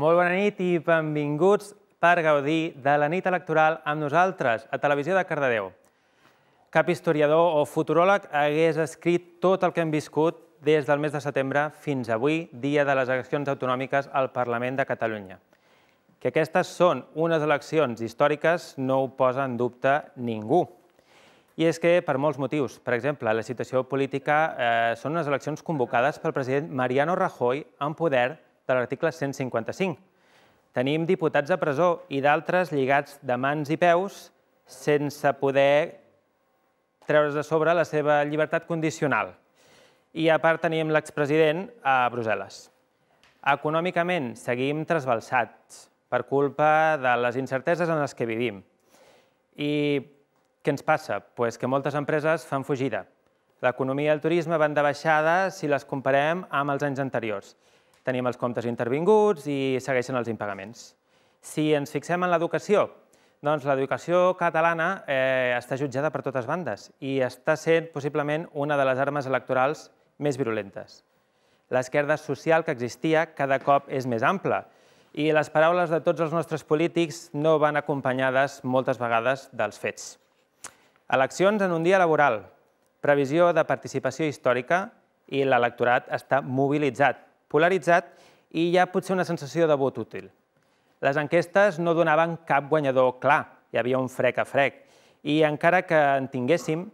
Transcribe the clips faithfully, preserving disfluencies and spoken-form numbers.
Molt bona nit i benvinguts per gaudir de la nit electoral amb nosaltres a Televisió de Cardedeu. Cap historiador o futuròleg hagués escrit tot el que hem viscut des del mes de setembre fins avui, dia de les eleccions autonòmiques al Parlament de Catalunya. Que aquestes són unes eleccions històriques no ho posa en dubte ningú. I és que, per molts motius, per exemple, la situació política són unes eleccions convocades pel president Mariano Rajoy en poder de l'article cent cinquanta-cinc. Tenim diputats a presó i d'altres lligats de mans i peus sense poder treure's de sobre la seva llibertat condicional. I a part tenim l'expresident a Brussel·les. Econòmicament seguim trasbalsats per culpa de les incerteses en les que vivim. I què ens passa? Doncs que moltes empreses fan fugida. L'economia i el turisme van de baixada si les comparem amb els anys anteriors. Tenim els comptes intervinguts i segueixen els impagaments. Si ens fixem en l'educació, doncs l'educació catalana està jutjada per totes bandes i està sent possiblement una de les armes electorals més virulentes. L'esquerda social que existia cada cop és més ampla i les paraules de tots els nostres polítics no van acompanyades moltes vegades dels fets. Eleccions en un dia laboral, previsió de participació històrica i l'electorat està mobilitzat, polaritzat i hi ha potser una sensació de vot útil. Les enquestes no donaven cap guanyador clar, hi havia un frec a frec, i encara que en tinguéssim,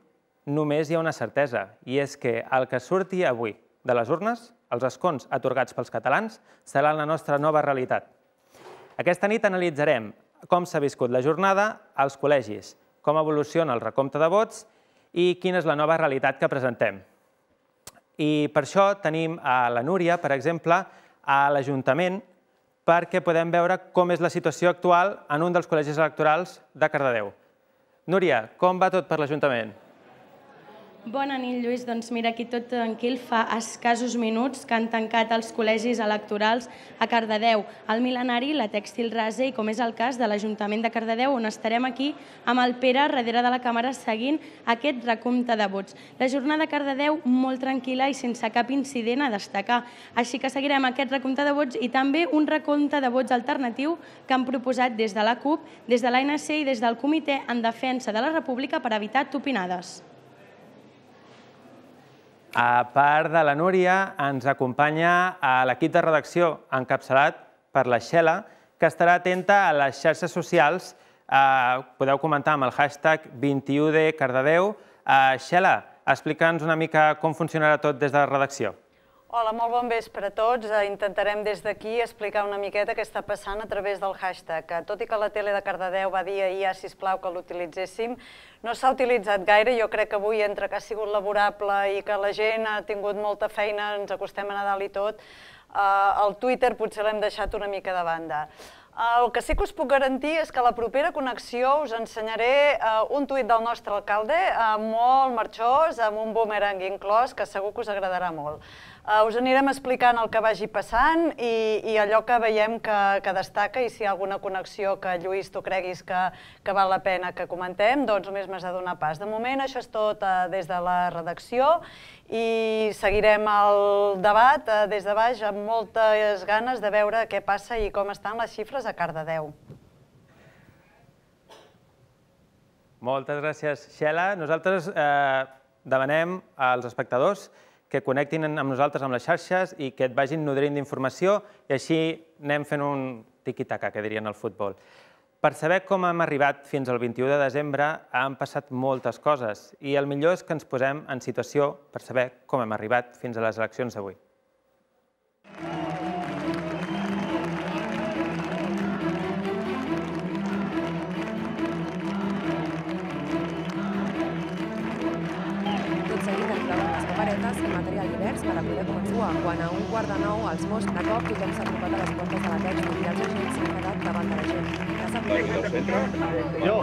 només hi ha una certesa, i és que el que surti avui de les urnes, els escons atorgats pels catalans, serà la nostra nova realitat. Aquesta nit analitzarem com s'ha viscut la jornada als col·legis, com evoluciona el recompte de vots i quina és la nova realitat que presentem. I per això tenim a la Núria, per exemple, a l'Ajuntament, perquè podem veure com és la situació actual en un dels col·legis electorals de Cardedeu. Núria, com va tot per l'Ajuntament? Bona nit, Lluís. Doncs mira, aquí tot tranquil. Fa escassos minuts que han tancat els col·legis electorals a Cardedeu, al Mil·lenari, la Tèxtil Rase i, com és el cas de l'Ajuntament de Cardedeu, on estarem aquí amb el Pere darrere de la càmera seguint aquest recompte de vots. La jornada a Cardedeu molt tranquil·la i sense cap incident a destacar. Així que seguirem aquest recompte de vots i també un recompte de vots alternatiu que han proposat des de la CUP, des de l'A N C i des del Comitè en Defensa de la República per evitar tupinades. A part de la Núria, ens acompanya l'equip de redacció encapçalat per la Xela, que estarà atenta a les xarxes socials. Podeu comentar amb el hashtag vint i u de Cardedeu. Xela, explica'ns una mica com funcionarà tot des de la redacció. Hola, molt bon vespre a tots. Intentarem des d'aquí explicar una miqueta què està passant a través del hashtag. Tot i que la tele de Cardedeu va dir ahir, sisplau, que l'utilitzéssim, no s'ha utilitzat gaire. Jo crec que avui, entre que ha sigut laborable i que la gent ha tingut molta feina, ens acostem a Nadal i tot, el Twitter potser l'hem deixat una mica de banda. El que sí que us puc garantir és que a la propera connexió us ensenyaré un tuit del nostre alcalde, molt marxós, amb un boomerang inclòs, que segur que us agradarà molt. Us anirem explicant el que vagi passant i allò que veiem que destaca, i si hi ha alguna connexió que, Lluís, tu creguis que val la pena que comentem, doncs només m'has de donar pas. De moment això és tot des de la redacció i seguirem el debat des de baix amb moltes ganes de veure què passa i com estan les xifres a Cardedeu. Moltes gràcies, Xela. Nosaltres demanem als espectadors que connectin amb nosaltres amb les xarxes i que et vagin nodrint d'informació i així anem fent un tiqui-taca, que dirien al futbol. Per saber com hem arribat fins al vint i u de desembre han passat moltes coses i el millor és que ens posem en situació per saber com hem arribat fins a les eleccions d'avui. I material divers per a poder començar. Quan a un quart de nou els Mossos de cop tothom s'ha apropat a les portes de la Tèxtil i els agents s'han quedat davant de la gent. Que s'ha apropat... Jo!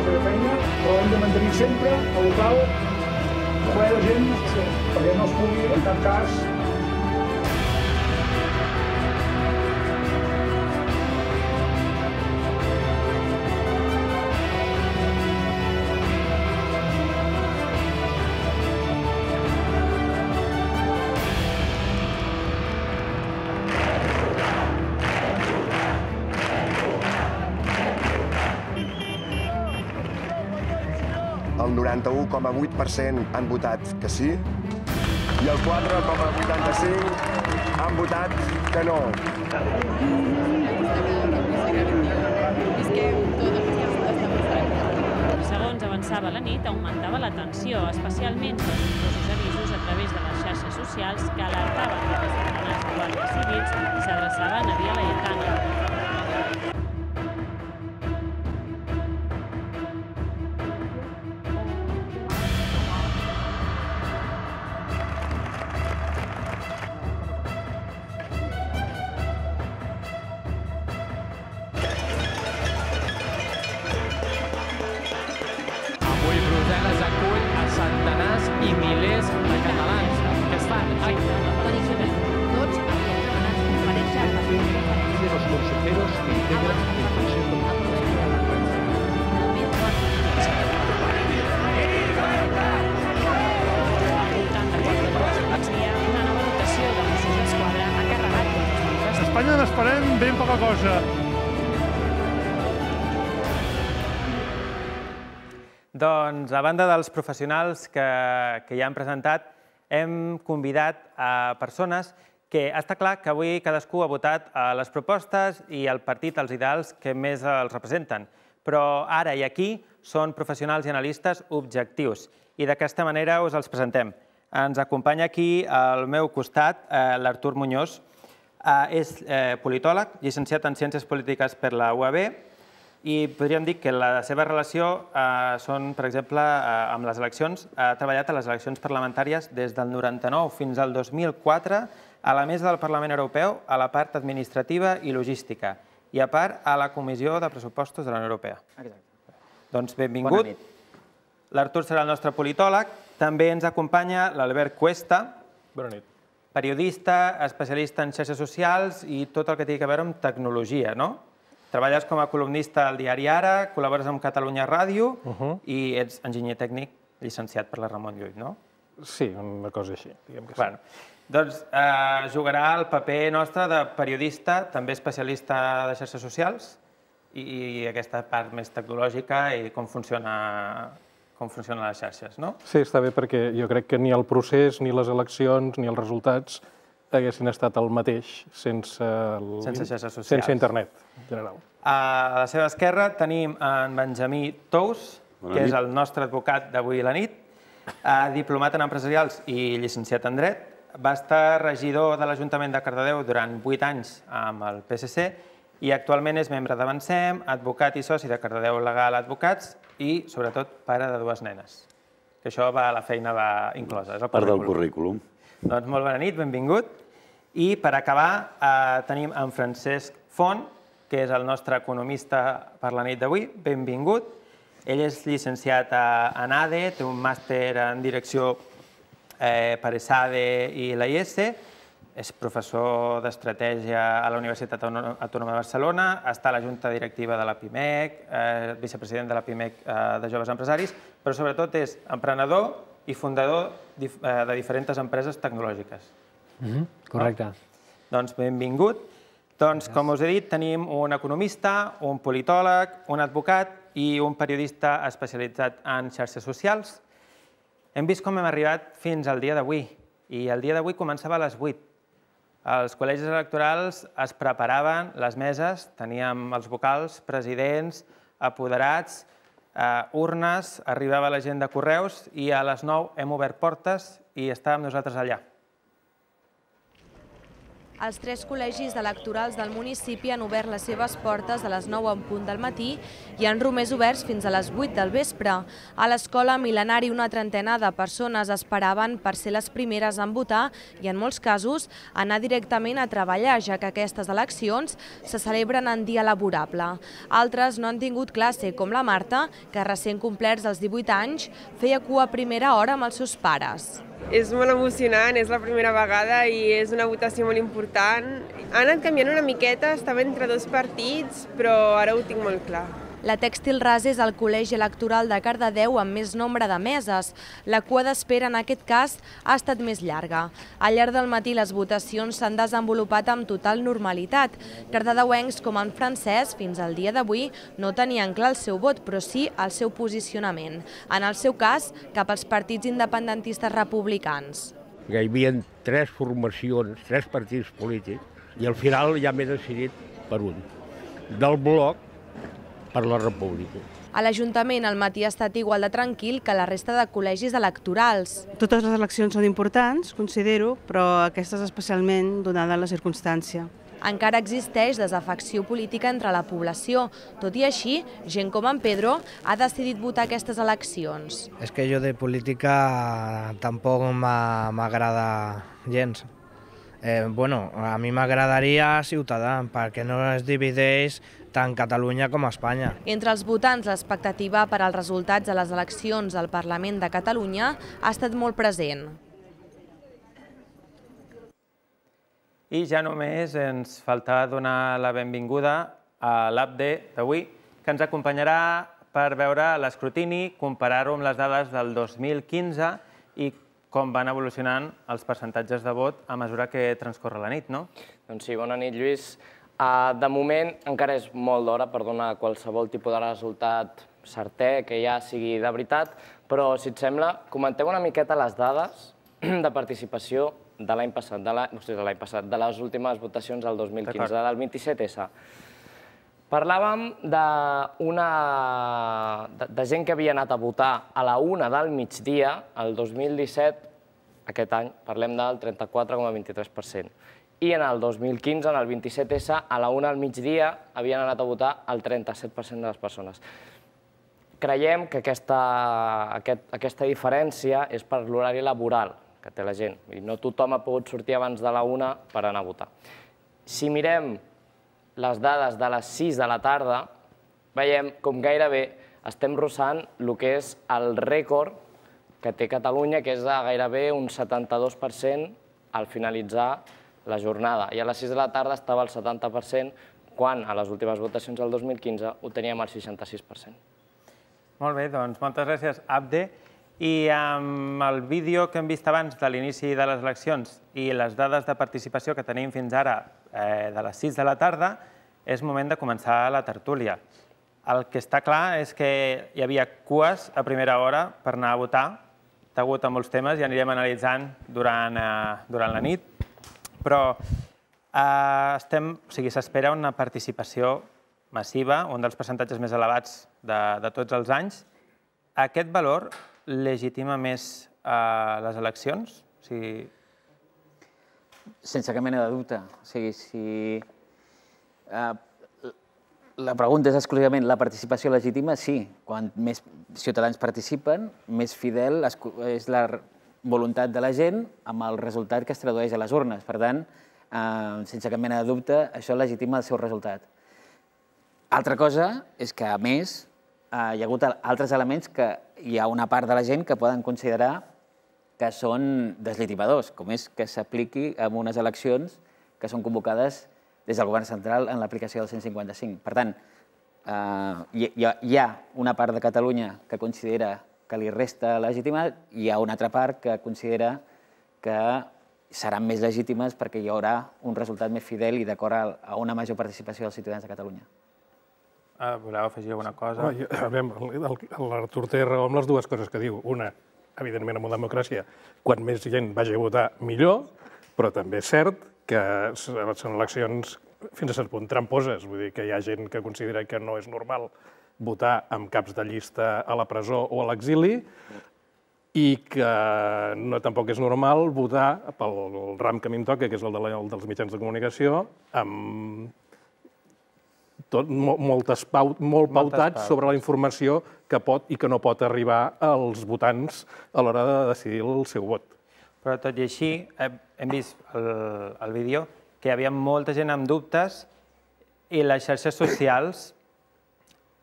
De feina, però hem de mantenir sempre el local ple de gent perquè no es pugui, en cap cas, quaranta-u coma vuit per cent han votat que sí i el quatre coma vuitanta-cinc han votat que no. Segons avançava la nit, augmentava la tensió, especialment pels nombrosos avisos a través de les xarxes socials que alertaven que els centenars de guàrdies civils s'adreçaven a Via Laietana. Avui Brussel·les acull a centenars i milers de catalans que estan... Tots havien demanat comparèixer per fer los consejeros que integran el Consejo. Una nova dotació de Mossos d'Esquadra ha carregat contra els manifestants. Espanya n'esperem ben poca cosa. Doncs, a banda dels professionals que, que ja han presentat, hem convidat a persones que està clar que avui cadascú ha votat a les propostes i el partit, els ideals que més els representen. Però ara i aquí són professionals i analistes objectius i d'aquesta manera us els presentem. Ens acompanya aquí al meu costat l'Artur Muñoz. És politòleg, llicenciat en Ciències Polítiques per la U A B, i podríem dir que la seva relació són, per exemple, amb les eleccions. Ha treballat a les eleccions parlamentàries des del noranta-nou fins al dos mil quatre a la mesa del Parlament Europeu, a la part administrativa i logística, i a part a la Comissió de Pressupostos de la Unió Europea. Doncs benvingut. Bona nit. L'Artur serà el nostre politòleg. També ens acompanya l'Albert Cuesta. Bona nit. Periodista, especialista en xarxes socials i tot el que té a veure amb tecnologia, no? Treballes com a columnista al diari Ara, col·labores amb Catalunya Ràdio i ets enginyer tècnic llicenciat per la Ramon Llull, no? Sí, una cosa així, diguem que sí. Bueno, doncs jugarà el paper nostre de periodista, també especialista de xarxes socials i aquesta part més tecnològica i com funciona com funcionen les xarxes, no? Sí, està bé perquè jo crec que ni el procés, ni les eleccions, ni els resultats haguessin estat el mateix sense xarxes socials. Sense internet, en general. A la seva esquerra tenim en Benjamí Tous, que és el nostre advocat d'avui a la nit, diplomat en empresarials i llicenciat en dret. Va estar regidor de l'Ajuntament de Cardedeu durant vuit anys amb el P S C i actualment és membre d'Avancem, advocat i soci de Cardedeu Legal Advocats i, sobretot, pare de dues nenes. Que això va, la feina va inclosa. Part del currículum. Doncs molt bona nit, benvingut. I per acabar tenim en Francesc Font, que és el nostre economista per la nit d'avui. Benvingut. Ell és llicenciat en A D E, té un màster en direcció per E S A D E i la I S, és professor d'estratègia a la Universitat Autònoma de Barcelona, està a la Junta Directiva de la PIMEC, vicepresident de la PIMEC de Joves Empresaris, però sobretot és emprenedor i fundador de diferents empreses tecnològiques. Correcte. Doncs benvingut. Doncs, com us he dit, tenim un economista, un politòleg, un advocat i un periodista especialitzat en xarxes socials. Hem vist com hem arribat fins al dia d'avui, i el dia d'avui començava a les vuit. Els col·legis electorals es preparaven, les meses, teníem els vocals, presidents, apoderats, urnes, arribava la gent de correus i a les nou hem obert portes i estàvem nosaltres allà. Els tres col·legis electorals del municipi han obert les seves portes a les nou en punt del matí i han romés oberts fins a les vuit del vespre. A l'escola Mil·lenari una trentena de persones esperaven per ser les primeres en votar i en molts casos anar directament a treballar, ja que aquestes eleccions se celebren en dia laborable. Altres no han tingut classe, com la Marta, que recent complerts els divuit anys feia cua a primera hora amb els seus pares. És molt emocionant, és la primera vegada i és una votació molt important. Ha anat canviant una miqueta, estava entre dos partits, però ara ho tinc molt clar. La Tèxtil Rasa és el col·legi electoral de Cardedeu amb més nombre de meses. La cua d'espera en aquest cas ha estat més llarga. Al llarg del matí les votacions s'han desenvolupat amb total normalitat. Cardedeuencs com en Francesc, fins al dia d'avui, no tenien clar el seu vot, però sí el seu posicionament. En el seu cas, cap als partits independentistes republicans. Hi havia tres formacions, tres partits polítics, i al final ja m'he decidit per un. Del bloc per la República. A l'Ajuntament el matí ha estat igual de tranquil que la resta de col·legis electorals. Totes les eleccions són importants, considero, però aquestes especialment donada la circumstància. Encara existeix desafecció política entre la població. Tot i així, gent com en Pedro ha decidit votar aquestes eleccions. És que jo de política tampoc m'agrada gens. Eh, bueno, a mi m'agradaria Ciutadà, perquè no es divideix tant Catalunya com Espanya. Entre els votants, l'expectativa per als resultats de les eleccions al Parlament de Catalunya ha estat molt present. I ja només ens falta donar la benvinguda a l'Abde d'avui, que ens acompanyarà per veure l'escrutini, comparar-ho amb les dades del dos mil quinze i com van evolucionant els percentatges de vot a mesura que transcorre la nit, no? Doncs sí, bona nit, Lluís. De moment encara és molt d'hora per donar qualsevol tipus de resultat certer, que ja sigui de veritat, però, si et sembla, comentem una miqueta les dades de participació de l'any passat, de l'any passat, de les últimes votacions del dos mil quinze, del vint-i-set essa. Parlàvem de gent que havia anat a votar a la una del migdia, el dos mil disset, aquest any, parlem del trenta-quatre coma vint-i-tres per cent. I en el dos mil quinze, en el vint-i-set essa, a la una del migdia, havien anat a votar el trenta-set per cent de les persones. Creiem que aquesta diferència és per l'horari laboral que té la gent. No tothom ha pogut sortir abans de la una per anar a votar. Si mirem les dades de les sis de la tarda, veiem com gairebé estem rossant el que és el rècord que té Catalunya, que és de gairebé un setanta-dos per cent al finalitzar la jornada. I a les sis de la tarda estava al setanta per cent, quan a les últimes votacions del dos mil quinze ho teníem al seixanta-sis per cent. Molt bé, doncs moltes gràcies, Abde. I amb el vídeo que hem vist abans de l'inici de les eleccions i les dades de participació que tenim fins ara de les sis de la tarda, és moment de començar la tertúlia. El que està clar és que hi havia cues a primera hora per anar a votar, degut a molts temes, i anirem analitzant durant la nit, però s'espera una participació massiva, un dels percentatges més elevats de tots els anys. Aquest valor legitima més les eleccions? Sense cap mena de dubte. O sigui, si la pregunta és exclusivament la participació legítima, sí. Quan més ciutadans participen, més fidel és la voluntat de la gent amb el resultat que es tradueix a les urnes. Per tant, sense cap mena de dubte, això legitima el seu resultat. Altra cosa és que, a més, hi ha hagut altres elements que hi ha una part de la gent que poden considerar que són deslegitimadors, com és que s'apliqui en unes eleccions que són convocades des del govern central en l'aplicació del cent cinquanta-cinc. Per tant, hi ha una part de Catalunya que considera que li resta legitimitat i hi ha una altra part que considera que seran més legítimes perquè hi haurà un resultat més fidel i d'acord a una major participació dels ciutadans de Catalunya. Voleu afegir alguna cosa? L'Artur té raó amb les dues coses que diu. Una, evidentment, en una democràcia, quan més gent vagi a votar, millor, però també és cert que són eleccions fins a cert punt tramposes. Vull dir que hi ha gent que considera que no és normal votar amb caps de llista a la presó o a l'exili i que tampoc és normal votar pel ram que a mi em toca, que és el dels mitjans de comunicació, amb molt pautats sobre la informació que pot i que no pot arribar als votants a l'hora de decidir el seu vot. Però tot i així, hem vist al vídeo que hi havia molta gent amb dubtes i les xarxes socials,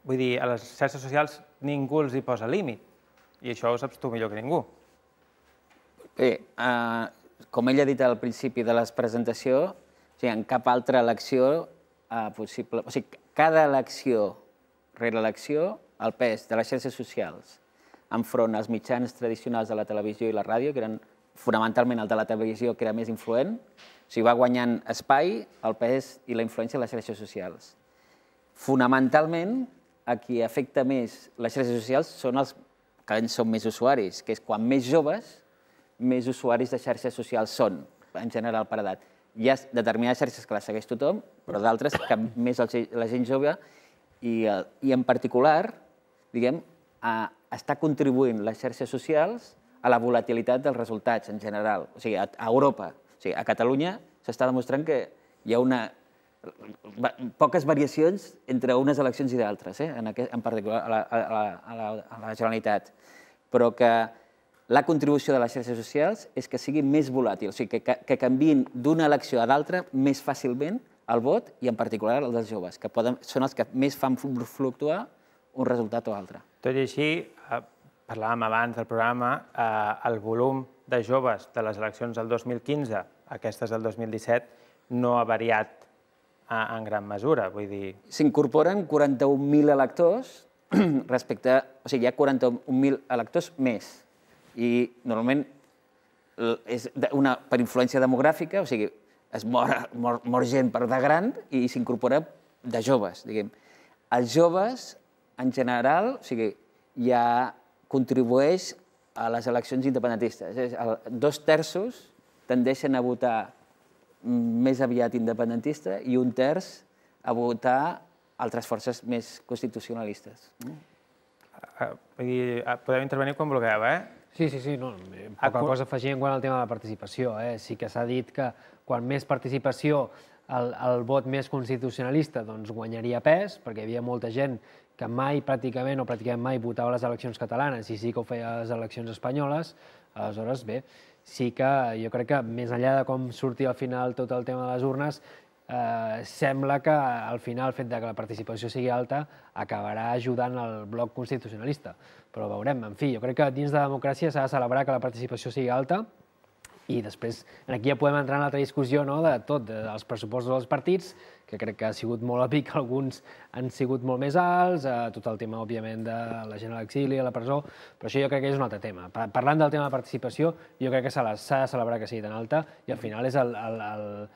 vull dir, a les xarxes socials ningú els hi posa límit i això ho saps tu millor que ningú. Bé, com ell ha dit al principi de la presentació, en cap altra elecció possible... O sigui, cada elecció rere elecció, el pes de les xarxes socials enfront als mitjans tradicionals de la televisió i la ràdio, que eren fonamentalment el de la televisió, que era més influent, o sigui, va guanyant espai, el pes i la influència de les xarxes socials. Fonamentalment, a qui afecta més les xarxes socials són els que en són més usuaris, que és quan més joves, més usuaris de xarxes socials són, en general per edat. Hi ha determinades xarxes que les segueix tothom, però d'altres que més la gent jove, i en particular, diguem, està contribuint les xarxes socials a la volatilitat dels resultats en general. O sigui, a Europa, o sigui, a Catalunya s'està demostrant que hi ha una poques variacions entre unes eleccions i d'altres, en particular a la Generalitat, però que la contribució de les xarxes socials és que sigui més volàtil, o sigui, que canviïn d'una elecció a l'altra més fàcilment el vot, i en particular el dels joves, que són els que més fan fluctuar un resultat o altre. Tot i així, parlàvem abans del programa, el volum de joves de les eleccions del dos mil quinze a aquestes del dos mil disset no ha variat en gran mesura, vull dir... S'incorporen quaranta-un mil electors respecte... O sigui, hi ha quaranta-un mil electors més. I normalment és per influència demogràfica, o sigui, es mor gent per de gran i s'incorpora de joves, diguem. Els joves, en general, o sigui, ja contribueix a les eleccions independentistes. Dos terços tendeixen a votar més aviat independentista i un terç a votar altres forces més constitucionalistes. Podeu intervenir quan vulgueu, eh? Sí, sí, sí. Poca cosa afegir quant al tema de la participació. Sí que s'ha dit que quan més participació el vot més constitucionalista guanyaria pes, perquè hi havia molta gent que mai pràcticament o pràcticament mai votava a les eleccions catalanes i sí que ho feia a les eleccions espanyoles. Aleshores, bé, sí que jo crec que més enllà de com surti al final tot el tema de les urnes, sembla que al final el fet que la participació sigui alta acabarà ajudant el bloc constitucionalista. Però veurem, en fi, jo crec que dins de la democràcia s'ha de celebrar que la participació sigui alta i després aquí ja podem entrar en l'altra discussió de tot, dels pressupostos dels partits, que crec que ha sigut molt òbvic que alguns han sigut molt més alts, tot el tema, òbviament, de la gent a l'exili, a la presó, però això jo crec que és un altre tema. Parlant del tema de participació, jo crec que s'ha de celebrar que sigui tan alta i al final és el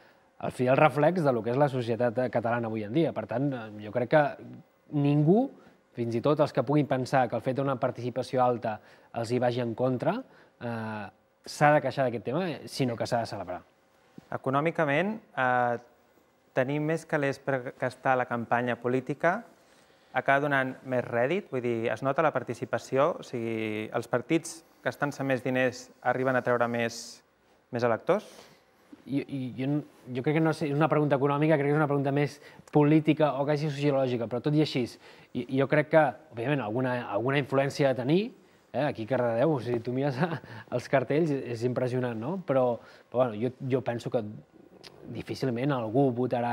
fidel reflex del que és la societat catalana avui en dia. Per tant, jo crec que ningú, fins i tot els que puguin pensar que el fet d'una participació alta els hi vagi en contra, s'ha de queixar d'aquest tema, sinó que s'ha de celebrar. Econòmicament, tenim més calés per gastar la campanya política, acaba donant més rèdit, vull dir, es nota la participació, o sigui, els partits gastant-se més diners arriben a treure més electors? Jo crec que no és una pregunta econòmica, crec que és una pregunta més política o quasi sociològica, però tot i així, jo crec que, òbviament, alguna influència ha de tenir. Aquí a Cardedeu, si tu mires els cartells, és impressionant, no? Però jo penso que difícilment algú votarà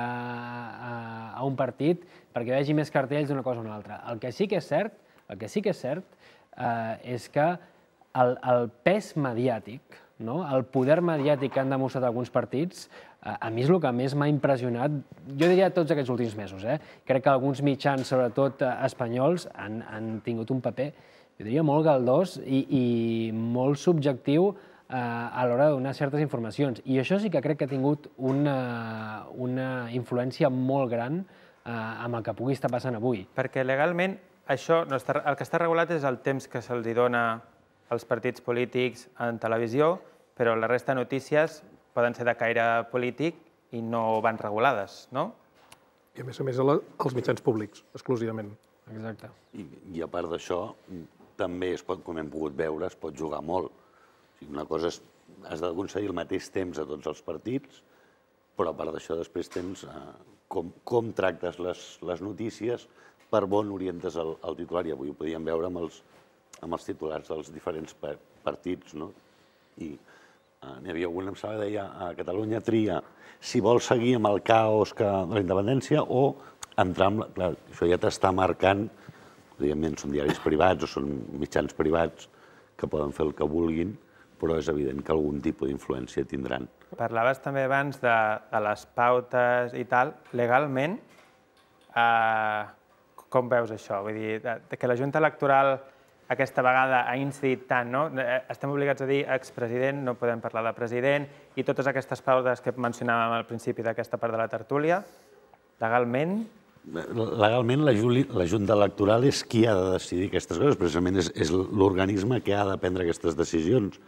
a un partit perquè vegi més cartells d'una cosa o una altra. El que sí que és cert, el que sí que és cert és que el pes mediàtic, el poder mediàtic que han demostrat alguns partits, a mi és el que més m'ha impressionat, jo diria tots aquests últims mesos. Crec que alguns mitjans, sobretot espanyols, han tingut un paper, jo diria, molt galdós i molt subjectiu a l'hora de donar certes informacions. I això sí que crec que ha tingut una influència molt gran amb el que pugui estar passant avui. Perquè legalment això, el que està regulat és el temps que se'ls dona als partits polítics en televisió, però la resta de notícies poden ser de caire polític i no van regulades, no? I a més a més als mitjans públics, exclusivament. Exacte. I a part d'això, també, com hem pogut veure, es pot jugar molt. Una cosa és, has d'aconseguir el mateix temps a tots els partits, però a part d'això després tens com tractes les notícies, per on orientes el titular. I avui ho podíem veure amb els titulars dels diferents partits. I n'hi havia algun, em sembla, deia a Catalunya tria si vol seguir amb el caos de la independència o entrar amb... Clar, això ja t'està marcant, evidentment són diaris privats o són mitjans privats que poden fer el que vulguin, però és evident que algun tipus d'influència tindran. Parlaves també abans de les pautes i tal. Legalment, com veus això? Vull dir, que la Junta Electoral aquesta vegada ha incidit tant, no? Estem obligats a dir expresident, no podem parlar de president, i totes aquestes pauses que mencionàvem al principi d'aquesta part de la tertúlia, legalment... Legalment, la Junta Electoral és qui ha de decidir aquestes coses, precisament és l'organisme que ha de prendre aquestes decisions.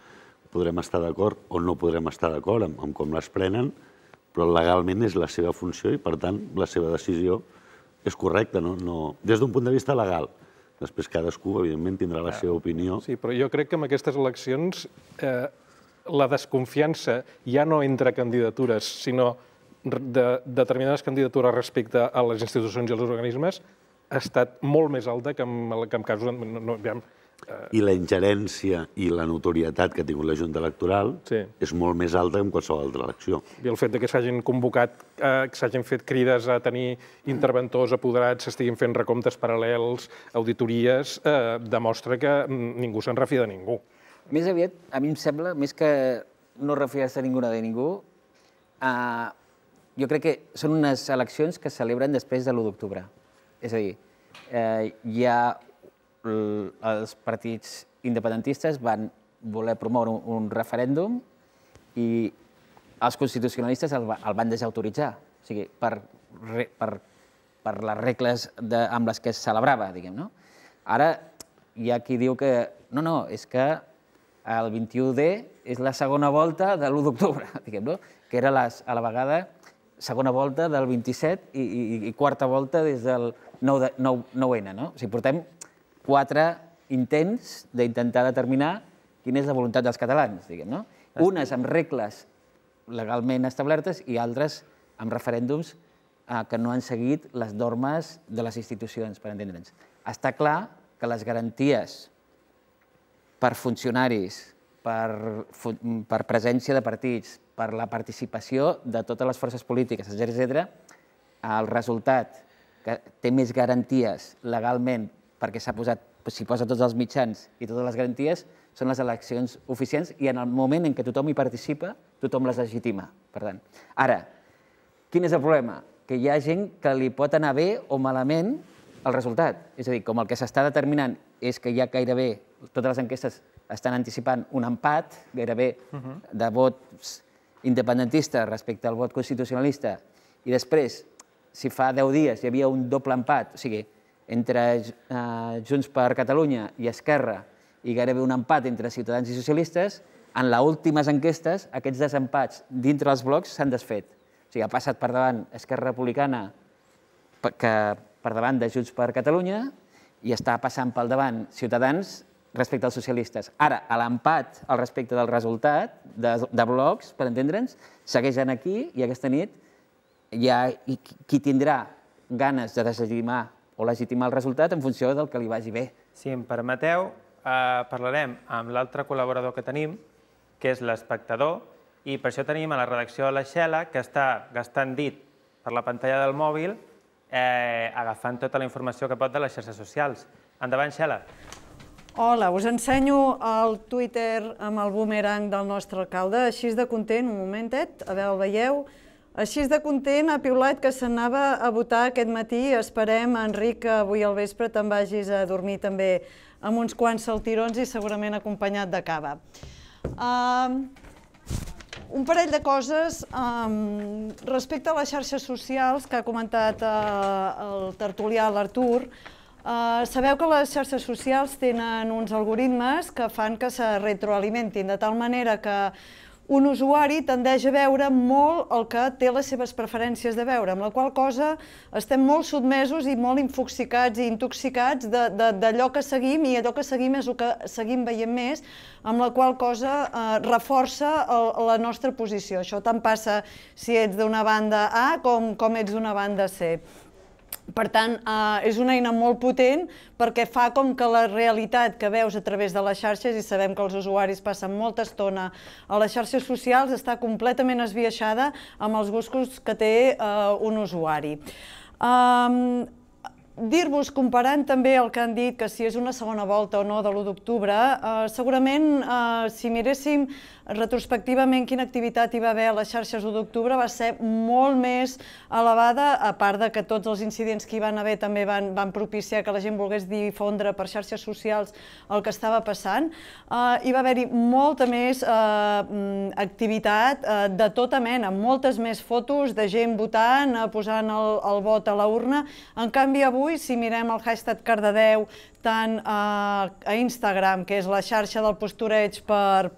Podrem estar d'acord o no podrem estar d'acord amb com les prenen, però legalment és la seva funció i, per tant, la seva decisió és correcta, des d'un punt de vista legal. Després cadascú, evidentment, tindrà la seva opinió. Sí, però jo crec que en aquestes eleccions la desconfiança ja no entre candidatures, sinó de determinades candidatures respecte a les institucions i als organismes ha estat molt més alta que en casos... I la ingerència i la notorietat que ha tingut la Junta Electoral és molt més alta que en qualsevol altra elecció. I el fet que s'hagin convocat, que s'hagin fet crides a tenir interventors apoderats, s'estiguin fent recomptes paral·lels, auditories, demostra que ningú se'n refia de ningú. Més aviat, a mi em sembla, més que no refiar-se ningú de ningú, jo crec que són unes eleccions que es celebren després de l'u d'octubre. És a dir, hi ha els partits independentistes van voler promoure un referèndum i els constitucionalistes el van desautoritzar, o sigui, per les regles amb les que es celebrava, diguem, no? Ara hi ha qui diu que no, no, és que el vint-i-u de és la segona volta de l'u d'octubre, diguem, no? Que era a la vegada segona volta del vint-i-set i quarta volta des del nou ene, no? O sigui, portem quatre intents d'intentar determinar quina és la voluntat dels catalans, diguem, no? Unes amb regles legalment establertes i altres amb referèndums que no han seguit les normes de les institucions, per entendre'ns. Està clar que les garanties per funcionaris, per presència de partits, per la participació de totes les forces polítiques, etcètera, el resultat que té més garanties legalment perquè s'hi posa tots els mitjans i totes les garanties, són les eleccions oficials i en el moment en què tothom hi participa, tothom les legitima. Per tant, ara, quin és el problema? Que hi ha gent que li pot anar bé o malament el resultat. És a dir, com el que s'està determinant és que ja gairebé totes les enquestes estan anticipant un empat, gairebé de vots independentistes respecte al vot constitucionalista, i després, si fa deu dies hi havia un doble empat, o sigui, entre Junts per Catalunya i Esquerra i gairebé un empat entre Ciutadans i socialistes, en les últimes enquestes aquests desempats dintre els blocs s'han desfet. O sigui, ha passat per davant Esquerra Republicana per davant de Junts per Catalunya i està passant pel davant Ciutadans respecte als socialistes. Ara, l'empat al respecte del resultat de blocs, per entendre'ns, segueix aquí i aquesta nit hi ha qui tindrà ganes de deslegitimar o legitimar el resultat en funció del que li vagi bé. Si em permeteu, parlarem amb l'altre col·laborador que tenim, que és l'Espectador, i per això tenim a la redacció la Xela, que està gastant dit per la pantalla del mòbil, agafant tota la informació que pot de les xarxes socials. Endavant, Xela. Hola, us ensenyo el Twitter amb el boomerang del nostre alcalde, així de content, un momentet, a veure, el veieu? Així de content, ha piulat que s'anava a votar aquest matí. Esperem, Enric, que avui al vespre te'n vagis a dormir també amb uns quants saltirons i segurament acompanyat de cava. Un parell de coses respecte a les xarxes socials que ha comentat el tertulià, l'Artur. Sabeu que les xarxes socials tenen uns algoritmes que fan que se retroalimentin, de tal manera que un usuari tendeix a veure molt el que té les seves preferències de veure, amb la qual cosa estem molt sotmesos i molt infoxicats i intoxicats d'allò que seguim, i allò que seguim és el que seguim veient més, amb la qual cosa reforça la nostra posició. Això tant passa si ets d'una banda A com ets d'una banda C. Per tant, és una eina molt potent perquè fa com que la realitat que veus a través de les xarxes, i sabem que els usuaris passen molta estona a les xarxes socials, està completament esbiaixada amb els gustos que té un usuari. dir-vos, comparant també el que han dit, que si és una segona volta o no de l'u d'octubre, segurament, si miréssim retrospectivament quina activitat hi va haver a les xarxes u d'octubre, va ser molt més elevada, a part de que tots els incidents que hi van haver també van propiciar que la gent volgués difondre per xarxes socials el que estava passant. Hi va haver-hi molta més activitat de tota mena, moltes més fotos de gent votant, posant el vot a la urna. En canvi, avui, si mirem el hashtag Cardedeu tant a Instagram, que és la xarxa del postureig per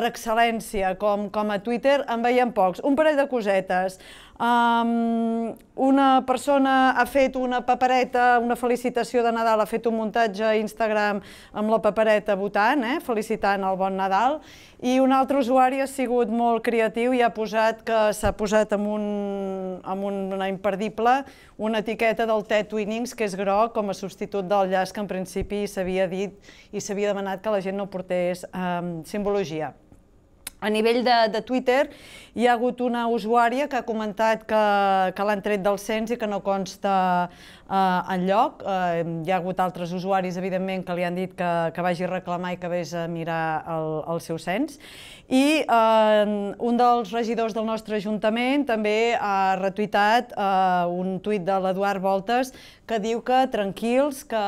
excel·lència, com a Twitter, en veiem pocs. Un parell de cosetes. Una persona ha fet una papereta, una felicitació de Nadal, ha fet un muntatge a Instagram amb la papereta votant, felicitant el Bon Nadal, i un altre usuari ha sigut molt creatiu i ha posat que s'ha posat amb una imperdible una etiqueta del Ted Twinnings, que és groc, com a substitut del llaç que en principi s'havia dit i s'havia demanat que la gent no portés simbologia. A nivell de Twitter, hi ha hagut una usuària que ha comentat que l'han tret del cens i que no consta enlloc. Hi ha hagut altres usuaris, evidentment, que li han dit que vagi a reclamar i que vés a mirar el seu cens. I un dels regidors del nostre Ajuntament també ha retuitat un tuit de l'Eduard Voltes que diu que tranquils, que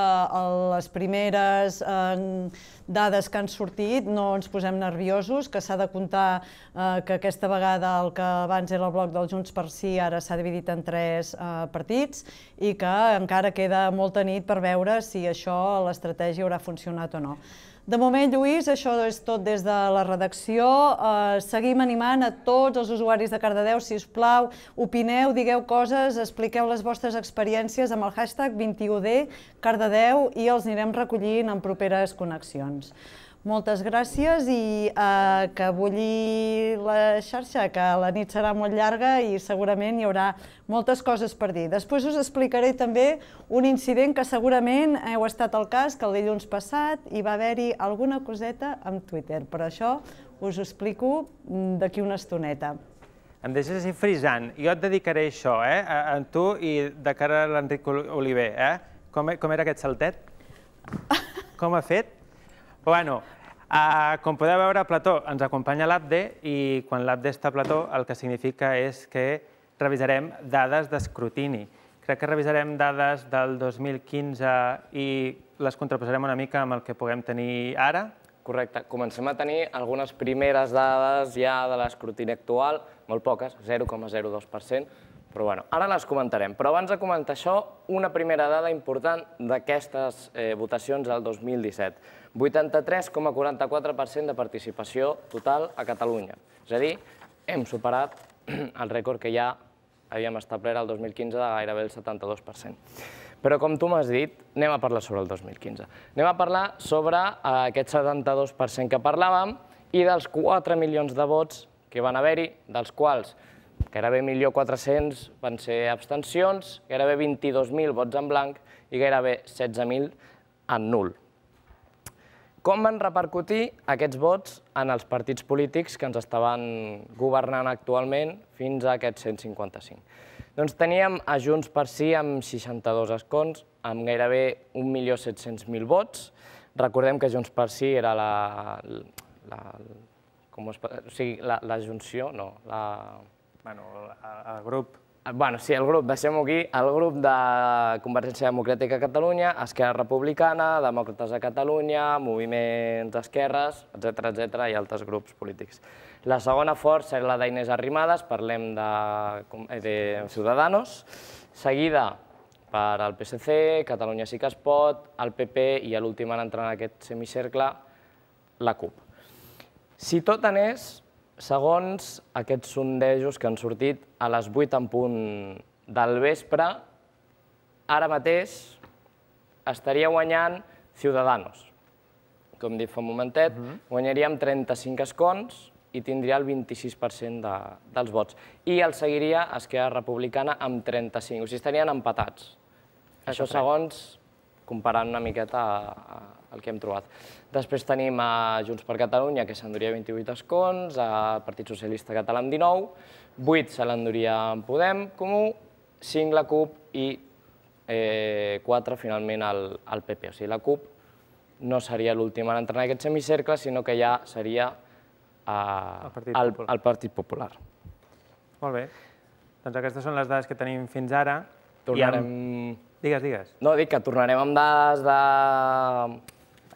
les primeres dades que han sortit no ens posem nerviosos, que s'ha de comptar que aquesta vegada el que abans era el bloc del Junts per Sí ara s'ha dividit en tres partits i que encara queda molta nit per veure si això, l'estratègia, haurà funcionat o no. De moment, Lluís, això és tot des de la redacció. Seguim animant a tots els usuaris de Cardedeu, si us plau, opineu, digueu coses, expliqueu les vostres experiències amb el hashtag vint i u D Cardedeu i els anirem recollint en properes connexions. Moltes gràcies i que bulli la xarxa, que la nit serà molt llarga i segurament hi haurà moltes coses per dir. Després us explicaré també un incident que segurament heu estat al cas, que el dilluns passat hi va haver-hi alguna coseta amb Twitter, però això us ho explico d'aquí una estoneta. Em deixes així frisant. Jo et dedicaré això, eh, a tu i de cara a l'Enric Oliver, eh? Com era aquest saltet? Com ha fet? Bueno, com podeu veure, Plató ens acompanya a l'Abde i quan l'Abde està a Plató el que significa és que revisarem dades d'escrutini. Crec que revisarem dades del dos mil quinze i les contraposarem una mica amb el que puguem tenir ara. Correcte. Comencem a tenir algunes primeres dades ja de l'escrutini actual, molt poques, zero coma zero dos per cent, però bueno, ara les comentarem. Però abans de comentar això, una primera dada important d'aquestes votacions del dos mil disset. vuitanta-tres coma quaranta-quatre per cent de participació total a Catalunya. És a dir, hem superat el rècord que ja havíem establert el dos mil quinze de gairebé el setanta-dos per cent. Però com tu m'has dit, anem a parlar sobre el dos mil quinze. Anem a parlar sobre aquest setanta-dos per cent que parlàvem i dels quatre milions de vots que van haver-hi, dels quals gairebé mil quatre-cents van ser abstencions, gairebé vint-i-dos mil vots en blanc i gairebé setze mil en nul. Com van repercutir aquests vots en els partits polítics que ens estaven governant actualment fins a aquests cent cinquanta-cinc? Doncs teníem a Junts per Sí amb seixanta-dos escons, amb gairebé un milió set-cents mil vots. Recordem que Junts per Sí era la... o sigui, la junció, no, la... Bueno, el grup... Bueno, sí, el grup, deixem-ho aquí, el grup de Convergència Democràtica a Catalunya, Esquerra Republicana, Demòcrates a Catalunya, moviments d'esquerres, etcètera, etcètera, i altres grups polítics. La segona força era la d'Inés Arrimadas, parlem de Ciudadanos, seguida per al P S C, Catalunya Sí que es pot, el P P i a l'últim en entrar en aquest semicercle, la CUP. Si tot anés segons aquests sondejos que han sortit a les vuit en punt del vespre, ara mateix estaria guanyant Ciudadanos. Com he dit fa un momentet, guanyaria amb trenta-cinc escons i tindria el vint-i-sis per cent dels vots. I el seguiria Esquerra Republicana amb trenta-cinc, o sigui, estarien empatats. Això segons, comparant una miqueta el que hem trobat. Després tenim a Junts per Catalunya, que s'enduria vint-i-vuit escons, al Partit Socialista Català amb dinou, vuit se l'enduria en Podem Comú, cinc la CUP i quatre finalment al P P. O sigui, la CUP no seria l'última en entrar en aquest semicercle, sinó que ja seria el Partit Popular. Molt bé. Doncs aquestes són les dades que tenim fins ara. Tornarem... Digues, digues. No, dic que tornarem amb dades de...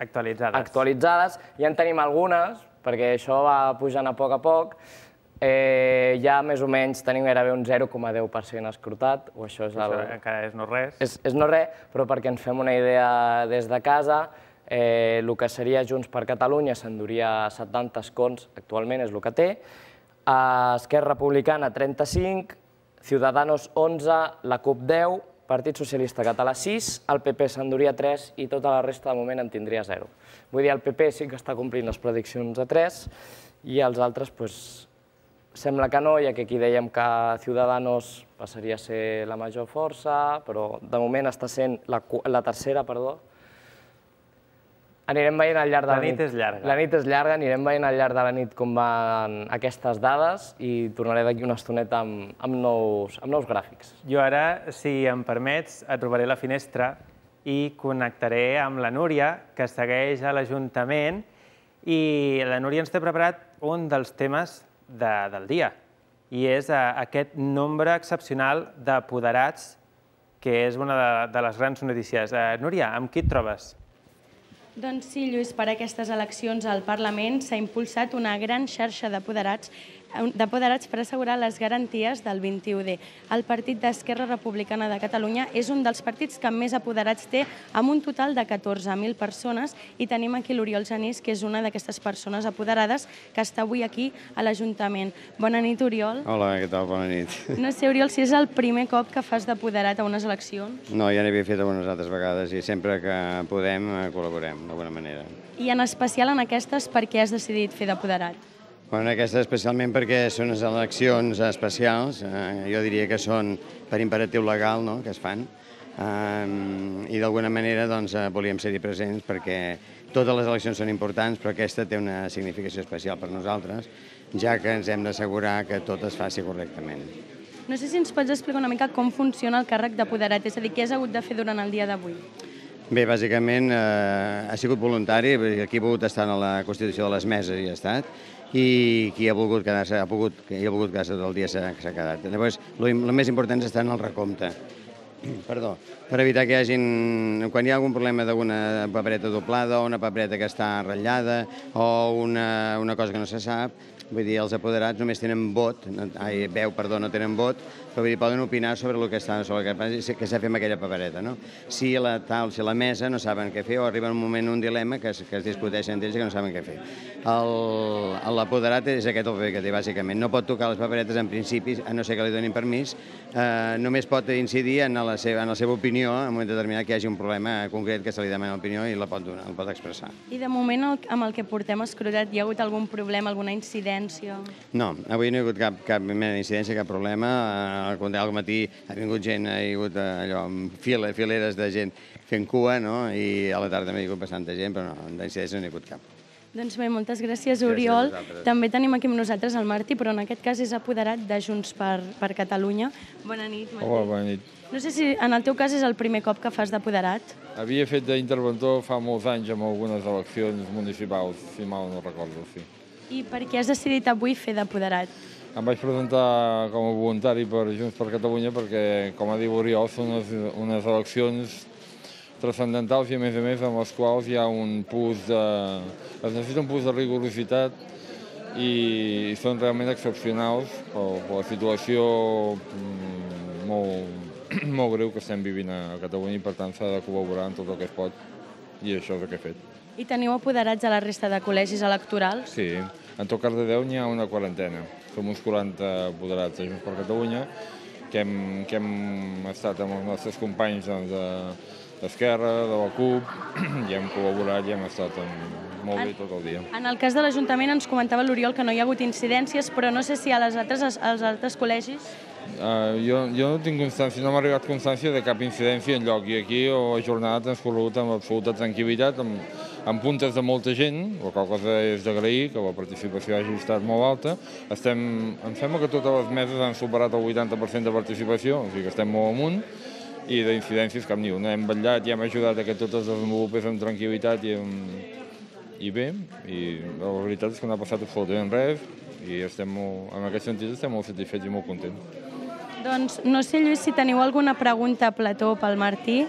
Actualitzades. Actualitzades. Ja en tenim algunes, perquè això va pujant a poc a poc. Ja més o menys tenim gairebé un zero coma deu per cent escrutat. Això encara és no res. És no res, però perquè ens fem una idea des de casa, el que seria Junts per Catalunya s'enduria setanta escons, actualment és el que té, Esquerra Republicana trenta-cinc, Ciudadanos onze, la CUP deu, Partit Socialista Català sis, el P P s'enduria tres i tota la resta de moment en tindria zero. Vull dir, el P P sí que està complint les prediccions de tres i els altres, doncs, sembla que no, ja que aquí dèiem que Ciudadanos passaria a ser la major força, però de moment està sent la tercera, perdó. Anirem veient al llarg de la nit. La nit és llarga. La nit és llarga, anirem veient al llarg de la nit com van aquestes dades i tornaré d'aquí una estoneta amb nous gràfics. Jo ara, si em permets, et robaré la finestra i connectaré amb la Núria, que segueix a l'Ajuntament, i la Núria ens té preparat un dels temes del dia, i és aquest nombre excepcional d'apoderats, que és una de les grans notícies. Núria, amb qui et trobes? Doncs sí, Lluís, per aquestes eleccions al Parlament s'ha impulsat una gran xarxa d'apoderats per assegurar les garanties del vint-i-u D. El Partit d'Esquerra Republicana de Catalunya és un dels partits que més apoderats té, amb un total de catorze mil persones, i tenim aquí l'Oriol Genís, que és una d'aquestes persones apoderades, que està avui aquí a l'Ajuntament. Bona nit, Oriol. Hola, què tal? Bona nit. No sé, Oriol, si és el primer cop que fas d'apoderat a unes eleccions. No, ja n'havia fet algunes altres vegades i sempre que podem col·laborem, d'alguna manera. I en especial en aquestes, per què has decidit fer d'apoderat? En aquestes especialment perquè són unes eleccions especials, jo diria que són per imperatiu legal que es fan, i d'alguna manera volíem ser-hi presents perquè totes les eleccions són importants, però aquesta té una significació especial per nosaltres, ja que ens hem d'assegurar que tot es faci correctament. No sé si ens pots explicar una mica com funciona el càrrec d'apoderat, és a dir, què has hagut de fer durant el dia d'avui? Bé, bàsicament ha sigut voluntari, aquí he pogut estar a la constitució de les meses i he estat, i qui ha volgut quedar-se, ha pogut, qui ha volgut quedar-se tot el dia s'ha quedat. Llavors, el més important és estar en el recompte. Perdó, per evitar que hi hagin... Quan hi ha algun problema d'alguna papereta doblada o una papereta que està ratllada o una cosa que no se sap, vull dir, els apoderats només tenen vot, ai, veu, perdó, no tenen vot, però poden opinar sobre el que està, sobre el que s'ha fet amb aquella papereta, no? Si la tal, si la mesa no saben què fer o arriba un moment, un dilema, que es discuteixen entre ells que no saben què fer. L'apoderat és aquest el paper que té, bàsicament. No pot tocar les paperetes en principi, a no ser que li donin permís, només pot incidir en la seva opinió, en un moment determinat que hi hagi un problema concret que se li demana l'opinió i la pot donar, el pot expressar. I de moment, amb el que portem escrutat, hi ha hagut algun problema, alguna incidència? No, avui no hi ha hagut cap mena d'incidència, cap problema. Al matí ha vingut gent, ha vingut allò, fileres de gent fent cua, i a la tarda m'ha vingut bastanta gent, però no, d'incidència no n'hi ha hagut cap. Doncs bé, moltes gràcies, Oriol. També tenim aquí amb nosaltres el Martí, però en aquest cas és apoderat de Junts per Catalunya. Bona nit, Martí. Hola, bona nit. No sé si en el teu cas és el primer cop que fas d'apoderat. Havia fet d'interventor fa molts anys amb algunes eleccions municipals, si mal no recordo, sí. I per què has decidit avui fer d'apoderat? Em vaig presentar com a voluntari per Junts per Catalunya perquè, com ha dit Oriol, són unes eleccions transcendentals i, a més a més, amb les quals hi ha un plus de... es necessita un plus de rigorositat i són realment excepcionals per la situació molt greu que estem vivint a Catalunya i, per tant, s'ha de col·laborar en tot el que es pot i això és el que he fet. I teniu apoderats a la resta de col·legis electorals? Sí, en tot Cardedeu n'hi ha una quarantena. Som uns quaranta apoderats de Junts per Catalunya que hem estat amb els nostres companys d'Esquerra, de la CUP, i hem col·laborat i hem estat molt bé tot el dia. En el cas de l'Ajuntament ens comentava l'Oriol que no hi ha hagut incidències, però no sé si als altres col·legis... Jo no tinc constància, no m'ha arribat constància de cap incidència enlloc, i aquí la jornada ha transcorregut amb absoluta tranquil·litat, amb puntes de molta gent, la qual cosa és d'agrair, que la participació hagi estat molt alta. Em sembla que totes les meses han superat el vuitanta per cent de participació, o sigui que estem molt amunt, i d'incidències cap ni una. Hem vetllat i hem ajudat que tot es desenvolupés amb tranquil·litat i, amb... i bé, i la veritat és que no ha passat absolutament res i estem, en aquest sentit estem molt satisfets i molt contents. Doncs no sé, Lluís, si teniu alguna pregunta a plató pel Martí.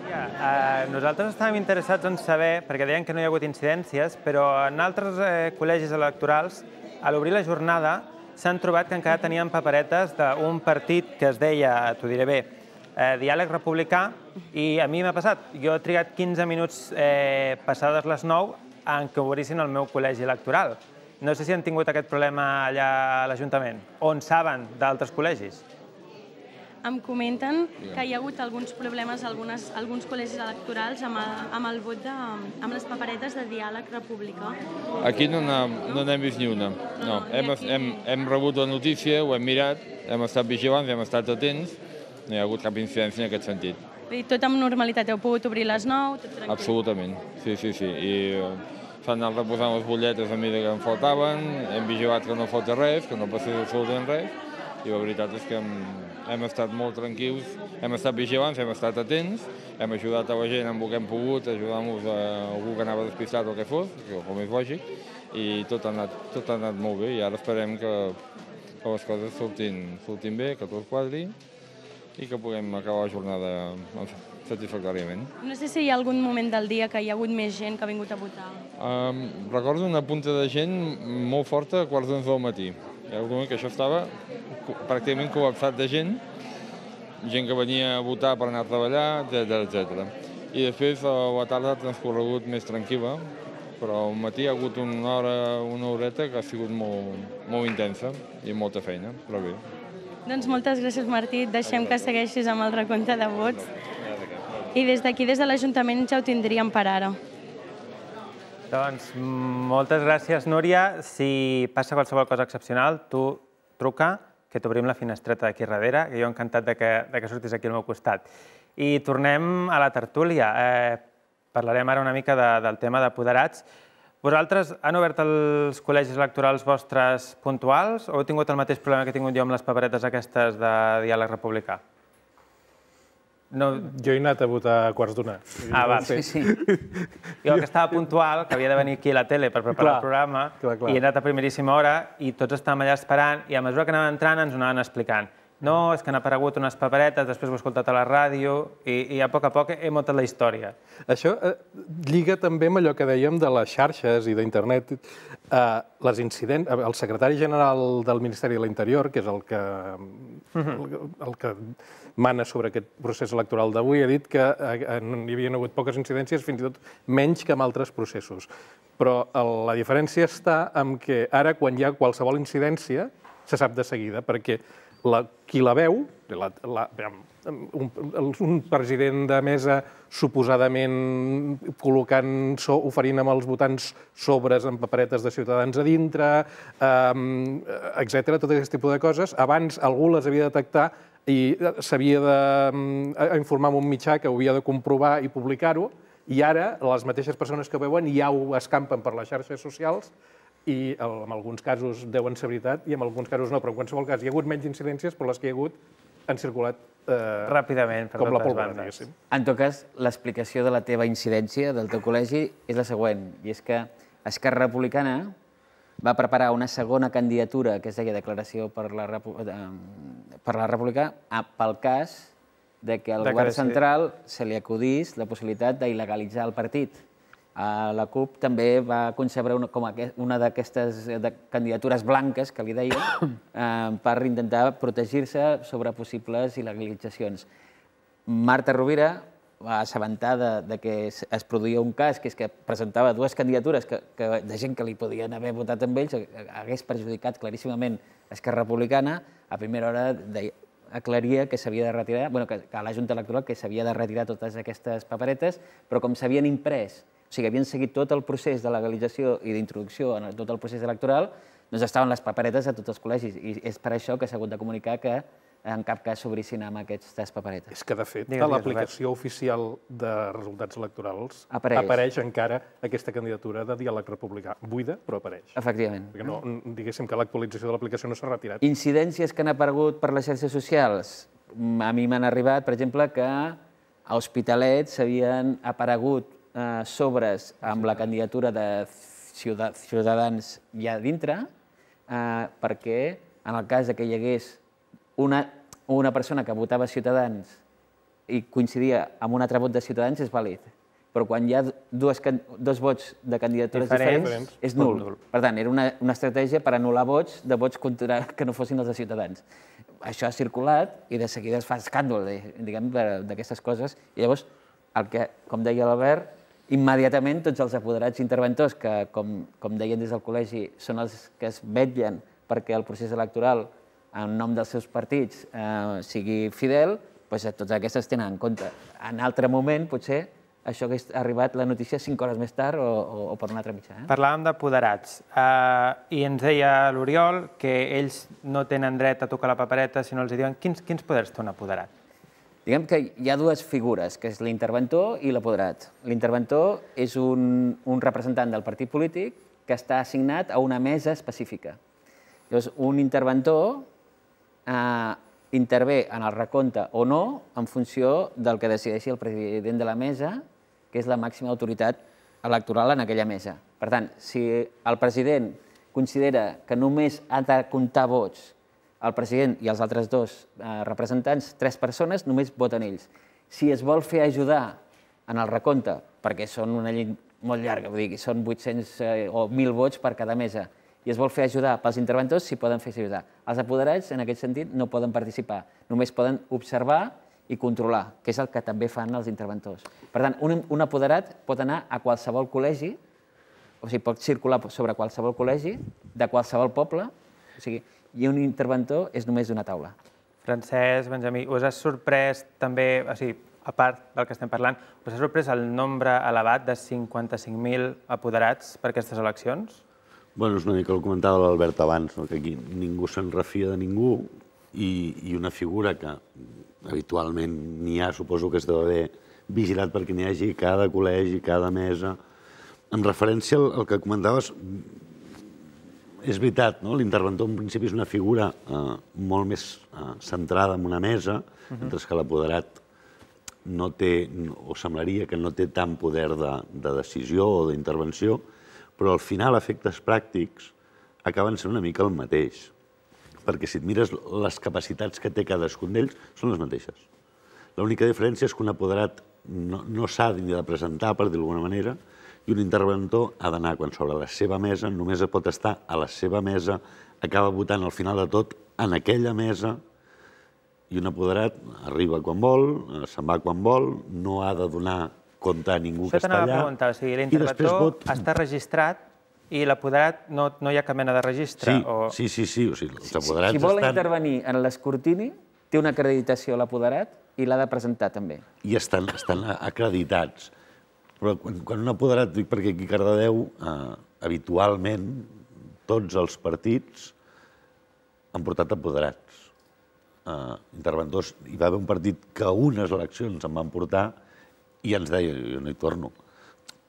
Ja, eh, nosaltres estàvem interessats en saber, perquè deien que no hi ha hagut incidències, però en altres eh, col·legis electorals, a l'obrir la jornada, s'han trobat que encara tenien paperetes d'un partit que es deia, t'ho diré bé, eh, Diàleg Republicà, i a mi m'ha passat. Jo he trigat quinze minuts eh, passades les nou en què obrissin el meu col·legi electoral. No sé si han tingut aquest problema allà a l'Ajuntament, o en saben d'altres col·legis. Em comenten que hi ha hagut alguns problemes a alguns col·legis electorals amb el vot de... amb les paperetes de Diàleg Republicà. Aquí no n'hem vist ni una. No, hem rebut la notícia, ho hem mirat, hem estat vigilants, hem estat atents, no hi ha hagut cap incidència en aquest sentit. I tot amb normalitat, heu pogut obrir les nou, tot tranquil? Absolutament, sí, sí, sí. I s'han anat reposant les butlletes a mesura que em faltaven, hem vigilat que no falta res, que no passés absolutament res, i la veritat és que hem, hem estat molt tranquils, hem estat vigilants, hem estat atents, hem ajudat a la gent amb el que hem pogut, ajudant-los a algú que anava despistat o el que fos, com és lògic, i tot ha anat, tot ha anat molt bé, i ara esperem que, que les coses surtin, surtin bé, que tot quadri, i que puguem acabar la jornada satisfactòriament. No sé si hi ha algun moment del dia que hi ha hagut més gent que ha vingut a votar. Um, recordo una punta de gent molt forta a quarts d'onze del matí. Hi ha un moment que això estava pràcticament col·lapsat de gent, gent que venia a votar per anar a treballar, etcètera, etcètera. I després la tarda ha transcorregut més tranquil·la, però al matí hi ha hagut una hora, una horeta que ha sigut molt, molt intensa i molta feina, però bé. Doncs moltes gràcies, Martí. Deixem que segueixis amb el recompte de vots. I des d'aquí, des de l'Ajuntament, ja ho tindríem per ara. Doncs moltes gràcies, Núria. Si passa qualsevol cosa excepcional, tu truca, que t'obrim la finestreta d'aquí darrere, que jo encantat de que, de que surtis aquí al meu costat. I tornem a la tertúlia. Eh, parlarem ara una mica de, del tema d'apoderats. Vosaltres han obert els col·legis electorals vostres puntuals o heu tingut el mateix problema que he tingut jo amb les paperetes aquestes de Diàleg Republicà? No... Jo he anat a votar a quarts d'una. Ah, va, sí, sí. Jo que estava puntual, que havia de venir aquí a la tele per preparar clar, el programa, clar, clar. I he anat a primeríssima hora i tots estàvem allà esperant i a mesura que anàvem entrant ens ho anaven explicant. No, és que han aparegut unes paperetes, després ho he escoltat a la ràdio i, i a poc a poc he muntat la història. Això eh, lliga també amb allò que dèiem de les xarxes i d'internet. Eh, les incidents... El secretari general del Ministeri de l'Interior, que és el que, el, el que mana sobre aquest procés electoral d'avui, ha dit que eh, hi havia hagut poques incidències, fins i tot menys que en altres processos. Però el, la diferència està en que ara, quan hi ha qualsevol incidència, se sap de seguida, perquè La, qui la veu, la, la, un, un president de mesa suposadament col·locant, so, oferint amb els votants sobres amb paperetes de Ciutadans a dintre, um, etcètera, tot aquest tipus de coses, abans algú les havia de detectar i s'havia d'informar amb un mitjà que ho havia de comprovar i publicar-ho, i ara les mateixes persones que ho veuen ja ho escampen per les xarxes socials i en alguns casos deuen ser veritat i en alguns casos no, però en qualsevol cas hi ha hagut menys incidències, però les que hi ha hagut han circulat eh, ràpidament per com la totes pólvora, bandes. En tot cas, l'explicació de la teva incidència del teu col·legi és la següent, i és que Esquerra Republicana va preparar una segona candidatura que es deia Declaració per la, Repu per la República pel cas de que al govern central se li acudís la possibilitat d'il·legalitzar el partit. La CUP també va concebre una, com una d'aquestes candidatures blanques, que li deia, eh, per intentar protegir-se sobre possibles il·legalitzacions. Marta Rovira va assabentar de, de que es, es produïa un cas, que és que presentava dues candidatures que, que, de gent que li podien haver votat amb ells, hagués perjudicat claríssimament Esquerra Republicana. A primera hora deia, aclaria que s'havia de retirar, bueno, que, que a la Junta Electoral que s'havia de retirar totes aquestes paperetes, però com s'havien imprès, o sigui, havien seguit tot el procés de legalització i d'introducció en tot el procés electoral, doncs estaven les paperetes a tots els col·legis. I és per això que s'ha hagut de comunicar que en cap cas s'obrissin amb aquestes paperetes. És que, de fet, a l'aplicació oficial de resultats electorals apareix encara aquesta candidatura de Diàleg Republicà. Buida, però apareix. Efectivament. Perquè no, diguéssim que l'actualització de l'aplicació no s'ha retirat. Incidències que han aparegut per les xarxes socials? a mi m'han arribat, per exemple, que a Hospitalet s'havien aparegut sobres amb la candidatura de Ciutadans ja dintre, perquè en el cas que hi hagués una persona que votava Ciutadans i coincidia amb un altre vot de Ciutadans és vàlid. Però quan hi ha dos vots de candidatures diferents, és nul. Per tant, era una estratègia per anul·lar vots de vots que no fossin els de Ciutadans. Això ha circulat i de seguida es fa escàndol, diguem, d'aquestes coses. I llavors, com deia l'Albert, immediatament tots els apoderats interventors, que, com deien des del col·legi, són els que es vetllen perquè el procés electoral, en nom dels seus partits, sigui fidel, doncs totes aquestes tenen en compte. En altre moment, potser, això hagués arribat la notícia cinc hores més tard o per un altre mitjà. Parlàvem d'apoderats i ens deia l'Oriol que ells no tenen dret a tocar la papereta si no els diuen quins poders té un apoderat. Diguem que hi ha dues figures, que és l'interventor i l'apoderat. L'interventor és un representant del partit polític que està assignat a una mesa específica. Llavors, un interventor intervé en el recompte o no en funció del que decideixi el president de la mesa, que és la màxima autoritat electoral en aquella mesa. Per tant, si el president considera que només ha de comptar vots el president i els altres dos representants, tres persones, només voten ells. Si es vol fer ajudar en el recompte, perquè són una llei molt llarga, vull dir, són vuit-cents o mil vots per cada mesa, i es vol fer ajudar pels interventors, s'hi poden fer ajudar. Els apoderats, en aquest sentit, no poden participar, només poden observar i controlar, que és el que també fan els interventors. Per tant, un apoderat pot anar a qualsevol col·legi, o sigui, pot circular sobre qualsevol col·legi, de qualsevol poble, o sigui, i un interventor és només d'una taula. Francesc, Benjamí, us ha sorprès també, o sigui, a part del que estem parlant, us ha sorprès el nombre elevat de cinquanta-cinc mil apoderats per aquestes eleccions? Bé, és una mica el que comentava l'Albert abans, que aquí ningú se'n refia de ningú i una figura que habitualment n'hi ha, suposo que es deu haver vigilat perquè n'hi hagi cada col·legi, cada mesa. En referència al que comentaves, és veritat, l'interventor en principi és una figura molt més centrada en una mesa, mentre que l'apoderat no té, o semblaria que no té tant poder de decisió o d'intervenció, però al final efectes pràctics acaben sent una mica el mateix. Perquè si et mires les capacitats que té cadascun d'ells, són les mateixes. L'única diferència és que un apoderat no s'ha ni de presentar, per dir-ho d'alguna manera, i un interventor ha d'anar quan s'obre la seva mesa, només pot estar a la seva mesa, acaba votant al final de tot en aquella mesa, i un apoderat arriba quan vol, se'n va quan vol, no ha de donar compte a ningú que està allà. Això t'anava a preguntar, o sigui, l'interventor està registrat i l'apoderat no hi ha cap mena de registre? Sí, sí, sí. Si vol intervenir en l'escrutini, té una acreditació a l'apoderat i l'ha de presentar també. I estan acreditats. Però quan un apoderat, dic perquè aquí a Cardedeu, habitualment, tots els partits han portat apoderats. Interventors. Hi va haver un partit que unes eleccions en van portar i ens deia, jo no hi torno,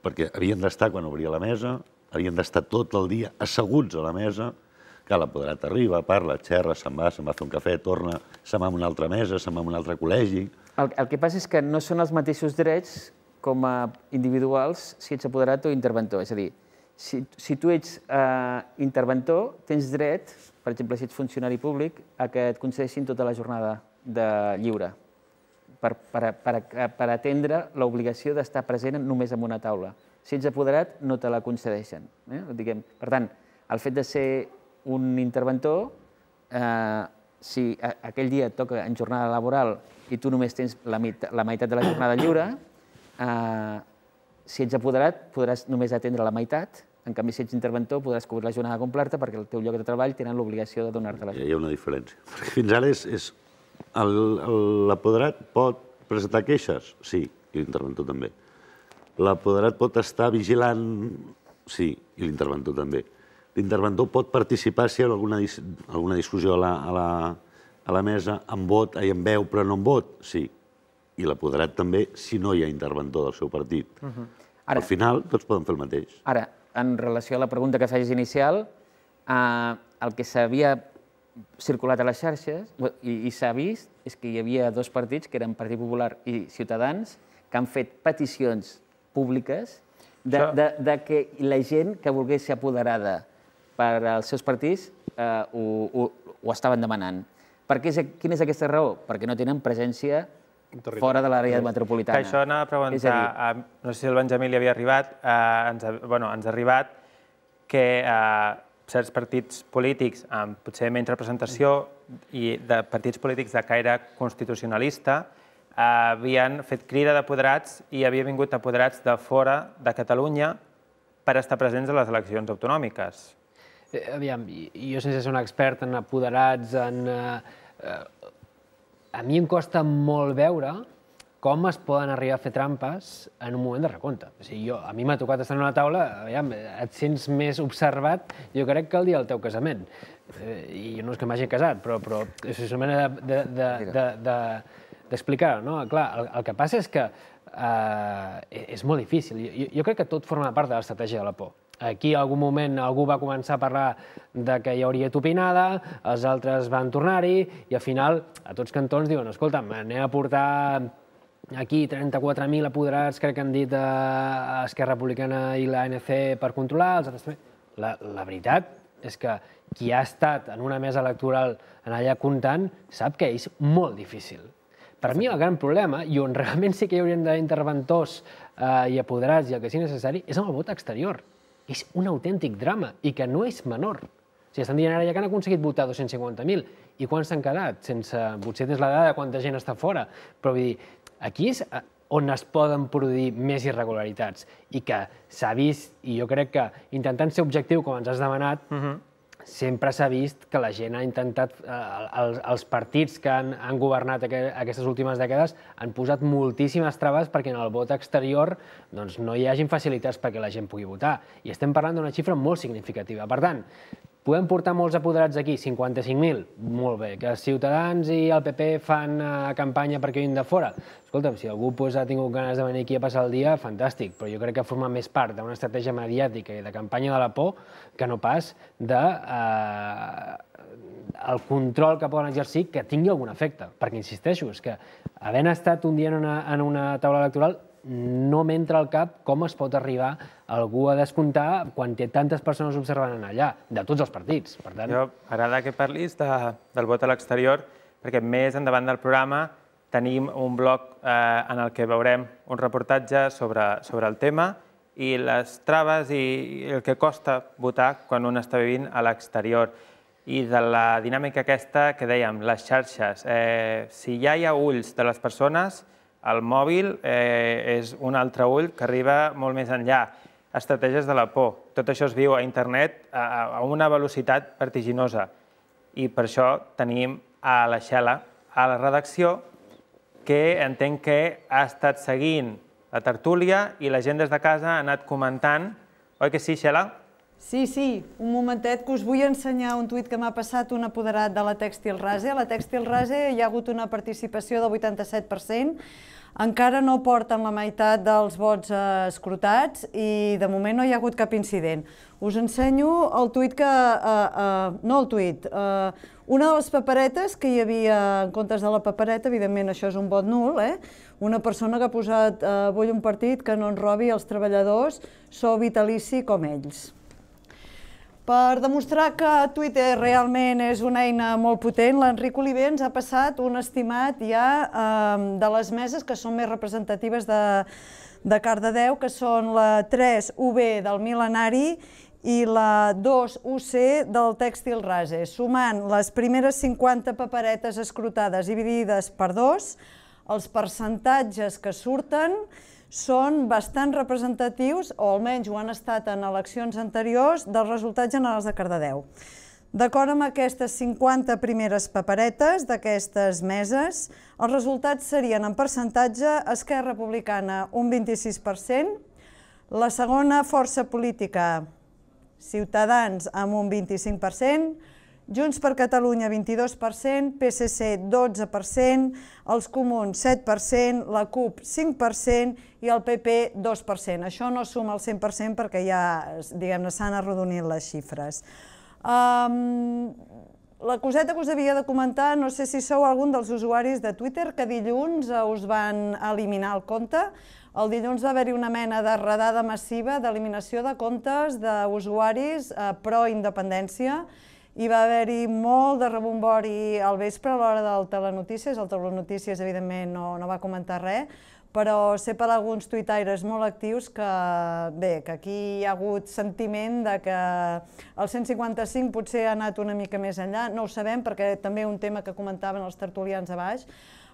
perquè havien d'estar quan obria la mesa, havien d'estar tot el dia asseguts a la mesa, que l'apoderat arriba, parla, xerra, se'n va, se'n va a fer un cafè, torna, se'n va a una altra mesa, se'n va a un altre col·legi. El que passa és que no són els mateixos drets com a individuals si ets apoderat o interventor. És a dir, si tu ets interventor, tens dret, per exemple, si ets funcionari públic, a que et concedeixin tota la jornada de lliure per atendre l'obligació d'estar present només en una taula. Si ets apoderat, no te la concedeixen. Per tant, el fet de ser un interventor, si aquell dia et toca en jornada laboral i tu només tens la meitat de la jornada lliure, si ets apoderat podràs només atendre la meitat. En canvi, si ets interventor, podràs cobrir la jornada completa perquè el teu lloc de treball tenen l'obligació de donar-te la jornada. Hi ha una diferència. Fins ara és... L'apoderat pot presentar queixes? Sí, i l'interventor també. L'apoderat pot estar vigilant? Sí, i l'interventor també. L'interventor pot participar si hi ha alguna discussió a la mesa amb vot, amb veu, però no amb vot? Sí. I l'apoderat també si no hi ha interventor del seu partit. Al final, tots poden fer el mateix. Ara, en relació a la pregunta que feies inicial, el que s'havia circulat a les xarxes i s'ha vist és que hi havia dos partits, que eren Partit Popular i Ciutadans, que han fet peticions públiques de que la gent que volgués ser apoderada per als seus partits ho estaven demanant. Quina és aquesta raó? Perquè no tenen presència fora de l'àrea metropolitana. Que això anava a preguntar, no sé si el Benjamí li havia arribat, ens ha arribat que certs partits polítics amb potser menys representació i de partits polítics de caire constitucionalista havien fet crida d'apoderats i havia vingut apoderats de fora de Catalunya per estar presents a les eleccions autonòmiques. Aviam, jo sense ser un expert en apoderats, en... A mi em costa molt veure com es poden arribar a fer trampes en un moment de recompte. A mi m'ha tocat estar en una taula, aviam, et sents més observat, jo crec que el dia del teu casament. I no és que m'hagi casat, però és una manera d'explicar-ho, no? Clar, el que passa és que és molt difícil. Jo crec que tot forma part de l'estratègia de la por. Aquí, en algun moment, algú va començar a parlar que hi hauria topinada, els altres van tornar-hi, i al final, a tots cantons diuen, escolta'm, anem a portar aquí trenta-quatre mil apoderats, crec que han dit a Esquerra Republicana i l'A N C per controlar, els altres també. La veritat és que qui ha estat en una mesa electoral en allà comptant sap que és molt difícil. Per mi el gran problema, i on realment sí que hi haurien d'interventors i apoderats i el que sigui necessari, és amb el vot exterior. És un autèntic drama i que no és menor. Estan dient ara ja que han aconseguit votar dos-cents cinquanta mil i quants s'han quedat? Potser tens la dada de quanta gent està fora, però vull dir, aquí és on es poden produir més irregularitats i que s'ha vist, i jo crec que intentant ser objectiu com ens has demanat, sempre s'ha vist que la gent ha intentat, els partits que han governat aquestes últimes dècades han posat moltíssimes traves perquè en el vot exterior no hi hagin facilitats perquè la gent pugui votar. I estem parlant d'una xifra molt significativa. Per tant, podem portar molts apoderats aquí, cinquanta-cinc mil, molt bé. Que Ciutadans i el P P fan campanya perquè vinguin de fora. Escolta'm, si algú ha tingut ganes de venir aquí a passar el dia, fantàstic, però jo crec que forma més part d'una estratègia mediàtica i de campanya de la por que no pas del control que poden exercir que tingui algun efecte. Perquè, insisteixo, és que havent estat un dia en una taula electoral no m'entra al cap com es pot arribar algú a descomptar quan té tantes persones observant allà, de tots els partits. Jo m'agrada que parlis del vot a l'exterior, perquè més endavant del programa tenim un blog en el que veurem un reportatge sobre el tema i les traves i el que costa votar quan un està vivint a l'exterior. I de la dinàmica aquesta que dèiem, les xarxes. Si ja hi ha ulls de les persones, el mòbil és un altre ull que arriba molt més enllà. Estratègies de la por. Tot això es viu a internet a una velocitat vertiginosa. I per això tenim a la Xela, a la redacció, que entenc que ha estat seguint la tertúlia i la gent des de casa ha anat comentant. Oi que sí, Xela? Sí, sí, un momentet que us vull ensenyar un tuit que m'ha passat un apoderat de la Tèxtil Rase. A la Tèxtil Rase hi ha hagut una participació del vuitanta-set per cent, encara no porten la meitat dels vots escrutats i de moment no hi ha hagut cap incident. Us ensenyo el tuit que... no el tuit, una de les paperetes que hi havia en comptes de la papereta, evidentment això és un vot nul, una persona que ha posat vull un partit que no ens robi els treballadors, sou vitalici com ells. Per demostrar que Twitter realment és una eina molt potent, l'Enric Oliver ens ha passat un estimat ja de les meses que són més representatives de Cardedeu, que són la tres U B del Mil·lenari i la dos U C del Tèxtil Rase. Sumant les primeres cinquanta paperetes escrutades dividides per dos, els percentatges que surten són bastant representatius, o almenys ho han estat en eleccions anteriors, dels resultats generals de Cardedeu. D'acord amb aquestes cinquanta primeres paperetes d'aquestes meses, els resultats serien en percentatge Esquerra Republicana un vint-i-sis per cent, la segona força política Ciutadans amb un vint-i-cinc per cent, Junts per Catalunya vint-i-dos per cent, P S C dotze per cent, els Comuns set per cent, la CUP cinc per cent i el P P dos per cent. Això no suma el cent per cent perquè ja, diguem-ne, s'han arrodonit les xifres. la coseta que us havia de comentar, no sé si sou algun dels usuaris de Twitter, que dilluns us van eliminar el compte. El dilluns va haver-hi una mena de redada massiva d'eliminació de comptes d'usuaris pro-independència i va haver-hi molt de rebombori al vespre a l'hora del Telenotícies. El Telenotícies, evidentment, no va comentar res, però sé per alguns tuitaires molt actius que, bé, que aquí hi ha hagut sentiment de que el cent cinquanta cinc potser ha anat una mica més enllà. No ho sabem, perquè també un tema que comentaven els tertulians a baix,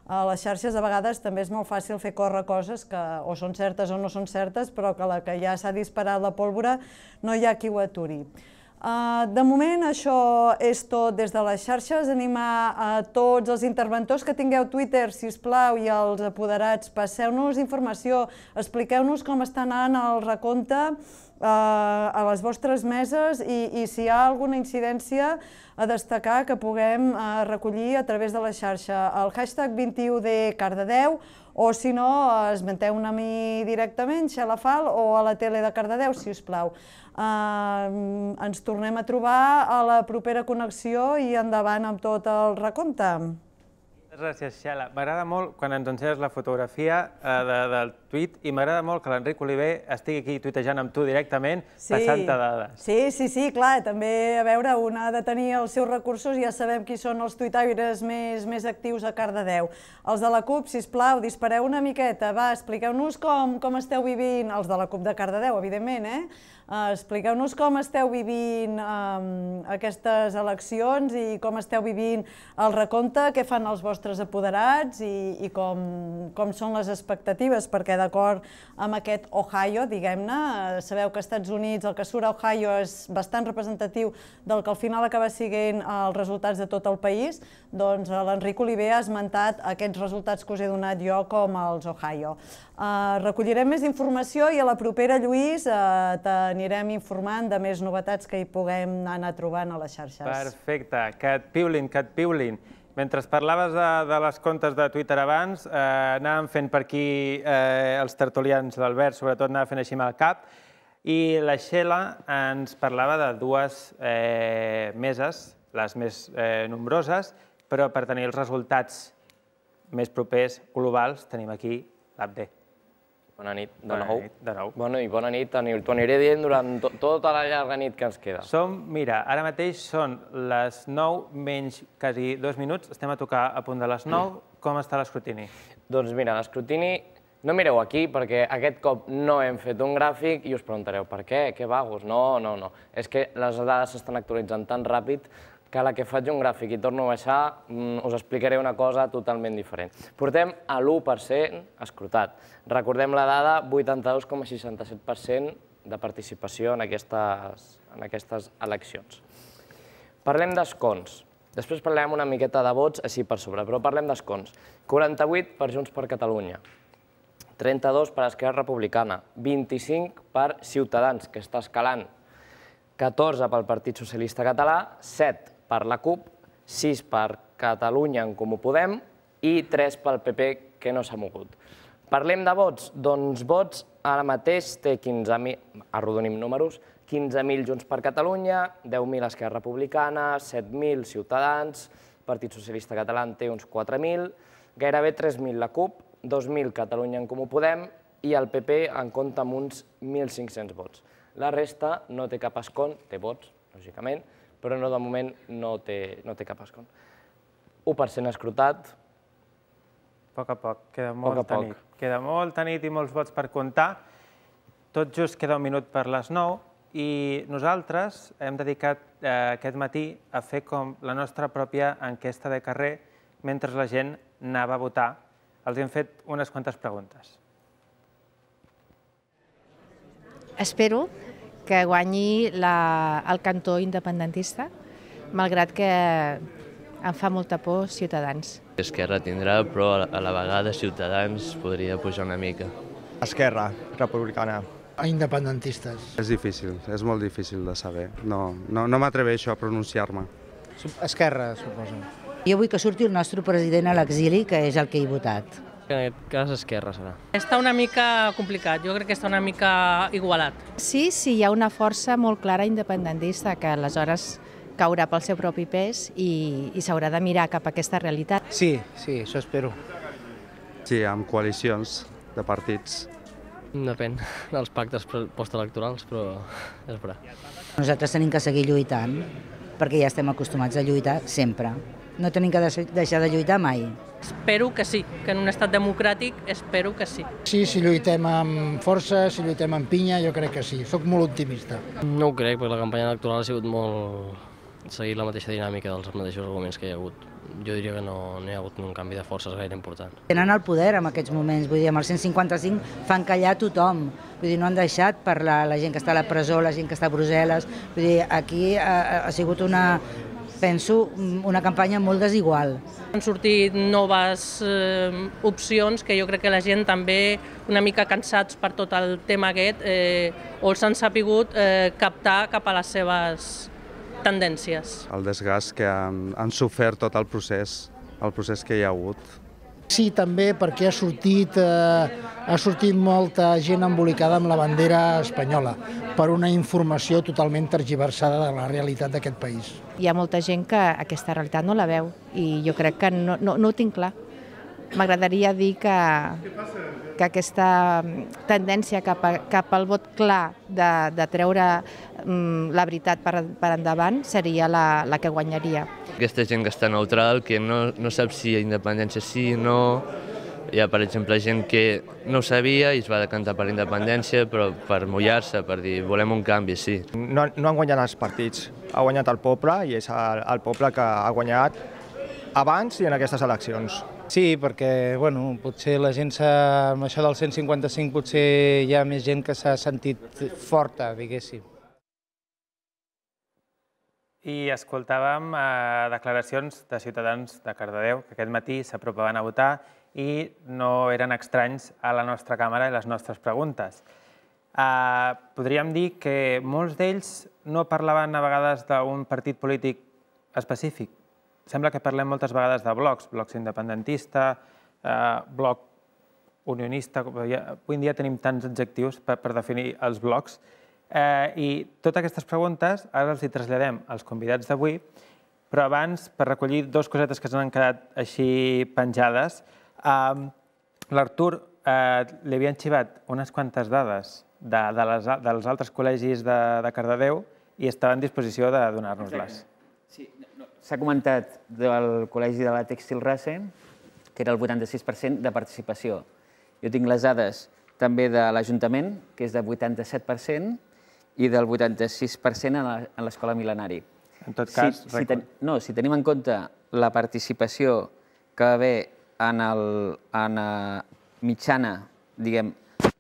a les xarxes a vegades també és molt fàcil fer córrer coses que o són certes o no són certes, però que la que ja s'ha disparat la pólvora no hi ha qui ho aturi. De moment això és tot des de les xarxes. Animar a tots els interventors que tingueu Twitter, sisplau, i els apoderats, passeu-nos informació, expliqueu-nos com està anant el recompte a les vostres meses i si hi ha alguna incidència a destacar que puguem recollir a través de la xarxa. El hashtag vint i u de Cardedeu, o si no, esmenteu-me a mi directament, Xelafal, o a la tele de Cardedeu, si us plau. Ens tornem a trobar a la propera connexió i endavant amb tot el recompte. Gràcies, Xela. M'agrada molt quan ens ensenyes la fotografia del tuit i m'agrada molt que l'Enric Oliver estigui aquí tuitejant amb tu directament, passant-te dades. Sí, sí, sí, clar, també, a veure, un ha de tenir els seus recursos i ja sabem qui són els tuitaires més actius a Cardedeu. Els de la CUP, sisplau, dispareu una miqueta, va, expliqueu-nos com esteu vivint, els de la CUP de Cardedeu, evidentment, eh? Expliqueu-nos com esteu vivint aquestes eleccions i com esteu vivint el recompte, què fan els vostres apoderats i com són les expectatives, perquè d'acord amb aquest Ohio, diguem-ne, sabeu que als Estats Units el que surt a Ohio és bastant representatiu del que al final acaba sent els resultats de tot el país, doncs l'Enric Oliver ha esmentat aquests resultats que us he donat jo com els Ohio. Recollirem més informació i a la propera, Lluís, t'anirem informant de més novetats que hi puguem anar trobant a les xarxes. Perfecte, que et piulin, que et piulin. Mentre parlaves de les comptes de Twitter abans, anàvem fent per aquí els tertulians, l'Albert sobretot anava fent així amb el cap, i la Xela ens parlava de dues meses, les més nombroses, però per tenir els resultats més propers, globals, tenim aquí l'A B D. Bona nit, de nou. De nou. Bona i bona nit, t'ho aniré dient durant tota la llarga nit que ens queda. Som, mira, ara mateix són les nou menys quasi dos minuts, estem a tocar a punt de les nou. Com està l'escrutini? Doncs mira, l'escrutini, no mireu aquí perquè aquest cop no hem fet un gràfic i us preguntareu per què, que vagos, no, no, no. És que les dades s'estan actualitzant tan ràpid que a la que faig un gràfic i torno a baixar us explicaré una cosa totalment diferent. Portem a l'u per cent escrutat. Recordem la dada, vuitanta-dos coma seixanta-set per cent de participació en aquestes eleccions. Parlem d'escons. Després parlem una miqueta de vots així per sobre, però parlem d'escons. quaranta-vuit per Junts per Catalunya, trenta-dos per Esquerra Republicana, vint-i-cinc per Ciutadans, que està escalant, catorze pel Partit Socialista Català, set per la CUP, sis per Catalunya en Comú Podem i tres pel P P, que no s'ha mogut. Parlem de vots? Doncs vots ara mateix té quinze mil, arrodonim números, quinze mil Junts per Catalunya, deu mil Esquerra Republicana, set mil Ciutadans, Partit Socialista Català en té uns quatre mil, gairebé tres mil la CUP, dos mil Catalunya en Comú Podem i el P P en compta amb uns mil cinc-cents vots. La resta no té cap escon, té vots, lògicament, però de moment no té cap escon. u per cent escrutat. A poc a poc, queda molta nit. Queda molta nit i molts vots per comptar. Tot just queda un minut per les nou i nosaltres hem dedicat aquest matí a fer com la nostra pròpia enquesta de carrer mentre la gent anava a votar. Els hem fet unes quantes preguntes. Espero que guanyi el cantó independentista, malgrat que em fa molta por Ciutadans. Esquerra tindrà, però a la vegada Ciutadans podria pujar una mica. Esquerra Republicana. A independentistes. És difícil, és molt difícil de saber. No m'atreveixo a pronunciar-me. Esquerra, suposo. Jo vull que surti el nostre president a l'exili, que és el que he votat. En aquest cas, Esquerra serà. Està una mica complicat, jo crec que està una mica igualat. Sí, sí, hi ha una força molt clara independentista, que aleshores caurà pel seu propi pes i, i s'haurà de mirar cap a aquesta realitat. Sí, sí, això espero. Sí, amb coalicions de partits. Depèn dels pactes postelectorals, però és vera. Nosaltres tenim que seguir lluitant, perquè ja estem acostumats a lluitar sempre. No tenim que deixar de lluitar mai. Espero que sí, que en un estat democràtic espero que sí. Sí, si lluitem amb força, si lluitem amb pinya, jo crec que sí. Soc molt optimista. No ho crec, perquè la campanya electoral ha sigut molt... seguir la mateixa dinàmica dels mateixos arguments que hi ha hagut. Jo diria que no, no hi ha hagut un canvi de forces gaire important. Tenen el poder en aquests moments, vull dir, amb el cent cinquanta-cinc fan callar tothom. Vull dir, no han deixat parlar la gent que està a la presó, la gent que està a Brussel·les. Vull dir, aquí ha, ha sigut una, penso, una campanya molt desigual. Han sortit noves eh, opcions que jo crec que la gent també, una mica cansats per tot el tema aquest, eh, o els han sapigut eh, captar cap a les seves tendències. El desgast que han, han sofert tot el procés, el procés que hi ha hagut. Sí, també perquè ha sortit, eh, ha sortit molta gent embolicada amb la bandera espanyola per una informació totalment tergiversada de la realitat d'aquest país. Hi ha molta gent que aquesta realitat no la veu i jo crec que no, no, no ho tinc clar. M'agradaria dir que, que aquesta tendència cap, a, cap al vot clar de, de treure um, la veritat per, per endavant seria la, la que guanyaria. Aquesta gent que està neutral, que no, no sap si hi ha independència sí o no. Hi ha, per exemple, gent que no ho sabia i es va decantar per la independència, però per mullar-se, per dir volem un canvi, sí. No, no han guanyat els partits, ha guanyat el poble i és el, el poble que ha guanyat abans i en aquestes eleccions. Sí, perquè bueno, potser la gent, amb això del cent cinquanta-cinc, potser hi ha més gent que s'ha sentit forta, diguéssim. I escoltàvem eh, declaracions de ciutadans de Cardedeu que aquest matí s'apropaven a votar i no eren estranys a la nostra càmera i les nostres preguntes. Eh, podríem dir que molts d'ells no parlaven a vegades d'un partit polític específic. Sembla que parlem moltes vegades de blocs, blocs independentista, eh, bloc unionista. Avui en dia tenim tants adjectius per, per definir els blocs. Eh, I totes aquestes preguntes ara els hi traslladem als convidats d'avui, però abans, per recollir dues cosetes que s'han quedat així penjades, eh, l'Artur eh, li havien xivat unes quantes dades de, de les, dels altres col·legis de, de Cardedeu i estava en disposició de donar-nos-les. Sí, s'ha comentat del Col·legi de la Tèxtil Rase, que era el vuitanta-sis per cent de participació. Jo tinc les dades també de l'Ajuntament, que és del vuitanta-set per cent, i del vuitanta-sis per cent en l'Escola Mil·lenari. En tot cas... Si, si ten, no, si tenim en compte la participació que va haver en, el, en a mitjana, diguem,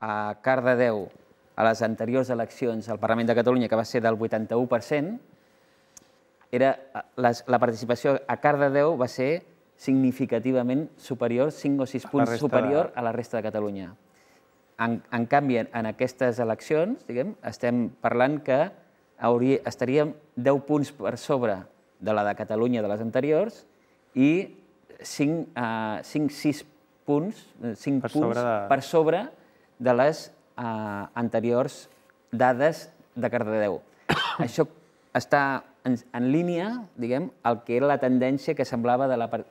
a Cardedeu, a les anteriors eleccions al Parlament de Catalunya, que va ser del vuitanta-u per cent, era, les, la participació a Cardedeu va ser significativament superior, cinc o sis punts superior a la resta de Catalunya. En, en canvi, en aquestes eleccions, diguem, estem parlant que hauria, estaríem deu punts per sobre de la de Catalunya de les anteriors i cinc a sis punts, cinc per, punts sobre de... per sobre de les uh, anteriors dades de Cardedeu. Això està en, en línia, diguem, el que era la tendència que semblava de la part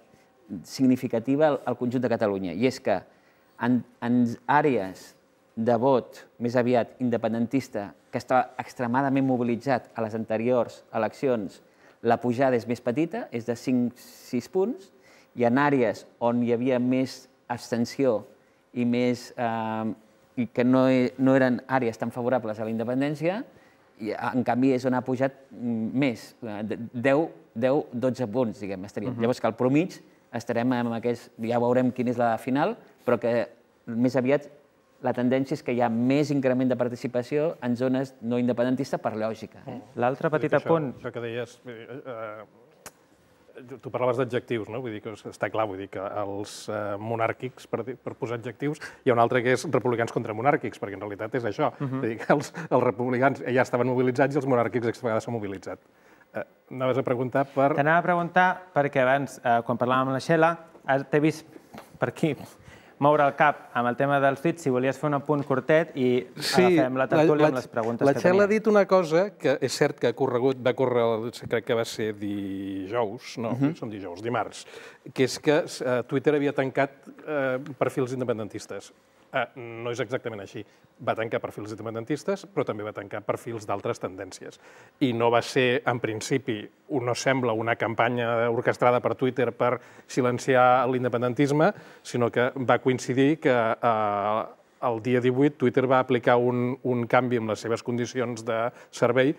significativa al, al conjunt de Catalunya, i és que en, en àrees de vot més aviat independentista, que estava extremadament mobilitzat a les anteriors eleccions, la pujada és més petita, és de cinc a sis punts, i en àrees on hi havia més abstenció i, més, eh, i que no, no eren àrees tan favorables a la independència, i en canvi és on ha pujat més, deu a dotze punts, diguem, estaríem. Uh-huh. Llavors que al promig estarem amb aquests, ja veurem quina és la final, però que més aviat la tendència és que hi ha més increment de participació en zones no independentistes per lògica. Eh? L'altre petit apunt... Això que deies, eh, tu parlaves d'adjectius, no? Vull dir que està clar, vull dir que els eh, monàrquics, per, per posar adjectius, hi ha un altre que és republicans contra monàrquics, perquè en realitat és això. Uh-huh. Vull dir que els, els republicans ja estaven mobilitzats i els monàrquics aquesta vegada s'han mobilitzat. Eh, anaves a preguntar per... T'anava a preguntar perquè abans, eh, quan parlàvem amb la Xela, t'he vist per aquí moure el cap amb el tema dels tuits, si volies fer un apunt curtet i agafem la tertúlia amb les preguntes que tenim. La Txell ha dit una cosa que és cert que ha corregut, va córrer, crec que va ser dijous, no, som dijous, dimarts, que és que Twitter havia tancat perfils independentistes. No és exactament així. Va tancar perfils independentistes, però també va tancar perfils d'altres tendències. I no va ser, en principi, no sembla una campanya orquestrada per Twitter per silenciar l'independentisme, sinó que va coincidir que el dia divuit Twitter va aplicar un canvi en les seves condicions de servei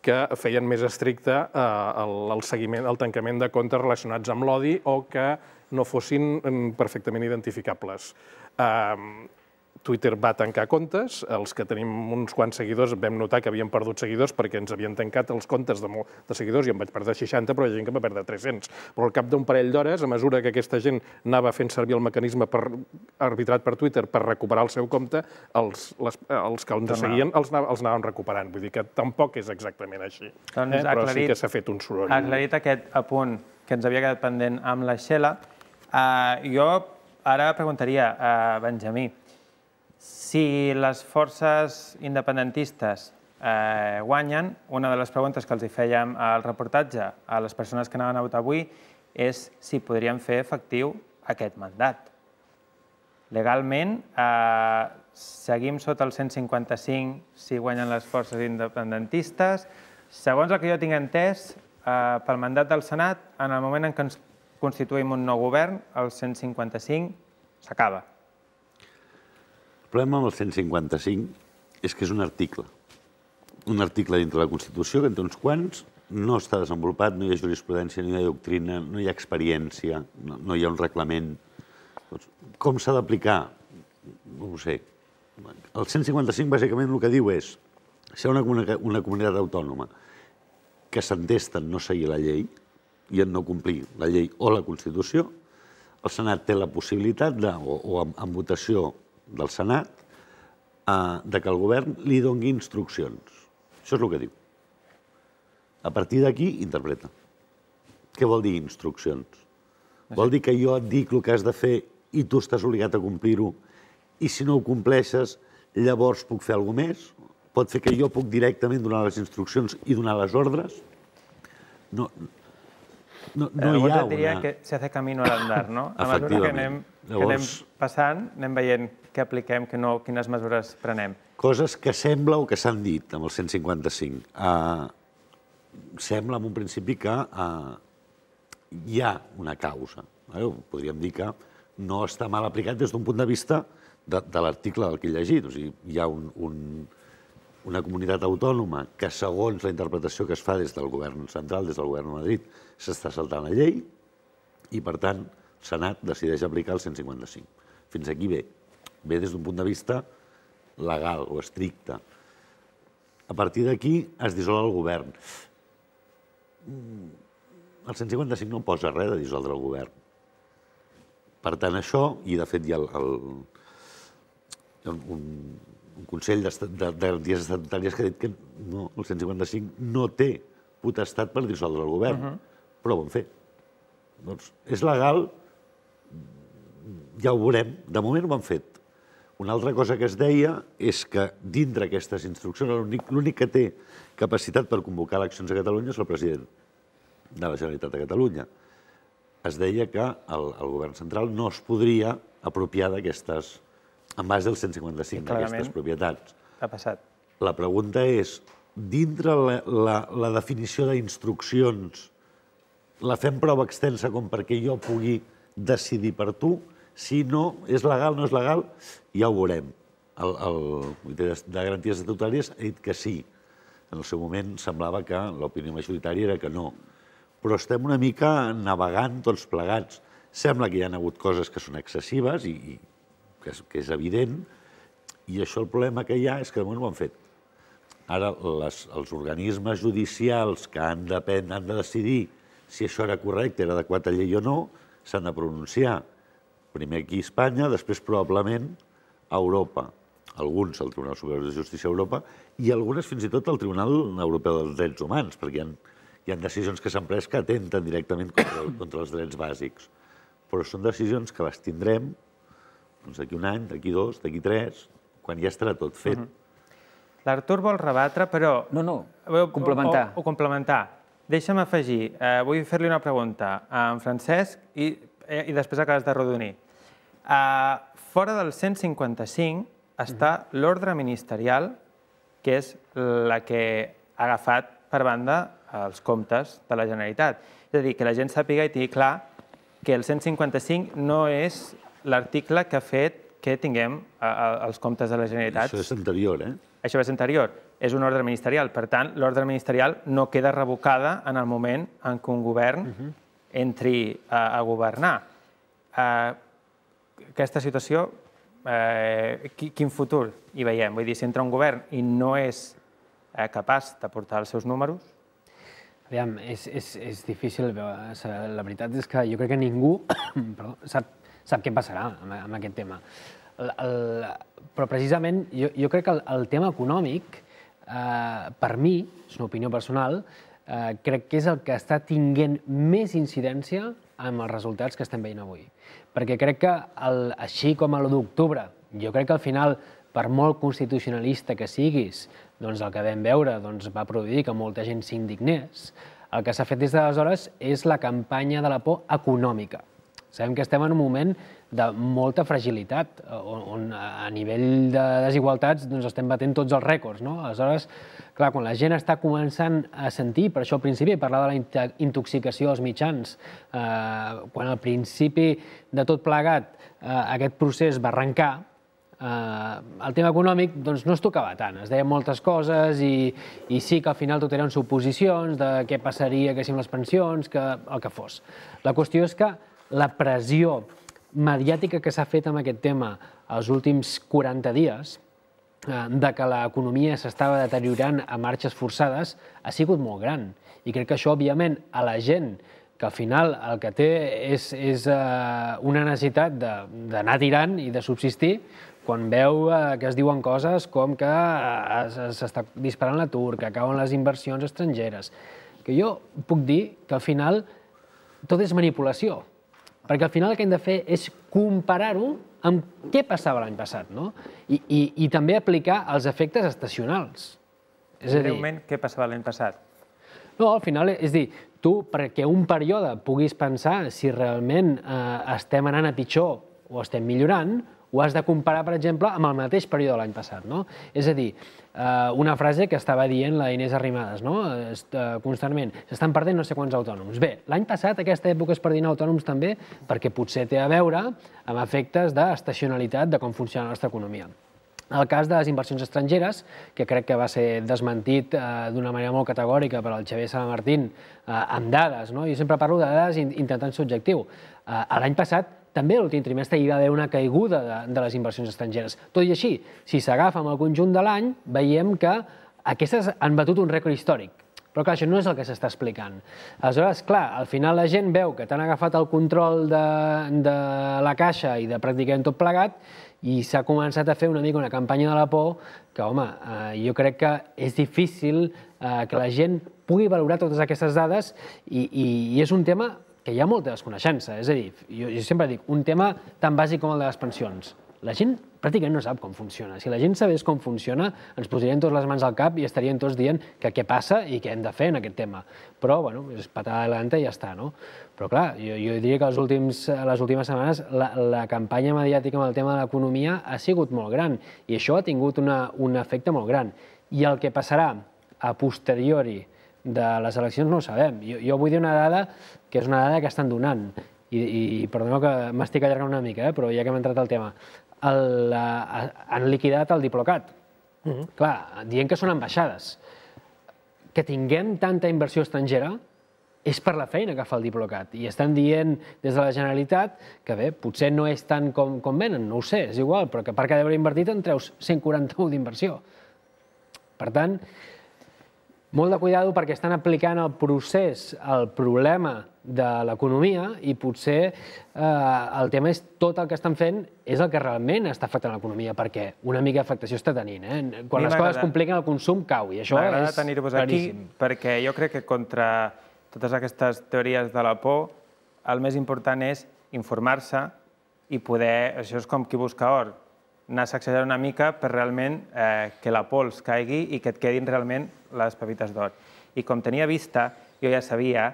que feien més estricte el seguiment, el tancament de comptes relacionats amb l'odi o que no fossin perfectament identificables. Twitter va tancar comptes, els que tenim uns quants seguidors vam notar que havíem perdut seguidors perquè ens havien tancat els comptes de seguidors i em vaig perdre seixanta, però hi ha gent que va perdre tres-cents. Però al cap d'un parell d'hores, a mesura que aquesta gent anava fent servir el mecanisme arbitrat per Twitter per recuperar el seu compte, els que ens seguien els anaven recuperant. Vull dir que tampoc és exactament així, però sí que s'ha fet un soroll. Aclarit aquest apunt que ens havia quedat pendent amb la Xela, jo ara preguntaria a Benjamí, si les forces independentistes guanyen, una de les preguntes que els fèiem al reportatge a les persones que anaven a votar avui és si podrien fer efectiu aquest mandat. Legalment, seguim sota el cent cinquanta cinc si guanyen les forces independentistes. Segons el que jo tinc entès, pel mandat del Senat, en el moment en què ens constituïm un nou govern, el cent cinquanta cinc s'acaba. El problema amb el cent cinquanta cinc és que és un article. Un article dintre la Constitució que en té uns quants, no està desenvolupat, no hi ha jurisprudència, no hi ha doctrina, no hi ha experiència, no hi ha un reglament. Com s'ha d'aplicar? No ho sé. El cent cinquanta cinc bàsicament el que diu és si hi ha una comunitat autònoma que s'entesten no seguir la llei i en no complir la llei o la Constitució, el Senat té la possibilitat, o en votació del Senat, que el govern li doni instruccions. Això és el que diu. A partir d'aquí, interpreta. Què vol dir instruccions? Vol dir que jo et dic el que has de fer i tu estàs obligat a complir-ho i si no ho compleixes, llavors puc fer alguna cosa més? Pot fer que jo puc directament donar les instruccions i donar les ordres? No... No hi ha una... diria que se hace camino al andar, no? A mesura que anem passant, anem veient què apliquem, quines mesures prenem. Coses que sembla o que s'han dit amb el cent cinquanta cinc. Sembla, en un principi, que hi ha una causa. Podríem dir que no està mal aplicat des d'un punt de vista de l'article del que he llegit. O sigui, hi ha una comunitat autònoma que, segons la interpretació que es fa des del govern central, des del govern de Madrid, s'està saltant la llei i, per tant, el Senat decideix aplicar el cent cinquanta cinc. Fins aquí bé. Bé des d'un punt de vista legal o estricte. A partir d'aquí es dissol el govern. El cent cinquanta cinc no posa res de dissoldre el govern. Per tant, això, i de fet hi ha un Consell de Garanties Estatutàries que ha dit que el cent cinquanta cinc no té potestat per dissoldre el govern, però ho han fet. Doncs és legal, ja ho veurem, de moment ho han fet. Una altra cosa que es deia és que dintre aquestes instruccions l'únic que té capacitat per convocar eleccions a Catalunya és el president de la Generalitat de Catalunya. Es deia que el govern central no es podria apropiar d'aquestes, en base del cent cinquanta cinc, d'aquestes propietats. Ha passat. La pregunta és, dintre la definició d'instruccions, la fem prou extensa com perquè jo pugui decidir per tu? Si no, és legal, no és legal, ja ho veurem. El Comitè de Garanties Estatutàries ha dit que sí. En el seu moment semblava que l'opinió majoritària era que no. Però estem una mica navegant tots plegats. Sembla que hi ha hagut coses que són excessives i que és evident, i això el problema que hi ha és que de moment ho han fet. Ara, els organismes judicials que han de decidir si això era correcte, era adequat a llei o no, s'han de pronunciar. Primer aquí a Espanya, després probablement a Europa. Alguns al Tribunal Superior de Justícia a Europa i algunes fins i tot al Tribunal Europeu dels Drets Humans, perquè hi ha decisions que s'han pres que atenten directament contra els drets bàsics. Però són decisions que les tindrem Doncs d'aquí un any, d'aquí dos, d'aquí tres, quan ja estarà tot fet. L'Artur vol rebatre, però... No, no, complementar. O complementar. Deixa'm afegir, vull fer-li una pregunta a en Francesc i després acabes de rodonir. Fora del cent cinquanta-cinc està l'ordre ministerial, que és la que ha agafat per banda els comptes de la Generalitat. És a dir, que la gent sàpiga i tingui clar que el cent cinquanta-cinc no és l'article que ha fet que tinguem els comptes de la Generalitat. Això és anterior, eh? Això és anterior. És un ordre ministerial. Per tant, l'ordre ministerial no queda revocada en el moment en què un govern entri a governar. Aquesta situació, quin futur hi veiem? Vull dir, si entra un govern i no és capaç de portar els seus números... Aviam, és difícil veure. La veritat és que jo crec que ningú sap què passarà amb aquest tema. Però precisament jo crec que el tema econòmic, per mi, és una opinió personal, crec que és el que està tinguent més incidència amb els resultats que estem veient avui. Perquè crec que, així com a l'u d'octubre, jo crec que al final, per molt constitucionalista que siguis, doncs el que vam veure va produir que molta gent s'indignés. El que s'ha fet des d'aleshores és la campanya de la por econòmica. Sabem que estem en un moment de molta fragilitat, on a nivell de desigualtats estem batent tots els rècords. Aleshores, clar, quan la gent està començant a sentir, per això al principi parlava de la intoxicació dels mitjans, quan al principi de tot plegat aquest procés va arrencar, el tema econòmic no es tocava tant, es deien moltes coses i sí que al final tot eren suposicions de què passaria amb les pensions, el que fos. La qüestió és que la pressió mediàtica que s'ha fet amb aquest tema els últims quaranta dies, de que l'economia s'estava deteriorant a marxes forçades, ha sigut molt gran. I crec que això, òbviament, a la gent que al final el que té és una necessitat d'anar tirant i de subsistir, quan veu que es diuen coses com que s'està disparant l'atur, que acaben les inversions estrangeres, que jo puc dir que al final tot és manipulació, perquè al final el que hem de fer és comparar-ho amb què passava l'any passat, i també aplicar els efectes estacionals. Breument, què passava l'any passat? No, al final, és dir, tu, perquè un període puguis pensar si realment estem anant a pitjor o estem millorant, ho has de comparar, per exemple, amb el mateix període de l'any passat. És a dir, una frase que estava dient la Inés Arrimadas constantment, s'estan perdent no sé quants autònoms. Bé, l'any passat aquesta època es perdien autònoms també perquè potser té a veure amb efectes d'estacionalitat de com funciona la nostra economia. El cas de les inversions estrangeres, que crec que va ser desmentit d'una manera molt categòrica per al Xavier Salamartín amb dades, jo sempre parlo de dades intentant ser objectiu. L'any passat també a l'últim trimestre hi va haver una caiguda de les inversions estrangeres. Tot i així, si s'agafa amb el conjunt de l'any, veiem que aquestes han batut un rècord històric. Però clar, això no és el que s'està explicant. Aleshores, clar, al final la gent veu que t'han agafat el control de la caixa i de pràcticament tot plegat i s'ha començat a fer una mica una campanya de la por que, home, jo crec que és difícil que la gent pugui valorar totes aquestes dades i és un tema que hi ha molta desconeixença. És a dir, jo sempre dic, un tema tan bàsic com el de les pensions. La gent pràcticament no sap com funciona. Si la gent sabés com funciona, ens posarien tots les mans al cap i estarien tots dient que què passa i què hem de fer en aquest tema. Però, bueno, és patada adelante i ja està, no? Però, clar, jo diria que les últimes setmanes la campanya mediàtica amb el tema de l'economia ha sigut molt gran i això ha tingut un efecte molt gran. I el que passarà a posteriori de les eleccions no ho sabem. Jo vull dir una dada que és una dada que estan donant, i perdoneu que m'estic allargant una mica, però ja que hem entrat al tema, han liquidat el Diplocat. Clar, dient que són ambaixades. Que tinguem tanta inversió estrangera és per la feina que fa el Diplocat, i estan dient des de la Generalitat que bé, potser no és tant com venen, no ho sé, és igual, però que per cada euro invertit en treus cent quaranta-u d'inversió. Per tant, molt de cuidado perquè estan aplicant el procés al problema de l'economia i potser el tema és tot el que estan fent és el que realment està afectant l'economia, perquè una mica d'afectació està tenint. Quan les coses compliquen el consum cau i això és claríssim. M'agrada tenir-vos aquí perquè jo crec que contra totes aquestes teories de la por el més important és informar-se i poder, això és com qui busca or, anar sacsejant una mica per realment que la pols caigui i que et quedin realment les pepites d'or. I com tenia vista, jo ja sabia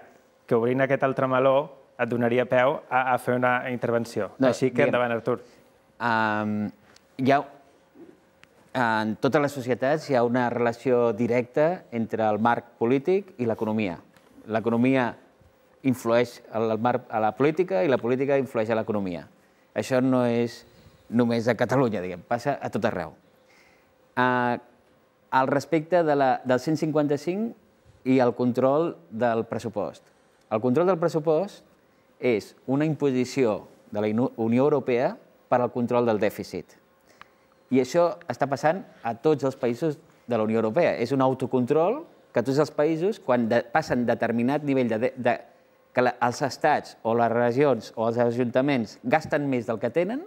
que obrint aquest altre meló et donaria peu a fer una intervenció. Així que endavant, Artur. Hi ha, en totes les societats hi ha una relació directa entre el marc polític i l'economia. L'economia influeix a la política i la política influeix a l'economia. Això no és només a Catalunya, diguem, passa a tot arreu. Al respecte del cent cinquanta-cinc i el control del pressupost. El control del pressupost és una imposició de la Unió Europea per al control del dèficit. I això està passant a tots els països de la Unió Europea. És un autocontrol que tots els països, quan passen determinat nivell de... que els estats o les regions o els ajuntaments gasten més del que tenen,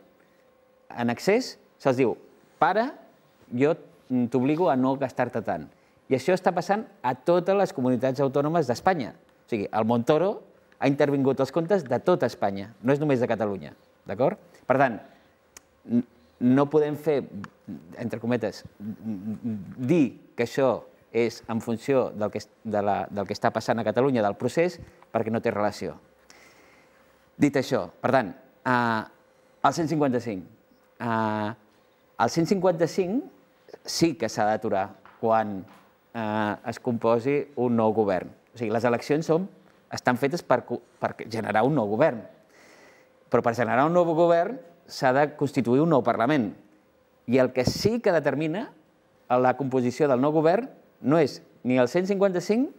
en excés, se'ls diu, para, jo t'obligo a no gastar-te tant. I això està passant a totes les comunitats autònomes d'Espanya. O sigui, el Montoro ha intervingut els comptes de tota Espanya, no és només de Catalunya, d'acord? Per tant, no podem fer, entre cometes, dir que això és en funció del que està passant a Catalunya, del procés, perquè no té relació. Dit això, per tant, el cent cinquanta-cinc. El cent cinquanta-cinc sí que s'ha d'aturar quan es composi un nou govern. O sigui, les eleccions estan fetes per generar un nou govern. Però per generar un nou govern s'ha de constituir un nou Parlament. I el que sí que determina la composició del nou govern no és ni el cent cinquanta-cinc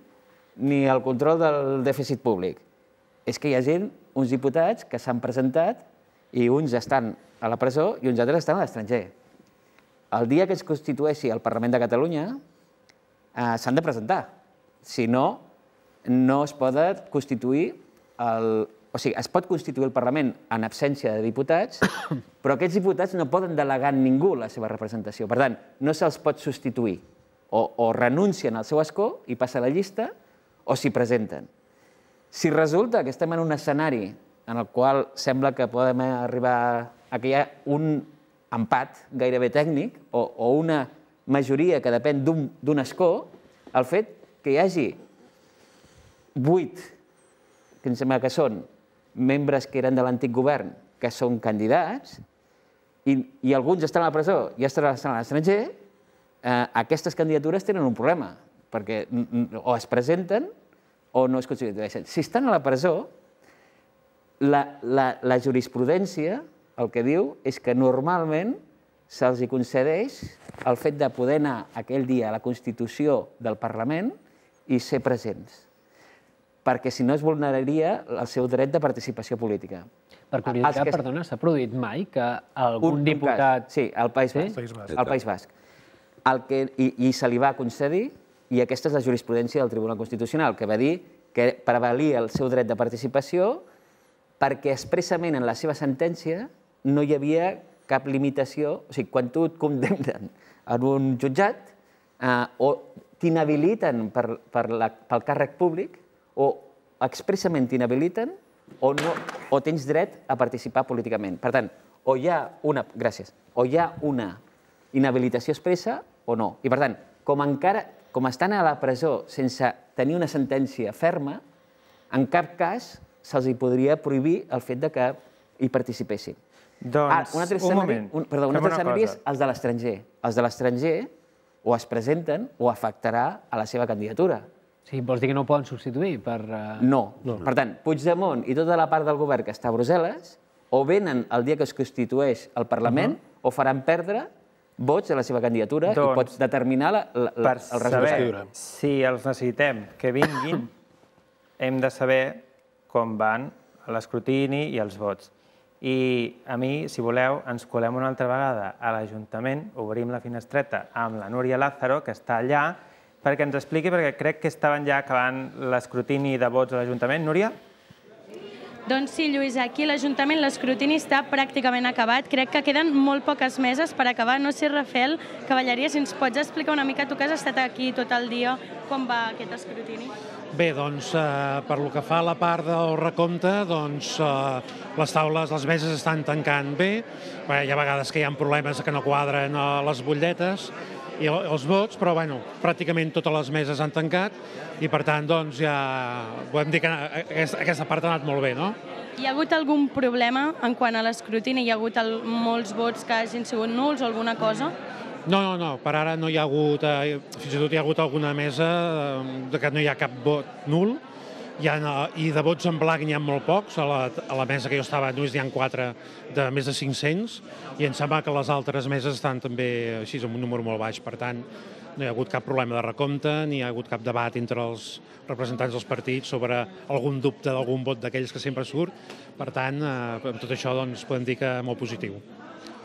ni el control del dèficit públic. És que hi ha gent, uns diputats, que s'han presentat i uns estan a la presó i uns altres estan a l'estranger. El dia que es constitueixi el Parlament de Catalunya s'han de presentar. Si no, no es pot constituir el... O sigui, es pot constituir el Parlament en absència de diputats, però aquests diputats no poden delegar en ningú la seva representació. Per tant, no se'ls pot substituir. O renuncien al seu escó i passa a la llista, o s'hi presenten. Si resulta que estem en un escenari en el qual sembla que podem arribar a que hi ha un empat gairebé tècnic o una majoria que depèn d'un escó, el fet que hi hagi vuit, que em sembla que són, membres que eren de l'antic govern, que són candidats, i alguns estan a la presó i estan a l'estranger, aquestes candidatures tenen un problema, perquè o es presenten o no es constitueixen. Si estan a la presó, la jurisprudència el que diu és que normalment se'ls concedeix el fet de poder anar aquell dia a la Constitució del Parlament i ser presents, perquè si no es vulneraria el seu dret de participació política. Per curiositat, perdona, s'ha produït mai que algun diputat... Sí, al País Basc. I se li va concedir, i aquesta és la jurisprudència del Tribunal Constitucional, que va dir que prevalia el seu dret de participació perquè expressament en la seva sentència no hi havia cap limitació. O sigui, quan tu et condemnen en un jutjat o t'inhabiliten pel càrrec públic o expressament t'inhabiliten o tens dret a participar políticament. Per tant, o hi ha una... Gràcies. O hi ha una inhabilitació expressa o no. I per tant, com encara... com estan a la presó sense tenir una sentència ferma, en cap cas se'ls podria prohibir el fet que hi participessin. Doncs, un moment. Perdó, un altre escenari és els de l'estranger. Els de l'estranger o es presenten o afectarà a la seva candidatura. Sí, vols dir que no ho poden substituir per... No. Per tant, Puigdemont i tota la part del govern que està a Brussel·les o venen el dia que es constitueix el Parlament o faran perdre vots a la seva candidatura i pots determinar el resultat. Per saber si els necessitem que vinguin, hem de saber com van l'escrutini i els vots. I a mi, si voleu, ens colem una altra vegada a l'Ajuntament, obrim la finestreta amb la Núria Lázaro, que està allà, perquè ens expliqui, perquè crec que estaven ja acabant l'escrutini de vots a l'Ajuntament. Núria? Doncs sí, Lluís, aquí a l'Ajuntament l'escrutini està pràcticament acabat. Crec que queden molt poques meses per acabar. No sé, Rafael Cavalleria, si ens pots explicar una mica, tu que has estat aquí tot el dia, com va aquest escrutini? Bé, doncs, eh, per lo que fa a la part del recompte, doncs, eh, les taules, les meses estan tancant bé. Bé, hi ha vegades que hi ha problemes que no quadren eh, les butlletes i els vots, però bueno, pràcticament totes les meses han tancat i per tant doncs, ja podem dir que aquesta, aquesta part ha anat molt bé, no? Hi ha hagut algun problema en quant a l'escrutini? Hi ha hagut el, molts vots que hagin sigut nuls o alguna cosa? No, no, no, per ara no hi ha hagut, eh, fins i tot hi ha hagut alguna mesa eh, que no hi ha cap vot nul, hi ha, i de vots en blanc n'hi ha molt pocs, a la, a la mesa que jo estava només n'hi ha quatre de més de cinc-cents, i em sembla que les altres meses estan també així amb un número molt baix, per tant no hi ha hagut cap problema de recompte, ni hi ha hagut cap debat entre els representants dels partits sobre algun dubte d'algun vot d'aquells que sempre surt, per tant, eh, amb tot això doncs, podem dir que molt positiu.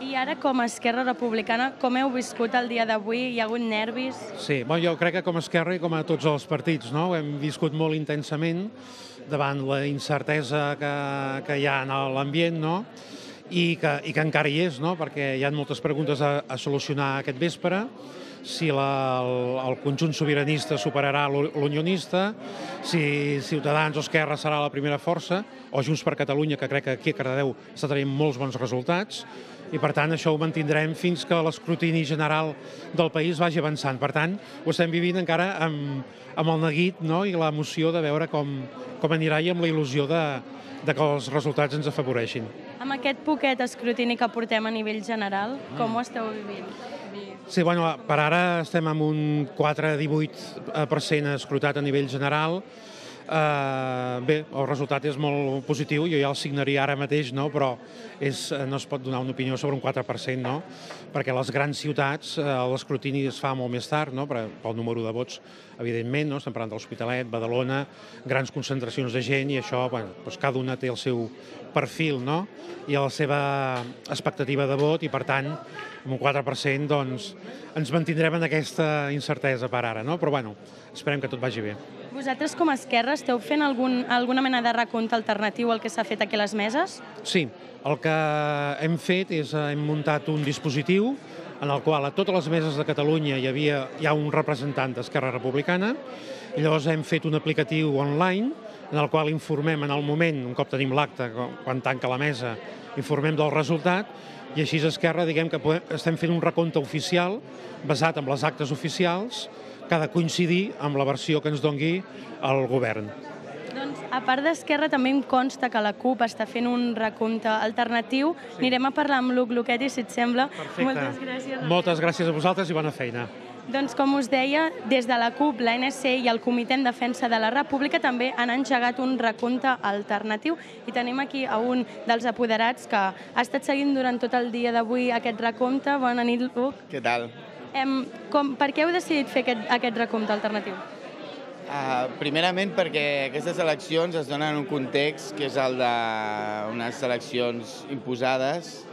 I ara, com a Esquerra Republicana, com heu viscut el dia d'avui? Hi ha hagut nervis? Sí, bueno, jo crec que com a Esquerra i com a tots els partits, no? Ho hem viscut molt intensament davant la incertesa que, que hi ha en l'ambient, no? I que, i que encara hi és, no? Perquè hi ha moltes preguntes a, a solucionar aquest vespre, si la, el, el conjunt sobiranista superarà l'unionista, si Ciutadans o Esquerra serà la primera força, o Junts per Catalunya, que crec que aquí a Cardedeu està traient molts bons resultats, i per tant això ho mantindrem fins que l'escrutini general del país vagi avançant. Per tant, ho estem vivint encara amb, amb el neguit, no? I l'emoció de veure com, com anirà i amb la il·lusió de, de que els resultats ens afavoreixin. Amb aquest poquet escrutini que portem a nivell general, com ho esteu vivint? Sí, bueno, per ara estem amb un quatre coma divuit per cent escrutat a nivell general. Uh, bé, el resultat és molt positiu, jo ja el signaria ara mateix, no? Però és, no es pot donar una opinió sobre un quatre per cent, no? Perquè a les grans ciutats uh, l'escrutini es fa molt més tard, no? Per, pel número de vots, evidentment, no? Estem parlant de l'Hospitalet, Badalona, grans concentracions de gent i això, bueno, doncs cada una té el seu perfil, no? I la seva expectativa de vot i, per tant, amb un quatre per cent, doncs, ens mantindrem en aquesta incertesa per ara, no? Però, bueno, esperem que tot vagi bé. Vosaltres, com a Esquerra, esteu fent algun, alguna mena de recompte alternatiu al que s'ha fet aquí a les meses? Sí, el que hem fet és, hem muntat un dispositiu en el qual a totes les meses de Catalunya hi havia hi ha un representant d'Esquerra Republicana, i llavors hem fet un aplicatiu online en el qual informem en el moment, un cop tenim l'acte, quan tanca la mesa, informem del resultat, i així a Esquerra diguem que podem, estem fent un recompte oficial basat en les actes oficials que ha de coincidir amb la versió que ens dongui el govern. Doncs, a part d'Esquerra, també em consta que la CUP està fent un recompte alternatiu. Sí. Anirem a parlar amb Luc Luquetti, si et sembla. Perfecte. Moltes gràcies. Moltes gràcies a vosaltres i bona feina. Doncs, com us deia, des de la CUP, l'A N C i el Comitè en Defensa de la República també han engegat un recompte alternatiu i tenim aquí a un dels apoderats que ha estat seguint durant tot el dia d'avui aquest recompte. Bona nit, Luc. Què tal? Em, com, per què heu decidit fer aquest, aquest recompte alternatiu? Uh, primerament perquè aquestes eleccions es donen en un context que és el d'unes eleccions imposades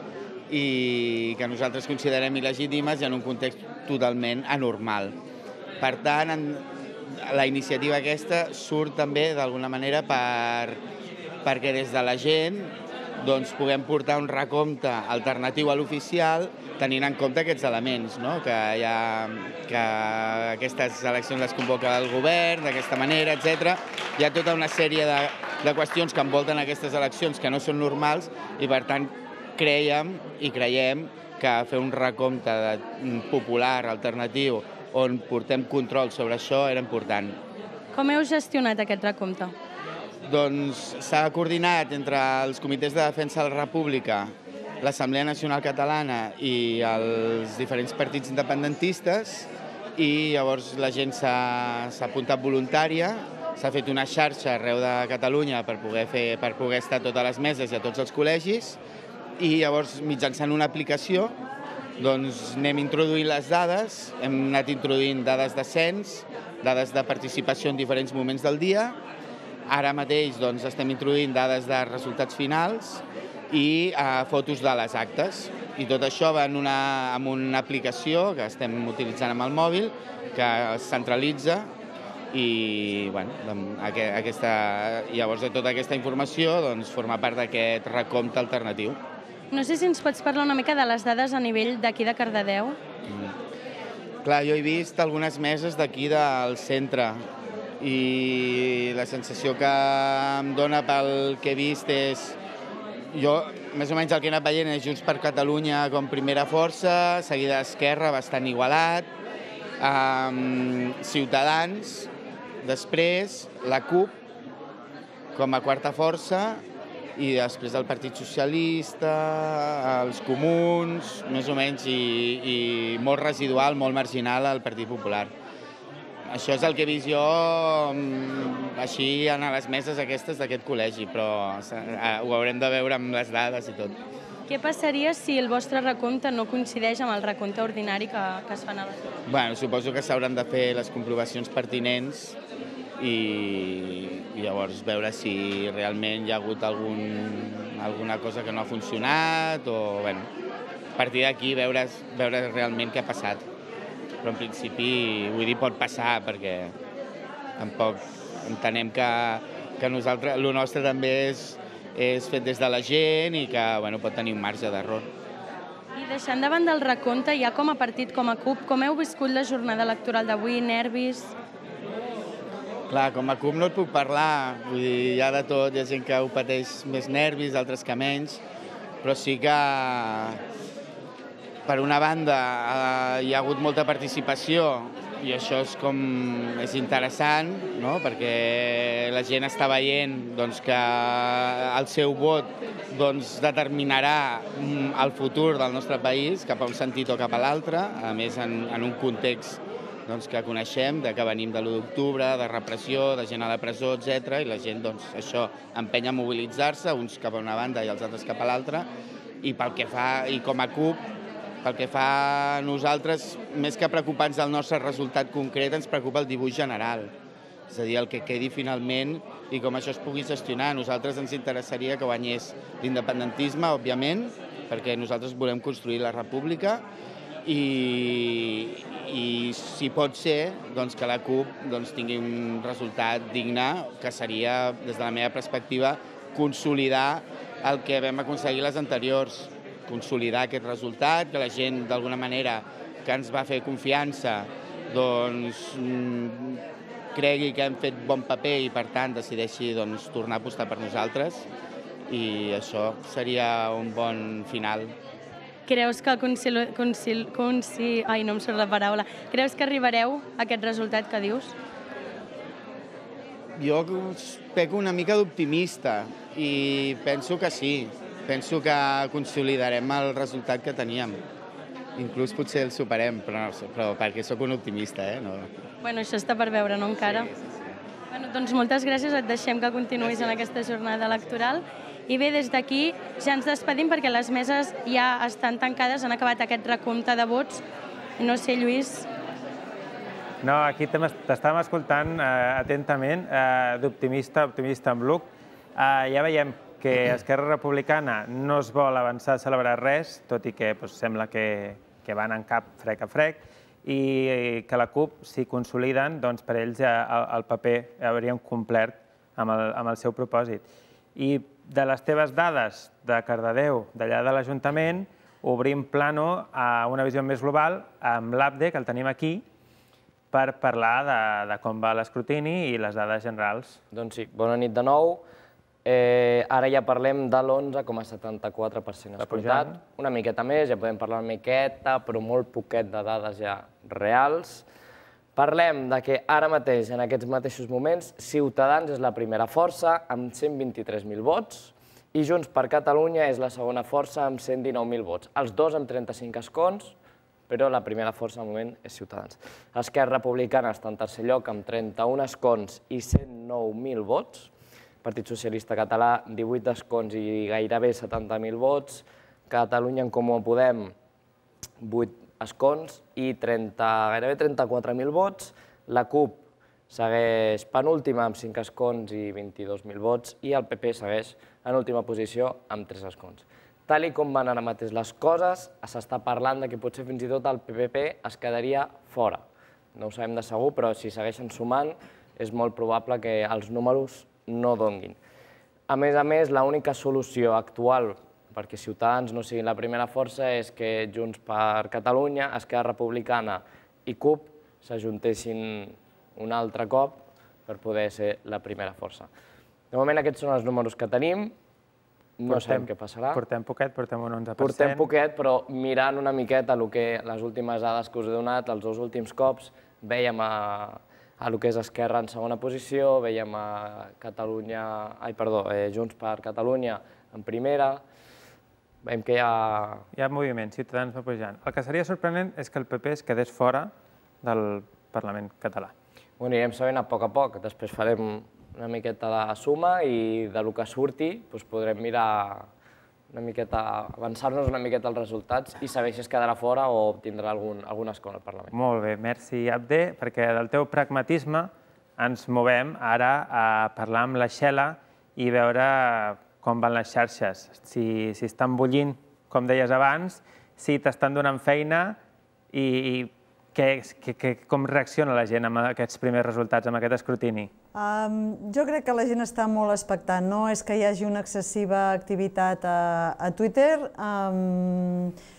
i que nosaltres considerem il·legítimes i en un context totalment anormal. Per tant, en, la iniciativa aquesta surt també d'alguna manera per, perquè des de la gent doncs, puguem portar un recompte alternatiu a l'oficial tenint en compte aquests elements, no? que, hi ha, que aquestes eleccions les convoca el govern d'aquesta manera, etcètera. Hi ha tota una sèrie de, de qüestions que envolten aquestes eleccions que no són normals i, per tant, creiem i creiem que fer un recompte de, popular, alternatiu, on portem control sobre això era important. Com heu gestionat aquest recompte? Doncs s'ha coordinat entre els comitès de defensa de la República, l'Assemblea Nacional Catalana i els diferents partits independentistes i llavors la gent s'ha apuntat voluntària, s'ha fet una xarxa arreu de Catalunya per poder, fer, per poder estar a totes les meses i a tots els col·legis i llavors mitjançant una aplicació doncs anem introduint les dades, hem anat introduint dades de cens, dades de participació en diferents moments del dia. Ara mateix doncs, estem introduint dades de resultats finals i uh, fotos de les actes. I tot això va en una, en una aplicació que estem utilitzant amb el mòbil, que es centralitza i bueno, aquesta, llavors de tota aquesta informació doncs, forma part d'aquest recompte alternatiu. No sé si ens pots parlar una mica de les dades a nivell d'aquí de Cardedeu. Mm. Clar, jo he vist algunes meses d'aquí del centre i la sensació que em dona pel que he vist és... Jo, més o menys el que he anat veient és Junts per Catalunya com primera força, seguida Esquerra, bastant igualat, Ciutadans, després la CUP com a quarta força i després el Partit Socialista, els Comuns, més o menys, i molt residual, molt marginal el Partit Popular. Això és el que he vist jo així a les meses aquestes d'aquest col·legi, però ho haurem de veure amb les dades i tot. Què passaria si el vostre recompte no coincideix amb el recompte ordinari que es fan a les dues? Bueno, suposo que s'hauran de fer les comprovacions pertinents i llavors veure si realment hi ha hagut alguna cosa que no ha funcionat o, bueno, a partir d'aquí veure realment què ha passat. Però en principi, vull dir, pot passar perquè tampoc entenem que nosaltres, el nostre també és fet des de la gent i que pot tenir un marge d'error. I deixant davant del recompte, ja com a partit, com a CUP, com heu viscut la jornada electoral d'avui? Nervis? Clar, com a CUP no et puc parlar, vull dir, hi ha de tot, hi ha gent que ho pateix més nervis, altres que menys, però sí que, per una banda, hi ha hagut molta participació i això és com és interessant, perquè la gent està veient que el seu vot determinarà el futur del nostre país cap a un sentit o cap a l'altre, a més en un context que coneixem, que venim de l'u d'octubre, de repressió, de gent a la presó, etcètera, i la gent això empenya a mobilitzar-se, uns cap a una banda i els altres cap a l'altra, i pel que fa, i com a CUP, pel que fa a nosaltres, més que preocupar-nos del nostre resultat concret, ens preocupa el dibuix general. És a dir, el que quedi finalment i com això es pugui gestionar. A nosaltres ens interessaria que guanyés l'independentisme, òbviament, perquè nosaltres volem construir la república i, si pot ser, que la CUP tingui un resultat digne, que seria, des de la meva perspectiva, consolidar el que vam aconseguir les anteriors. Consolidar aquest resultat, que la gent, d'alguna manera, que ens va fer confiança, doncs cregui que hem fet bon paper i, per tant, decideixi tornar a apostar per nosaltres, i això seria un bon final. Creus que Ai, no em surt la paraula. Creus que arribareu a aquest resultat que dius? Jo peco una mica d'optimista i penso que sí. Penso que consolidarem el resultat que teníem. Inclús potser el superem, però perquè sóc un optimista, eh? Bueno, això està per veure, no encara? Doncs moltes gràcies, et deixem que continuïs en aquesta jornada electoral. I bé, des d'aquí ja ens despedim perquè les meses ja estan tancades, han acabat aquest recompte de vots. No sé, Lluís... No, aquí t'estàvem escoltant atentament, d'optimista, optimista en Bluc. Ja veiem que Esquerra Republicana no es vol avançar a celebrar res, tot i que sembla que van en cap frec a frec, i que la CUP, si consoliden, doncs per ells el paper haurien complert amb el seu propòsit. I de les teves dades de Cardedeu, d'allà de l'Ajuntament, obrim plano a una visió més global amb l'APDE, que el tenim aquí, per parlar de com va l'escrutini i les dades generals. Doncs sí, bona nit de nou. Ara ja parlem de l'onze coma setanta-quatre per cent escrutat. Una miqueta més, ja podem parlar una miqueta, però molt poquet de dades ja reals. Parlem de que ara mateix, en aquests mateixos moments, Ciutadans és la primera força amb cent vint-i-tres mil vots i Junts per Catalunya és la segona força amb cent dinou mil vots. Els dos amb trenta-cinc escons, però la primera força al moment és Ciutadans. Esquerra Republicana està en tercer lloc amb trenta-un escons i cent nou mil vots. Partit Socialista Català, divuit escons i gairebé setanta mil vots. Catalunya en Comú Podem, vuit escons i gairebé trenta-quatre mil vots. La CUP segueix penúltima amb cinc escons i vint-i-dos mil vots i el P P segueix en última posició amb tres escons. Tal com van ara mateix les coses, s'està parlant que potser fins i tot el P P es quedaria fora. No ho sabem de segur, però si segueixen sumant és molt probable que els números no donguin. A més a més, l'única solució actual perquè Ciutadans no siguin la primera força és que Junts per Catalunya, Esquerra Republicana i CUP s'ajuntessin un altre cop per poder ser la primera força. De moment aquests són els números que tenim, no sabem què passarà. Portem poquet, portem un onze per cent. Portem poquet, però mirant una miqueta les últimes dades que us he donat, els dos últims cops, veiem a el que és Esquerra en segona posició, veiem a Catalunya, ai, perdó, Junts per Catalunya en primera, veiem que hi ha... Hi ha moviment, Ciutadans va pujant. El que seria sorprenent és que el P P es quedés fora del Parlament català. Ho anirem sabent a poc a poc, després farem una miqueta de suma i del que surti podrem mirar una miqueta, avançar-nos una miqueta als resultats i saber si es quedarà fora o obtindrà algun escó al Parlament. Molt bé, merci Abde, perquè del teu pragmatisme ens movem ara a parlar amb la Xela i veure com van les xarxes, si estan bullint, com deies abans, si t'estan donant feina i com reacciona la gent amb aquests primers resultats, amb aquest escrutini? Jo crec que la gent està molt expectant. No és que hi hagi una excessiva activitat a Twitter.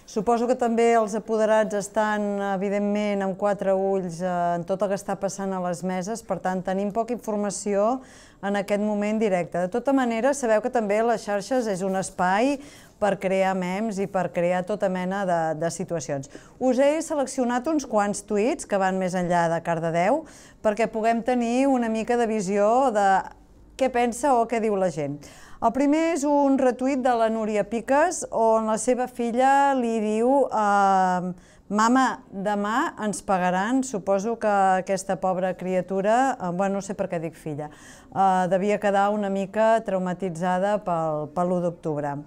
Suposo que també els apoderats estan, evidentment, amb quatre ulls en tot el que està passant a les meses, per tant, tenim poca informació en aquest moment directe. De tota manera, sabeu que també les xarxes és un espai per crear memes i per crear tota mena de situacions. Us he seleccionat uns quants tuits que van més enllà de Cardedeu perquè puguem tenir una mica de visió de què pensa o què diu la gent. El primer és un retuit de la Núria Piques on la seva filla li diu «Mama, demà ens pagaran». Suposo que aquesta pobra criatura, bueno, no sé per què dic filla, devia quedar una mica traumatitzada pel l'u d'octubre.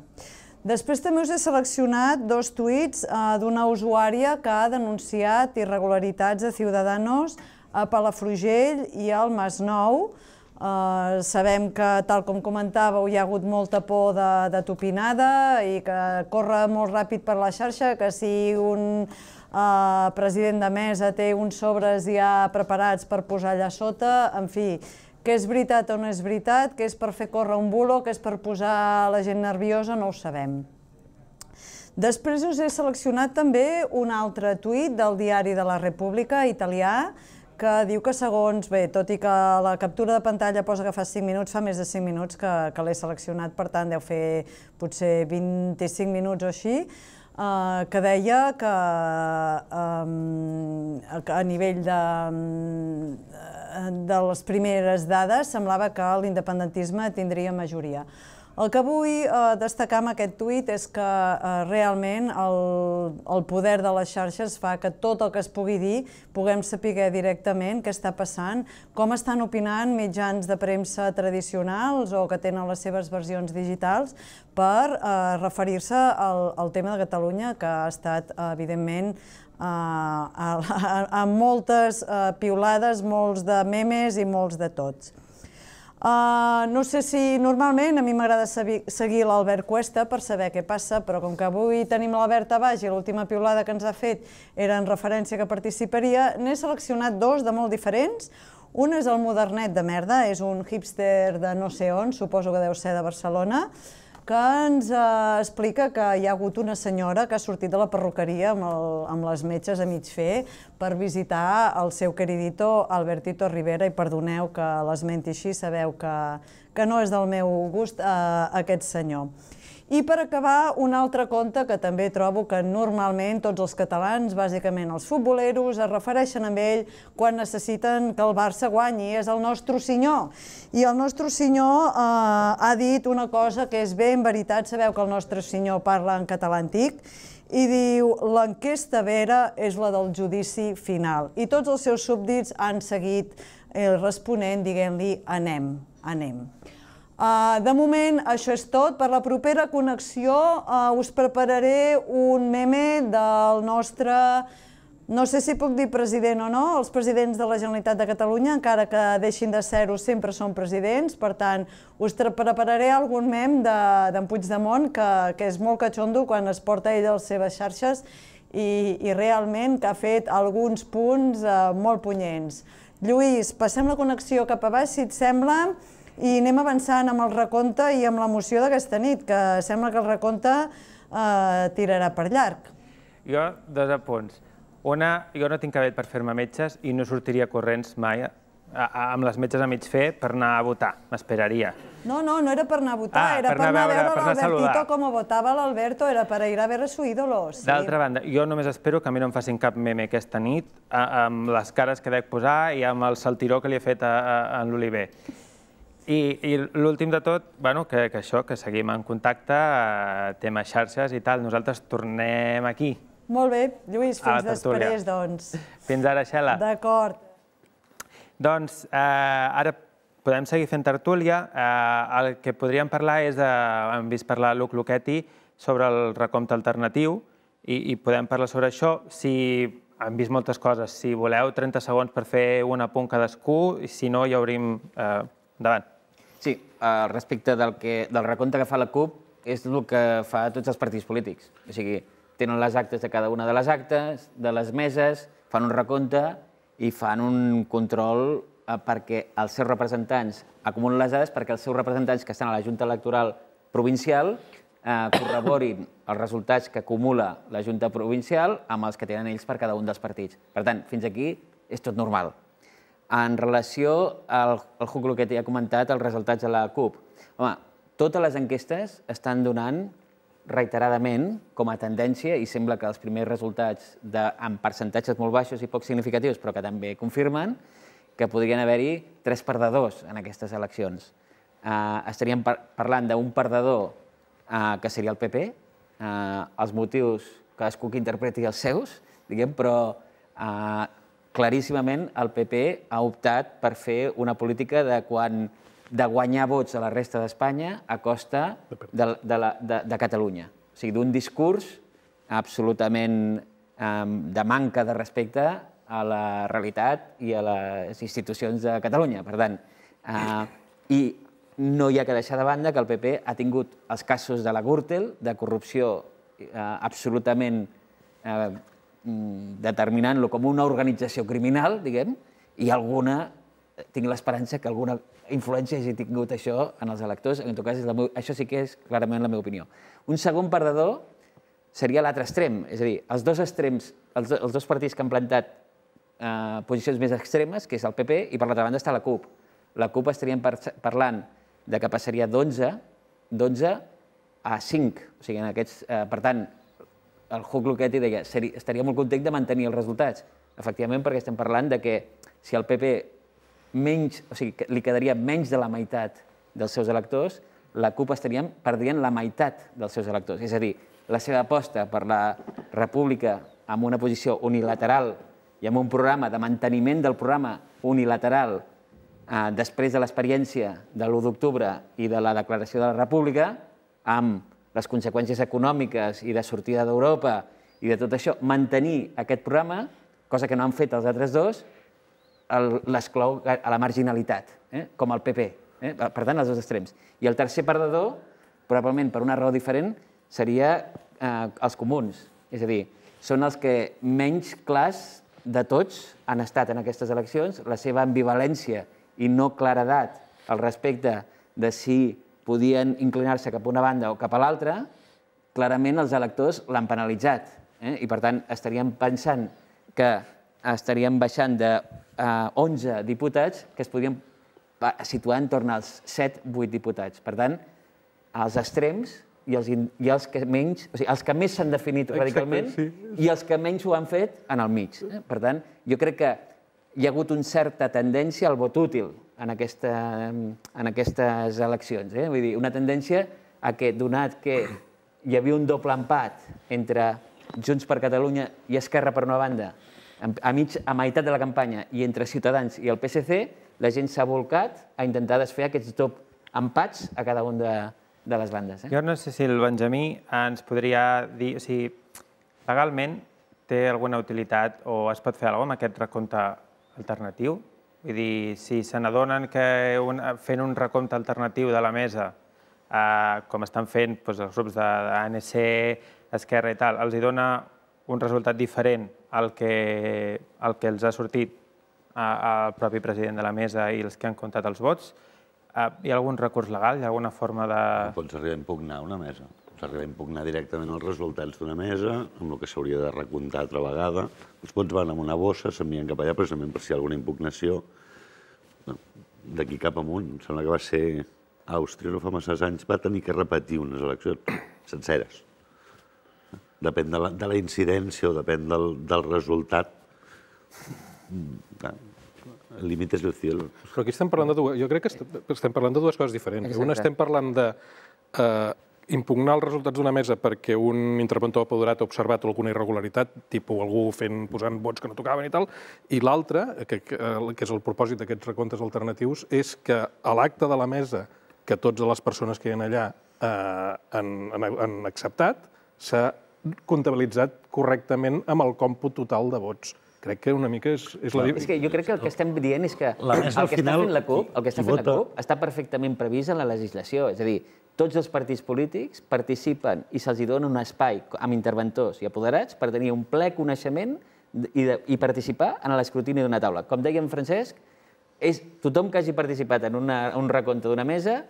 Després també us he seleccionat dos tuits d'una usuària que ha denunciat irregularitats de Ciudadanos a Palafrugell i al Masnou. Sabem que, tal com comentàveu, hi ha hagut molta por de topinada i que corre molt ràpid per la xarxa, que si un president de mesa té uns sobres ja preparats per posar allà sota, en fi, que és veritat o no és veritat, que és per fer córrer un bulo, que és per posar la gent nerviosa, no ho sabem. Després us he seleccionat també un altre tuit del diari de la República italià que diu que segons, bé, tot i que la captura de pantalla posa que fa cinc minuts, fa més de cinc minuts que l'he seleccionat, per tant deu fer potser vint-i-cinc minuts o així, que deia que a nivell de les primeres dades semblava que l'independentisme tindria majoria. El que vull destacar amb aquest tuit és que realment el poder de les xarxes fa que tot el que es pugui dir puguem saber directament què està passant, com estan opinant mitjans de premsa tradicionals o que tenen les seves versions digitals per referir-se al tema de Catalunya, que ha estat, evidentment, amb moltes piulades, molts de memes i molts de tots. No sé si normalment a mi m'agrada seguir l'Albert Cuesta per saber què passa, però com que avui tenim l'Albert a baix i l'última piulada que ens ha fet era en referència que participaria, n'he seleccionat dos de molt diferents. Un és el Modernet de merda, és un hipster de no sé on, suposo que deu ser de Barcelona, que ens explica que hi ha hagut una senyora que ha sortit de la perruqueria amb les metges a mig fer per visitar el seu queridito Albertito Rivera, i perdoneu que l'esmenti així, sabeu que no és del meu gust aquest senyor. I per acabar, un altre conte que també trobo que normalment tots els catalans, bàsicament els futboleros, es refereixen a ell quan necessiten que el Barça guanyi, és el Nostre Senyor. I el Nostre Senyor ha dit una cosa que és ben veritat, sabeu que el Nostre Senyor parla en català antic, i diu l'enquesta vera és la del judici final. I tots els seus súbdits han seguit responent dient-li anem, anem. De moment, això és tot. Per la propera connexió us prepararé un meme del nostre, no sé si puc dir president o no, els presidents de la Generalitat de Catalunya, encara que deixin de ser-ho, sempre són presidents, per tant, us prepararé algun meme d'en Puigdemont, que és molt catxondo quan es porta ell a les seves xarxes i realment que ha fet alguns punts molt punyents. Lluís, passem la connexió cap a baix, si et sembla, i anem avançant amb el recompte i amb l'emoció d'aquesta nit, que sembla que el recompte tirarà per llarg. Jo, dos apunts. Una, jo no tinc cabell per fer-me metges i no sortiria corrents mai amb les metges a mig fer per anar a votar, m'esperaria. No, no, no era per anar a votar, era per anar a veure l'Albertito com votava l'Alberto, era per ir a veure su ídolo. D'altra banda, jo només espero que a mi no em facin cap meme aquesta nit amb les cares que dec posar i amb el saltiró que li he fet a l'Oliver. I l'últim de tot, que això, que seguim en contacte, tema xarxes i tal. Nosaltres tornem aquí. Molt bé, Lluís, fins després, doncs. Fins ara, Xela. D'acord. Doncs ara podem seguir fent tertúlia. El que podríem parlar és, hem vist parlar Luc Luchetti sobre el recompte alternatiu i podem parlar sobre això. Si hem vist moltes coses, si voleu trenta segons per fer un apunt cadascú, i si no ja obrim endavant. Sí, respecte del recompte que fa la CUP, és el que fa tots els partits polítics. O sigui, tenen les actes de cada una de les actes, de les meses, fan un recompte i fan un control perquè els seus representants acumulen les dades perquè els seus representants que estan a la Junta Electoral Provincial corroborin els resultats que acumula la Junta Provincial amb els que tenen ells per cada un dels partits. Per tant, fins aquí és tot normal. En relació, el Luc Luchetti ha comentat els resultats de la CUP. Home, totes les enquestes estan donant reiteradament com a tendència, i sembla que els primers resultats amb percentatges molt baixos i poc significatius, però que també confirmen que podrien haver-hi tres perdedors en aquestes eleccions. Estaríem parlant d'un perdedor que seria el P P, els motius cadascú que interpreti els seus, diguem, però claríssimament el P P ha optat per fer una política de quan de guanyar vots a la resta d'Espanya a costa de Catalunya. O sigui, d'un discurs absolutament de manca de respecte a la realitat i a les institucions de Catalunya. Per tant, i no hi ha que deixar de banda que el P P ha tingut els casos de la Gürtel, de corrupció absolutament determinant-lo com una organització criminal, diguem, i alguna, tinc l'esperança que alguna influència hagi tingut això en els electors. En tot cas, això sí que és clarament la meva opinió. Un segon perdedor seria l'altre extrem, és a dir, els dos extrems, els dos partits que han plantat posicions més extremes, que és el P P, i per l'altra banda està la CUP. La CUP estaríem parlant de que passaria d'onze a cinc. O sigui, en aquests... Per tant, el Luc Luchetti deia estaria molt content de mantenir els resultats. Efectivament, perquè estem parlant de que si el P P menys, o sigui, li quedaria menys de la meitat dels seus electors, la CUP estaria perdent la meitat dels seus electors. És a dir, la seva aposta per la república amb una posició unilateral i amb un programa de manteniment del programa unilateral després de l'experiència de l'u d'octubre i de la declaració de la república, amb les conseqüències econòmiques i de sortida d'Europa i de tot això, mantenir aquest programa, cosa que no han fet els altres dos, l'esclou a la marginalitat, com el P P. Per tant, els dos extrems. I el tercer perdedor, probablement per una raó diferent, seria els comuns. És a dir, són els que menys clars de tots han estat en aquestes eleccions, la seva ambivalència i no claredat al respecte de si podien inclinar-se cap a una banda o cap a l'altra, clarament els electors l'han penalitzat. I, per tant, estaríem pensant que estaríem baixant d'onze diputats que es podrien situar en torn als set vuit diputats. Per tant, els extrems i els que menys, o sigui, els que més s'han definit radicalment i els que menys ho han fet en el mig. Per tant, jo crec que hi ha hagut una certa tendència al vot útil en aquestes eleccions. Vull dir, una tendència a que, donat que hi havia un doble empat entre Junts per Catalunya i Esquerra per una banda, a meitat de la campanya, i entre Ciutadans i el P S C, la gent s'ha volcat a intentar desfer aquests dobles empats a cada un de les bandes. Jo no sé si el Benjamí ens podria dir, o sigui, legalment té alguna utilitat o es pot fer alguna cosa amb aquest recompte alternatiu? Vull dir, si se n'adonen que fent un recompte alternatiu de la mesa, com estan fent els grups d'A N C, Esquerra i tal, els dona un resultat diferent al que els ha sortit al propi president de la mesa i els que han comptat els vots, hi ha algun recurs legal? Hi ha alguna forma de... Pots arribar a impugnar una mesa. Pots arribar a impugnar directament els resultats d'una mesa, amb el que s'hauria de recomptar altra vegada. Els vots van en una bossa, s'envien cap allà, precisament per si hi ha alguna impugnació. d'aquí cap amunt, em sembla que va ser Àustria, no fa masses anys, va tenir que repetir unes eleccions senceres. Depèn de la, de la incidència o depèn del, del resultat. El límit és el cielo. Però aquí estem parlant de dues, jo crec que estem parlant de dues coses diferents. Exacte. Una estem parlant de eh, impugnar els resultats d'una mesa perquè un interventor apoderat ha observat alguna irregularitat, tipus algú fent, posant vots que no tocaven i tal, i l'altra, que, que, que és el propòsit d'aquests recomptes alternatius, és que a l'acte de la mesa que totes les persones que hi ha allà eh, han, han, han acceptat s'ha comptabilitzat correctament amb el còmput total de vots. Crec que una mica és... És, la... és que jo crec que el que estem dient és que la el que està fent la CUP, el que està fent la CUP està perfectament previst en la legislació. És a dir, tots els partits polítics participen i se'ls dona un espai amb interventors i apoderats per tenir un ple coneixement i, de, i participar en l'escrutini d'una taula. Com deia en Francesc, és tothom que hagi participat en una, un recompte d'una mesa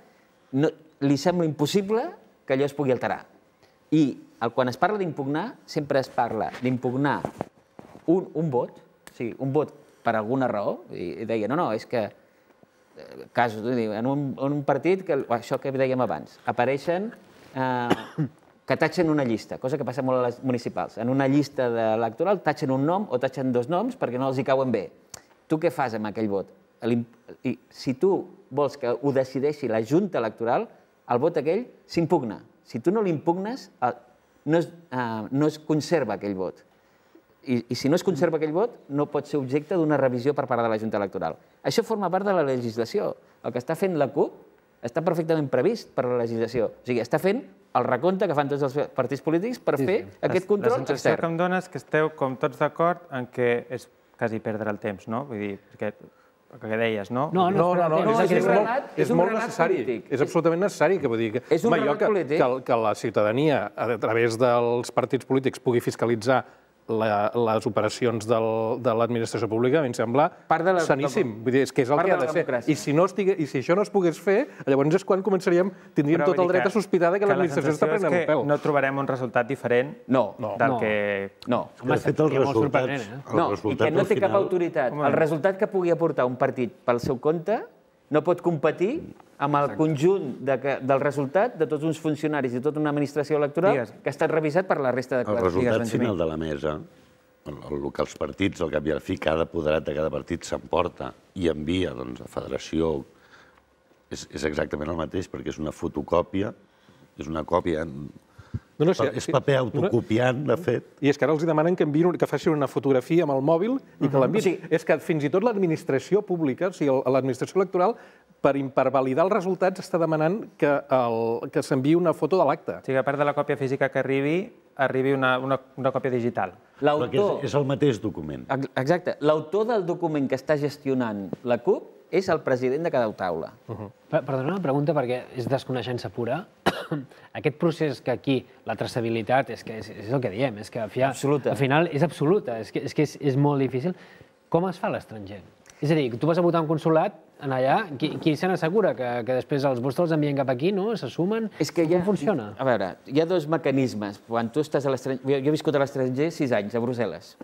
no, li sembla impossible que allò es pugui alterar. I el, quan es parla d'impugnar, sempre es parla d'impugnar un, un vot, o sigui, un vot per alguna raó, i deia, no, no, és que casos, en un, en un partit, que, això que dèiem abans, apareixen eh, que tatxen una llista, cosa que passa molt a les municipals. En una llista electoral tatxen un nom o tatxen dos noms perquè no els hi cauen bé. Tu què fas amb aquell vot? I si tu vols que ho decideixi la Junta Electoral, el vot aquell s'impugna. Si tu no l'impugnes, no, es, uh, no es conserva aquell vot. I, I si no es conserva aquell vot, no pot ser objecte d'una revisió per part de la Junta Electoral. Això forma part de la legislació. El que està fent la CUP està perfectament previst per la legislació. O sigui, està fent el recompte que fan tots els partits polítics per fer aquest control extern. La sensació que em dona és que esteu com tots d'acord en que és quasi perdre el temps, no? Vull dir, perquè el que deies, no? No, no, no, és molt necessari. És absolutament necessari, que vull dir que que la ciutadania, a través dels partits polítics, pugui fiscalitzar les operacions de l'administració pública, a mi em sembla saníssim. Vull dir, és que és el que ha de ser. I si això no es pogués fer, llavors és quan començaríem, tindríem tot el dret a sospitar que l'administració està prenent el pèl. No trobarem un resultat diferent del que... No. De fet, el resultat... No, i que no té cap autoritat. El resultat que pugui aportar un partit pel seu compte no pot competir amb el conjunt del resultat de tots uns funcionaris i tota una administració electoral que ha estat revisat per la resta de... El resultat final de la mesa, el que els partits, al cap i a la fi, cada apoderat de cada partit s'emporta i envia a federació, és exactament el mateix, perquè és una fotocòpia, és una còpia... És paper autocopiant, de fet. I és que ara els demanen que facin una fotografia amb el mòbil i que l'enviïn. És que fins i tot l'administració pública, o sigui, l'administració electoral, per validar els resultats està demanant que s'enviï una foto de l'acte. O sigui, a part de la còpia física que arribi, arribi una còpia digital. És el mateix document. Exacte. L'autor del document que està gestionant la CUP és el president de cada taula. Perdona una pregunta, perquè és desconeixença pura. Aquest procés que aquí la traçabilitat és el que diem, és que al final és absoluta, és que és molt difícil. Com es fa a l'estranger? És a dir, tu vas a votar a un consulat allà, qui se n'assegura que després els vots te'ls envien cap aquí, no? Se sumen? Com funciona? A veure, hi ha dos mecanismes. Quan tu estàs a l'estranger... Jo he viscut a l'estranger sis anys, a Brussel·les.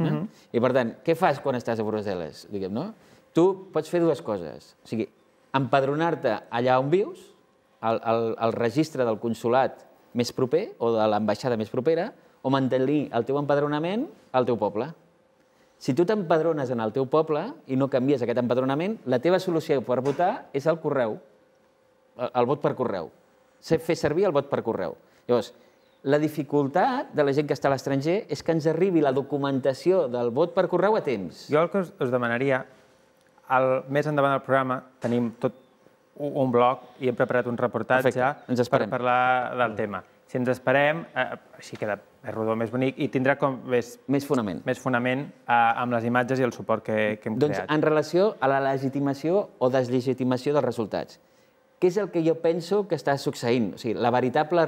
I per tant, què fas quan estàs a Brussel·les? Diguem, no? Tu pots fer dues coses. O sigui, empadronar-te allà on vius, al registre del consulat més proper o de l'ambaixada més propera, o mantenir el teu empadronament al teu poble. Si tu t'empadrones en el teu poble i no canvies aquest empadronament, la teva solució per votar és el correu, el vot per correu. Fer servir el vot per correu. Llavors, la dificultat de la gent que està a l'estranger és que ens arribi la documentació del vot per correu a temps. Jo el que us demanaria, més endavant del programa tenim tot un blog i hem preparat un reportatge per parlar del tema. Si ens esperem, així queda més rodó, més bonic, i tindrà com més fonament amb les imatges i el suport que hem creat. Doncs en relació a la legitimació o deslegitimació dels resultats, què és el que jo penso que està succeint? O sigui, la veritable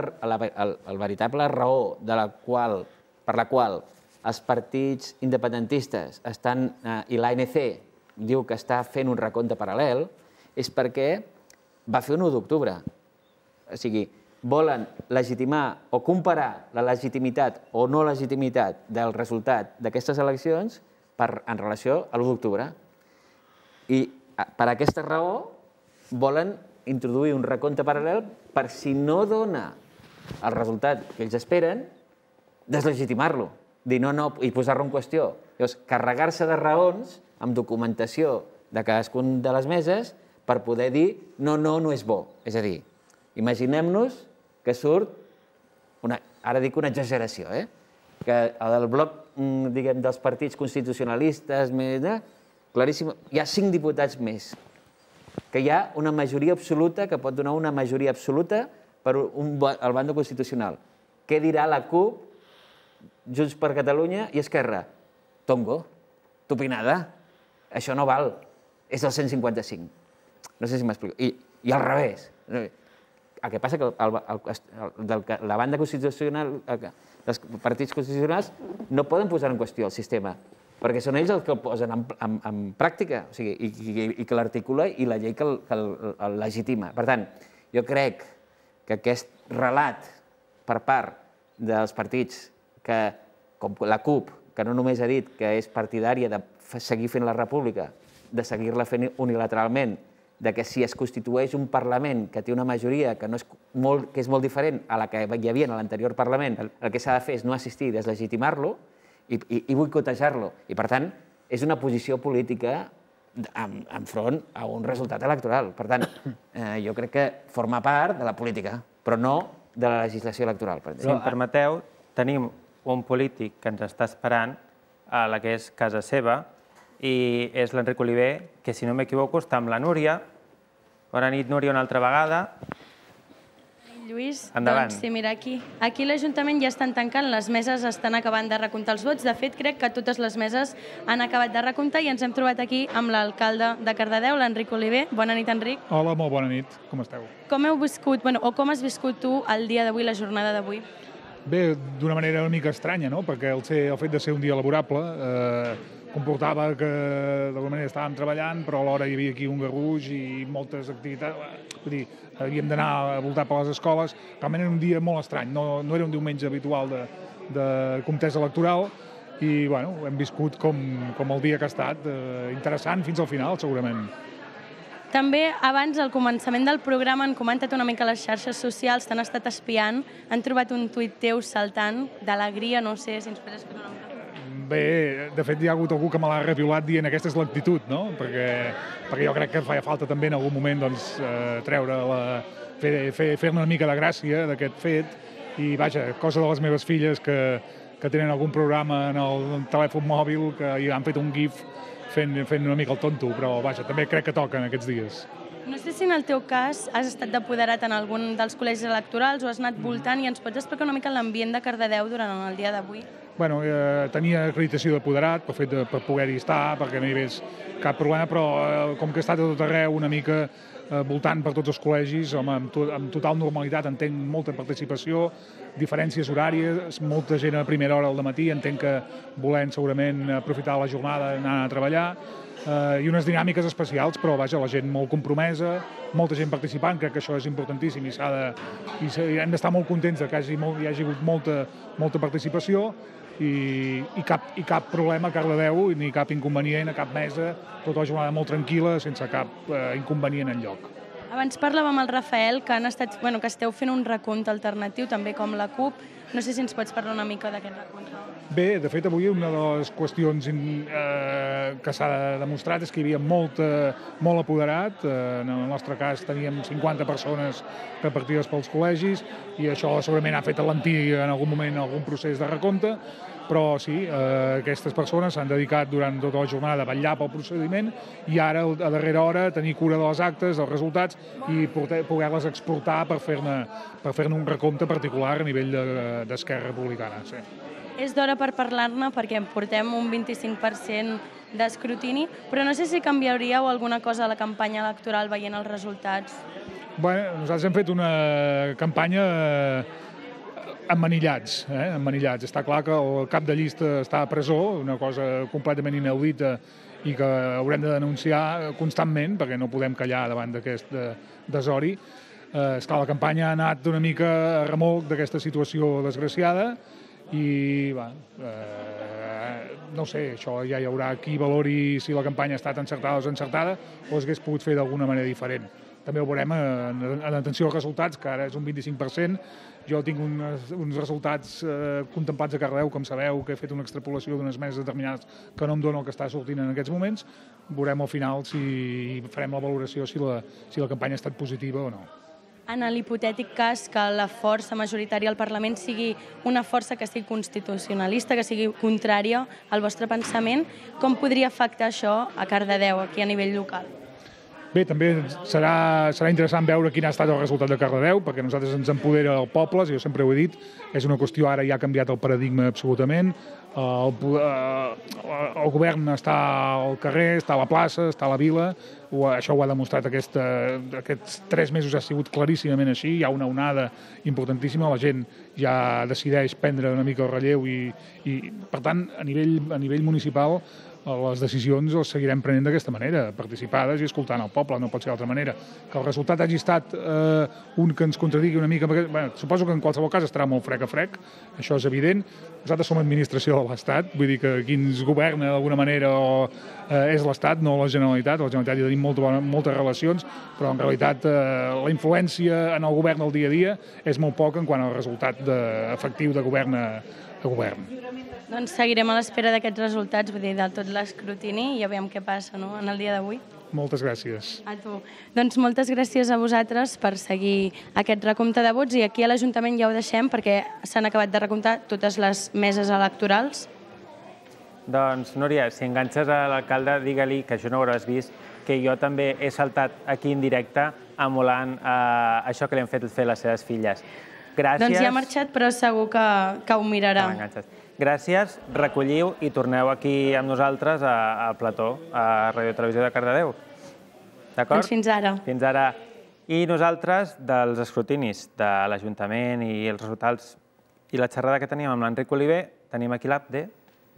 raó per la qual els partits independentistes estan, i l'A N C diu que està fent un recompte paral·lel, és perquè va fer un u d'octubre. O sigui, volen legitimar o comparar la legitimitat o no legitimitat del resultat d'aquestes eleccions en relació a l'u d'octubre. I per aquesta raó volen introduir un recompte paral·lel per si no dona el resultat que ells esperen, deslegitimar-lo, dir no, no, i posar-lo en qüestió. Llavors, carregar-se de raons amb documentació de cadascun de les meses per poder dir no, no, no és bo. És a dir, imaginem-nos que surt, una, ara dic una exageració, eh? que el bloc diguem, dels partits constitucionalistes, més, eh? claríssim, hi ha cinc diputats més, que hi ha una majoria absoluta, que pot donar una majoria absoluta per un, el bando constitucional. Què dirà la CUP, Junts per Catalunya i Esquerra? Tongo, tupinada, això no val, és el cent cinquanta-cinc. No sé si m'explico. I, I al revés. El que passa que el, el, el, la banda constitucional, els partits constitucionals no poden posar en qüestió el sistema, perquè són ells els que el posen en, en, en pràctica, o sigui, i, i, i que l'articula i la llei que el, que el, el legitima. Per tant, jo crec que aquest relat per part dels partits que, com la CUP, que no només ha dit que és partidària de seguir fent la república, de seguir-la fent unilateralment, de que si es constitueix un Parlament que té una majoria que, no és, molt, que és molt diferent a la que hi havia en l'anterior Parlament, el, el que s'ha de fer és no assistir i deslegitimar-lo i, i, i boicotejar-lo. I, per tant, és una posició política enfront a un resultat electoral. Per tant, eh, jo crec que forma part de la política, però no de la legislació electoral. Si em permeteu, tenim un polític que ens està esperant a la que és casa seva i és l'Enric Oliver, que si no m'equivoco està amb la Núria. Bona nit, Núria, una altra vegada. Lluís, endavant. Doncs sí, mira, aquí. Aquí l'Ajuntament ja estan tancant, les meses estan acabant de recomptar els vots. De fet, crec que totes les meses han acabat de recomptar i ens hem trobat aquí amb l'alcalde de Cardedeu, l'Enric Oliver. Bona nit, Enric. Hola, molt bona nit. Com esteu? Com heu viscut, bueno, o com has viscut tu el dia d'avui, la jornada d'avui? Bé, d'una manera una mica estranya, no? Perquè el, ser, el fet de ser un dia laborable eh, comportava que d'alguna manera estàvem treballant, però alhora hi havia aquí un garruix i moltes activitats. Vull dir, havíem d'anar a voltar per les escoles. Realment era un dia molt estrany, no, no era un diumenge habitual de, de comptesa electoral i bueno, hem viscut com, com el dia que ha estat, eh, interessant fins al final, segurament. També, abans, al començament del programa, han comentat una mica les xarxes socials, t'han estat espiant, han trobat un tuit teu saltant d'alegria, no sé si ens pots explicar una mica. Bé, de fet hi ha hagut algú que me l'ha reviolat dient aquesta és l'actitud, no? Perquè, perquè jo crec que feia falta també en algun moment doncs, eh, treure la, fer, fer, fer una mica de gràcia d'aquest fet i vaja, cosa de les meves filles que, que tenen algun programa en el, en el telèfon mòbil que hi han fet un gif fent, fent una mica el tonto, però vaja, també crec que toca en aquests dies. No sé si en el teu cas has estat d'apoderat en algun dels col·legis electorals o has anat voltant i ens pots explicar una mica l'ambient de Cardedeu durant el dia d'avui? Bueno, eh, tenia acreditació d'apoderat per, de, per poder-hi estar, perquè no hi hagués cap problema, però eh, com que he estat a tot arreu una mica eh, voltant per tots els col·legis, home, amb, to, amb total normalitat, entenc molta participació, diferències horàries, molta gent a primera hora del matí, entenc que volent segurament aprofitar la jornada d'anar a treballar, eh, i unes dinàmiques especials, però vaja, la gent molt compromesa, molta gent participant, crec que això és importantíssim i, s'ha de, i, i hem d'estar molt contents que hi hagi, molt, hi hagi hagut molta, molta participació i, i, cap, i cap problema a Cardedeu, ni cap inconvenient a cap mesa, tota la jornada molt tranquil·la, sense cap eh, inconvenient enlloc. Abans parlàvem amb el Rafael que, han estat, bueno, que esteu fent un recompte alternatiu, també com la CUP. No sé si ens pots parlar una mica d'aquest recompte. Bé, de fet, avui una de les qüestions eh, que s'ha demostrat és que hi havia molt, eh, molt apoderat. Eh, en el nostre cas teníem cinquanta persones repartides pels col·legis i això segurament ha fet alentir en algun moment algun procés de recompte, però sí, eh, aquestes persones s'han dedicat durant tota la jornada a vetllar pel procediment i ara, a darrera hora, tenir cura de les actes, dels resultats i poder-les exportar per fer-ne per fer-ne un recompte particular a nivell d'Esquerra Republicana. Sí. És d'hora per parlar-ne perquè portem un vint-i-cinc per cent d'escrutini, però no sé si canviaríeu alguna cosa a la campanya electoral veient els resultats. Bé, nosaltres hem fet una campanya emmanillats, eh? emmanillats. Està clar que el cap de llista està a presó, una cosa completament inaudita i que haurem de denunciar constantment perquè no podem callar davant d'aquest desori. Eh, esclar, la campanya ha anat una mica a remolc d'aquesta situació desgraciada i va, eh, no sé, això ja hi haurà qui valori si la campanya ha estat encertada o desencertada o es hagués pogut fer d'alguna manera diferent. També ho veurem en atenció als resultats, que ara és un vint-i-cinc per cent. Jo tinc uns resultats contemplats a Cardedeu, com sabeu, que he fet una extrapolació d'unes meses determinades que no em dona el que està sortint en aquests moments. Veurem al final si farem la valoració si la campanya ha estat positiva o no. En l'hipotètic cas que la força majoritària al Parlament sigui una força que sigui constitucionalista, que sigui contrària al vostre pensament, com podria afectar això a Cardedeu, aquí a nivell local? Bé, també serà interessant veure quin ha estat el resultat de Cardedeu, perquè a nosaltres ens empodera el poble, jo sempre ho he dit, és una qüestió, ara ja ha canviat el paradigma absolutament, el govern està al carrer, està a la plaça, està a la vila, això ho ha demostrat aquests tres mesos, ha sigut claríssimament així, hi ha una onada importantíssima, la gent ja decideix prendre una mica el relleu i, per tant, a nivell municipal, les decisions les seguirem prenent d'aquesta manera, participades i escoltant el poble, no pot ser d'altra manera. Que el resultat hagi estat un que ens contradigui una mica, suposo que en qualsevol cas estarà molt frec a frec, això és evident. Nosaltres som administració de l'Estat, vull dir que qui ens governa d'alguna manera és l'Estat, no la Generalitat. A la Generalitat hi tenim moltes relacions, però en realitat la influència en el govern del dia a dia és molt poca en quant al resultat efectiu de govern a govern. Doncs seguirem a l'espera d'aquests resultats, vull dir, de tot l'escrutini i ja veiem què passa en el dia d'avui. Moltes gràcies. A tu. Doncs moltes gràcies a vosaltres per seguir aquest recompte de vots i aquí a l'Ajuntament ja ho deixem perquè s'han acabat de recomptar totes les meses electorals. Doncs, Núria, si enganxes a l'alcalde, digue-li, que això no ho hauràs vist, que jo també he saltat aquí en directe emulant això que li han fet fer les seves filles. Gràcies. Doncs ja ha marxat, però segur que ho mirarà. Gràcies, recolliu i torneu aquí amb nosaltres al plató, a Ràdio Televisió de Cardedeu. D'acord? Doncs fins ara. Fins ara. I nosaltres, dels escrutinis de l'Ajuntament i els resultats i la xerrada que teníem amb l'Enric Oliver, tenim aquí l'Abde.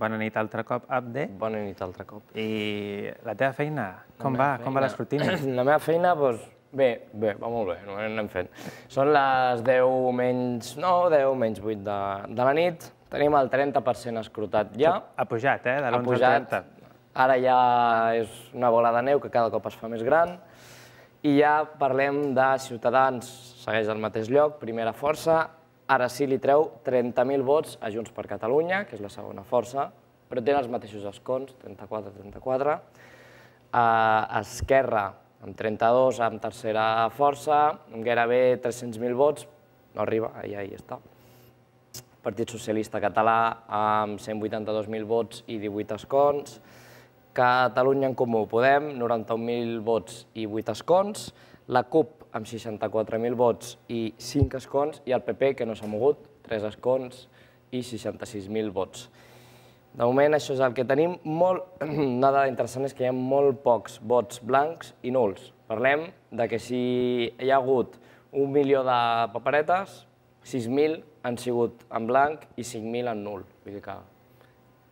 Bona nit altre cop, Abde. Bona nit altre cop. I la teva feina, com va? Com va l'escrutini? La meva feina, doncs, bé, bé, va molt bé, no anem fent. Són les deu menys nou, deu menys vuit de la nit. Tenim el trenta per cent escrutat ja. Ha pujat, eh? De l'onze al trenta. Ara ja és una bola de neu que cada cop es fa més gran. I ja parlem de Ciutadans, segueix al mateix lloc, primera força. Ara sí li treu trenta mil vots a Junts per Catalunya, que és la segona força, però tenen els mateixos escons, trenta-quatre a trenta-quatre. Esquerra, amb trenta-dos, amb tercera força, amb gairebé tres-cents mil vots, no arriba, allà hi està. Partit Socialista Català amb cent vuitanta-dos mil vots i divuit escons, Catalunya en Comú Podem, noranta-un mil vots i vuit escons, la CUP amb seixanta-quatre mil vots i cinc escons, i el P P, que no s'ha mogut, tres escons i seixanta-sis mil vots. De moment això és el que tenim. Una dada interessant és que hi ha molt pocs vots blancs i nuls. Parlem de que si hi ha hagut un milió de paperetes, sis mil han sigut en blanc i cinc mil en nul. Vull dir que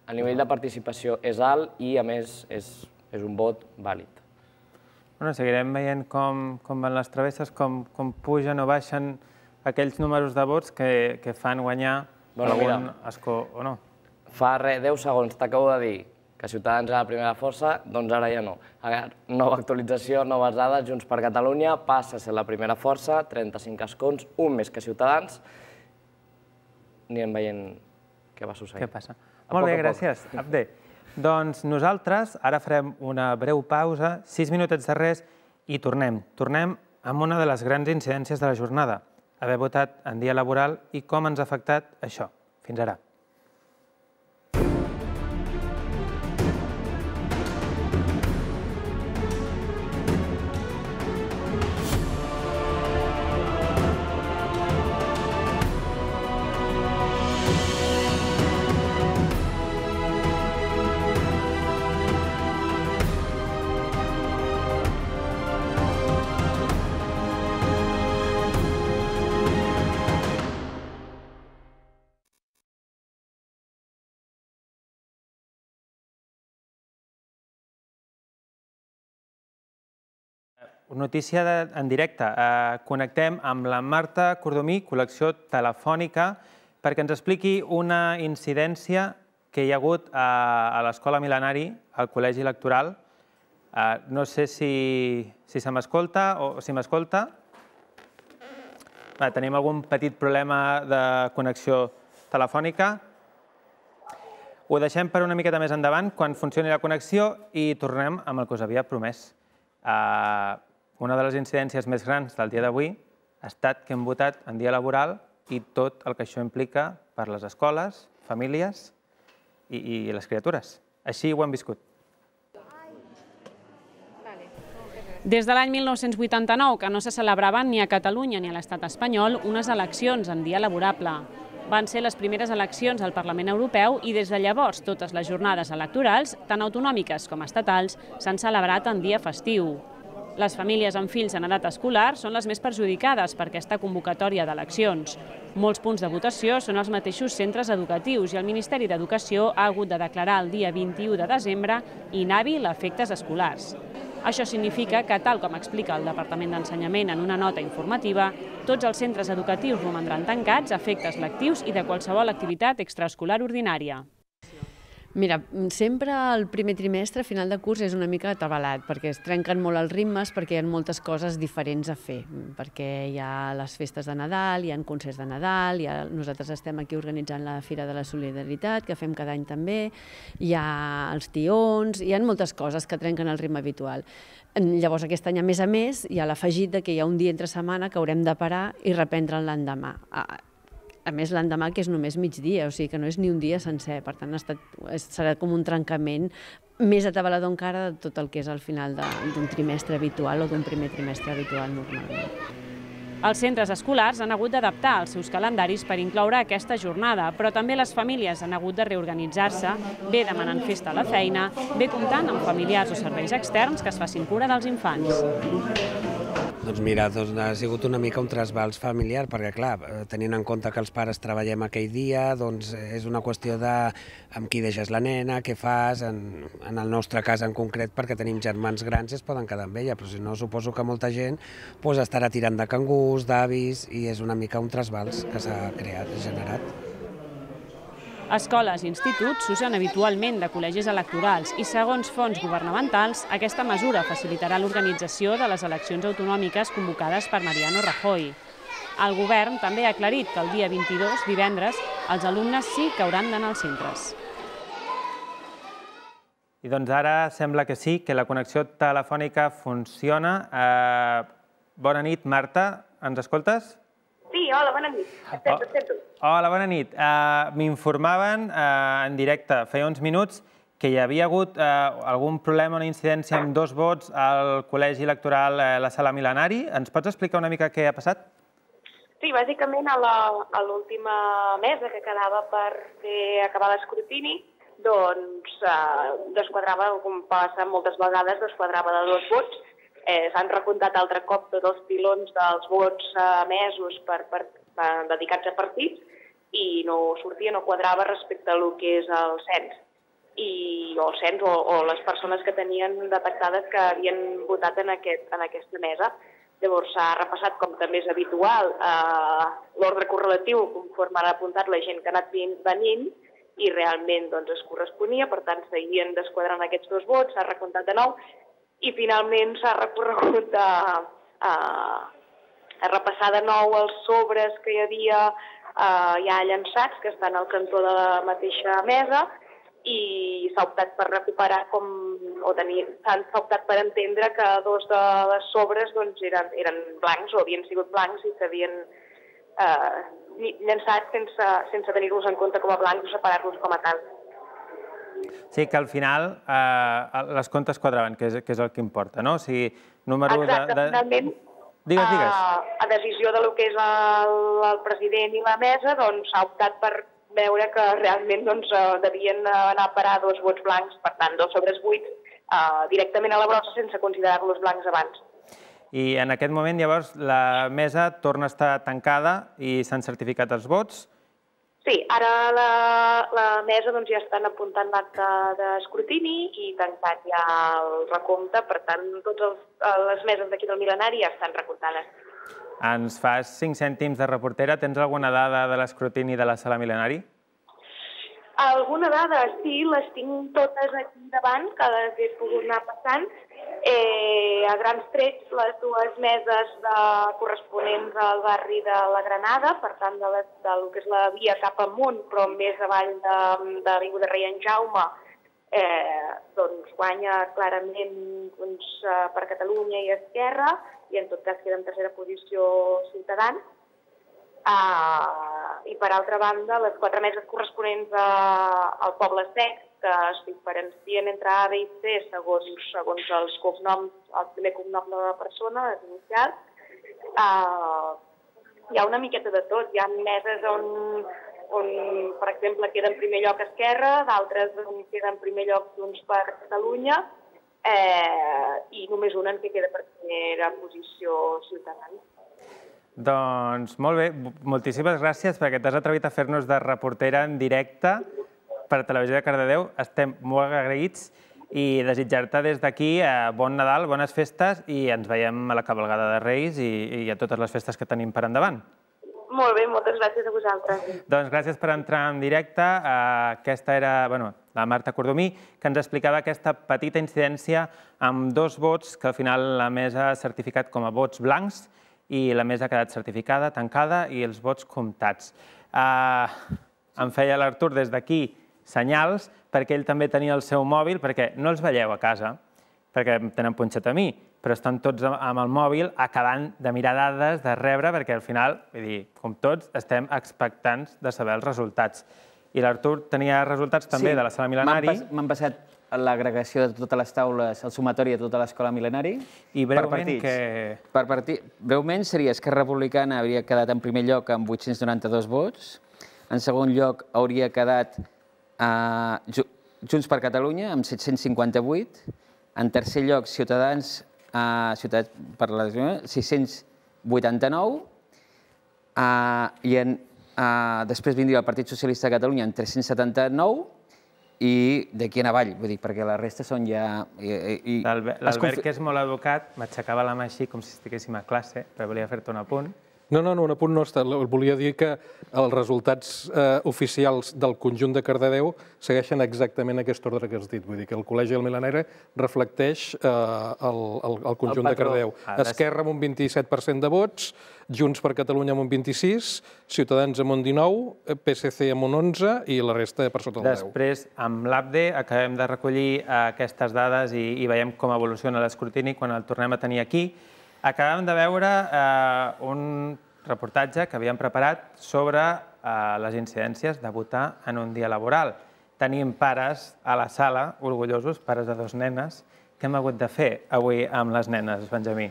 el nivell de participació és alt i, a més, és un vot vàlid. Seguirem veient com van les travesses, com pugen o baixen aquells números de vots que fan guanyar algun escó o no. Fa deu segons t'acabo de dir que Ciutadans era la primera força, doncs ara ja no. Nova actualització, noves dades, Junts per Catalunya passa a ser la primera força, trenta-cinc escons, un més que Ciutadans. Anirem veient què va succeir. Què passa? Molt bé, gràcies, Abde. Doncs nosaltres ara farem una breu pausa, sis minutets de res, i tornem. Tornem amb una de les grans incidències de la jornada, haver votat en dia laboral i com ens ha afectat això. Fins ara. Notícia en directe. Connectem amb la Marta Cordomí, col·lecció telefònica, perquè ens expliqui una incidència que hi ha hagut a l'Escola Mil·lenari, al Col·legi Electoral. No sé si se m'escolta o si m'escolta. Tenim algun petit problema de connexió telefònica. Ho deixem per una miqueta més endavant, quan funcioni la connexió, i tornem amb el que us havia promès. Una de les incidències més grans del dia d'avui ha estat que hem votat en dia laboral i tot el que això implica per les escoles, famílies i les criatures. Així ho hem viscut. Des de l'any mil nou-cents vuitanta-nou que no se celebraven ni a Catalunya ni a l'estat espanyol unes eleccions en dia laborable. Van ser les primeres eleccions al Parlament Europeu i des de llavors totes les jornades electorals, tant autonòmiques com estatals, s'han celebrat en dia festiu. Les famílies amb fills en edat escolar són les més perjudicades per aquesta convocatòria d'eleccions. Molts punts de votació són els mateixos centres educatius i el Ministeri d'Educació ha hagut de declarar el dia vint-i-u de desembre inhàbil a efectes escolars. Això significa que, tal com explica el Departament d'Ensenyament en una nota informativa, tots els centres educatius romandran tancats a efectes lectius i de qualsevol activitat extraescolar ordinària. Mira, sempre el primer trimestre, a final de curs, és una mica atabalat, perquè es trenquen molt els ritmes, perquè hi ha moltes coses diferents a fer, perquè hi ha les festes de Nadal, hi ha concerts de Nadal, nosaltres estem aquí organitzant la Fira de la Solidaritat, que fem cada any també, hi ha els tions, hi ha moltes coses que trenquen el ritme habitual. Llavors, aquest any, a més a més, hi ha l'afegit que hi ha un dia entre setmana que haurem de parar i reprendre l'endemà. A més, l'endemà, que és només migdia, o sigui que no és ni un dia sencer. Per tant, serà com un trencament més atabalador encara de tot el que és al final d'un trimestre habitual o d'un primer trimestre habitual normalment. Els centres escolars han hagut d'adaptar els seus calendaris per incloure aquesta jornada, però també les famílies han hagut de reorganitzar-se, bé demanant festa a la feina, bé comptant amb familiars o serveis externs que es facin cura dels infants. Doncs mira, ha sigut una mica un trasbals familiar, perquè clar, tenint en compte que els pares treballem aquell dia, doncs és una qüestió de amb qui deixes la nena, què fas, en el nostre cas en concret, perquè tenim germans grans i es poden quedar amb ella, però si no, suposo que molta gent estarà tirant de cangurs, d'avis, i és una mica un trasbals que s'ha creat, generat. Escoles i instituts s'usen habitualment de col·legis electorals i, segons fonts governamentals, aquesta mesura facilitarà l'organització de les eleccions autonòmiques convocades per Mariano Rajoy. El govern també ha aclarit que el dia vint-i-dos, divendres, els alumnes sí que hauran d'anar als centres. I doncs ara sembla que sí, que la connexió telefònica funciona. Bona nit, Marta, ens escoltes? Sí, hola, bona nit. Estem, estem. Hola, bona nit. M'informaven en directe, feia uns minuts, que hi havia hagut algun problema, una incidència amb dos vots al col·legi electoral a la Sala Mil·lenari. Ens pots explicar una mica què ha passat? Sí, bàsicament a l'última mesa que quedava per acabar l'escrutini, doncs desquadrava, com passa moltes vegades, desquadrava de dos vots. S'han recomptat altre cop tots els pilons dels vots emesos dedicats a partits i no sortia, no quadrava respecte a el que és el cens. O el cens o les persones que tenien detectades que havien votat en aquesta mesa. Llavors s'ha repassat, com també és habitual, l'ordre correlatiu conforme ha apuntat la gent que ha anat venint i realment es corresponia, per tant seguien desquadrant aquests dos vots, s'ha recomptat de nou i finalment s'ha recorregut a repassar de nou els sobres que hi havia ja llançats, que estan al cantó de la mateixa mesa, i s'ha optat per recuperar, o s'ha optat per entendre que dos de les sobres eren blancs o havien sigut blancs i s'havien llançat sense tenir-los en compte com a blancs o separar-los com a tal. Sí, que al final les comptes quadraven, que és el que importa, no? O sigui, número de... Exacte, finalment, a decisió del que és el president i la mesa, s'ha optat per veure que realment devien anar a parar dos vots blancs, per tant, dos sobres buits, directament a la brossa sense considerar-los blancs abans. I en aquest moment, llavors, la mesa torna a estar tancada i s'han certificat els vots? Sí, ara la mesa ja estan apuntant l'acte d'escrutini i tancat ja el recompte, per tant, totes les meses d'aquí del Mil·lenari ja estan recomptades. Ens fas cinc cèntims de reportera. Tens alguna dada de l'escrutini de la Sala Mil·lenari? Alguna dada, sí, les tinc totes aquí davant, que les he pogut anar passant. Eh, a grans trets, les dues meses de, corresponents al barri de la Granada, per tant, de, la, del que és la via cap amunt, però més avall de, de l'avinguda Rei en Jaume, eh, doncs guanya clarament doncs, per Catalunya i Esquerra, i en tot cas queda en tercera posició Ciutadans. Uh, I per altra banda, les quatre meses corresponents a, al Poble Sec, que es diferencien entre A, B i C segons, segons els cognoms, el primer cognom de la persona, les inicials. Uh, hi ha una miqueta de tot. Hi ha meses on, on per exemple, queda en primer lloc Esquerra, d'altres on queda en primer lloc Junts per Catalunya, eh, i només una en què queda per primera posició Ciutadans. Doncs molt bé, moltíssimes gràcies perquè t'has atrevit a fer-nos de reportera en directe per Televisió de Cardedeu. Estem molt agraïts i desitjar-te des d'aquí bon Nadal, bones festes i ens veiem a la cavalgada de Reis i a totes les festes que tenim per endavant. Molt bé, moltes gràcies a vosaltres. Doncs gràcies per entrar en directe. Aquesta era la Marta Cordomí, que ens explicava aquesta petita incidència amb dos vots que al final la mesa ha certificat com a vots blancs i la mesa ha quedat certificada, tancada i els vots comptats. Em feia l'Artur des d'aquí senyals perquè ell també tenia el seu mòbil, perquè no els veieu a casa, perquè tenen punxat a mi, però estan tots amb el mòbil acabant de mirar dades, de rebre, perquè al final, vull dir, com tots, estem expectants de saber els resultats. I l'Artur tenia resultats també de la sala Mil·lenari. M'han passat l'agregació de totes les taules, el sumatori de tota l'escola Mil·lenari. I breument que... Per partit, breument seria Esquerra Republicana hauria quedat en primer lloc amb vuit-cents noranta-dos vots. En segon lloc hauria quedat Junts per Catalunya amb set-cents cinquanta-vuit. En tercer lloc Ciutadans per la sis-cents vuitanta-nou. I després vindria el Partit Socialista de Catalunya amb tres-cents setanta-nou. I d'aquí en avall, vull dir, perquè la resta són ja... L'Albert, que és molt educat, m'aixecava la mà així com si estiguéssim a classe, però volia fer-te un apunt. No, no, un apunt no. Volia dir que els resultats oficials del conjunt de Cardedeu segueixen exactament aquest ordre que has dit. Vull dir que el Col·legi del Mil·lenari reflecteix el conjunt de Cardedeu. Esquerra amb un vint-i-set per cent de vots, Junts per Catalunya amb un vint-i-sis, Ciutadans amb un dinou, P S C amb un onze i la resta per sota del deu. Després, amb l'A P D, acabem de recollir aquestes dades i veiem com evoluciona l'escrutini quan el tornem a tenir aquí. Acabem de veure un reportatge que havíem preparat sobre les incidències de votar en un dia laboral. Tenim pares a la sala, orgullosos, pares de dos nenes. Què hem hagut de fer avui amb les nenes, Benjamí?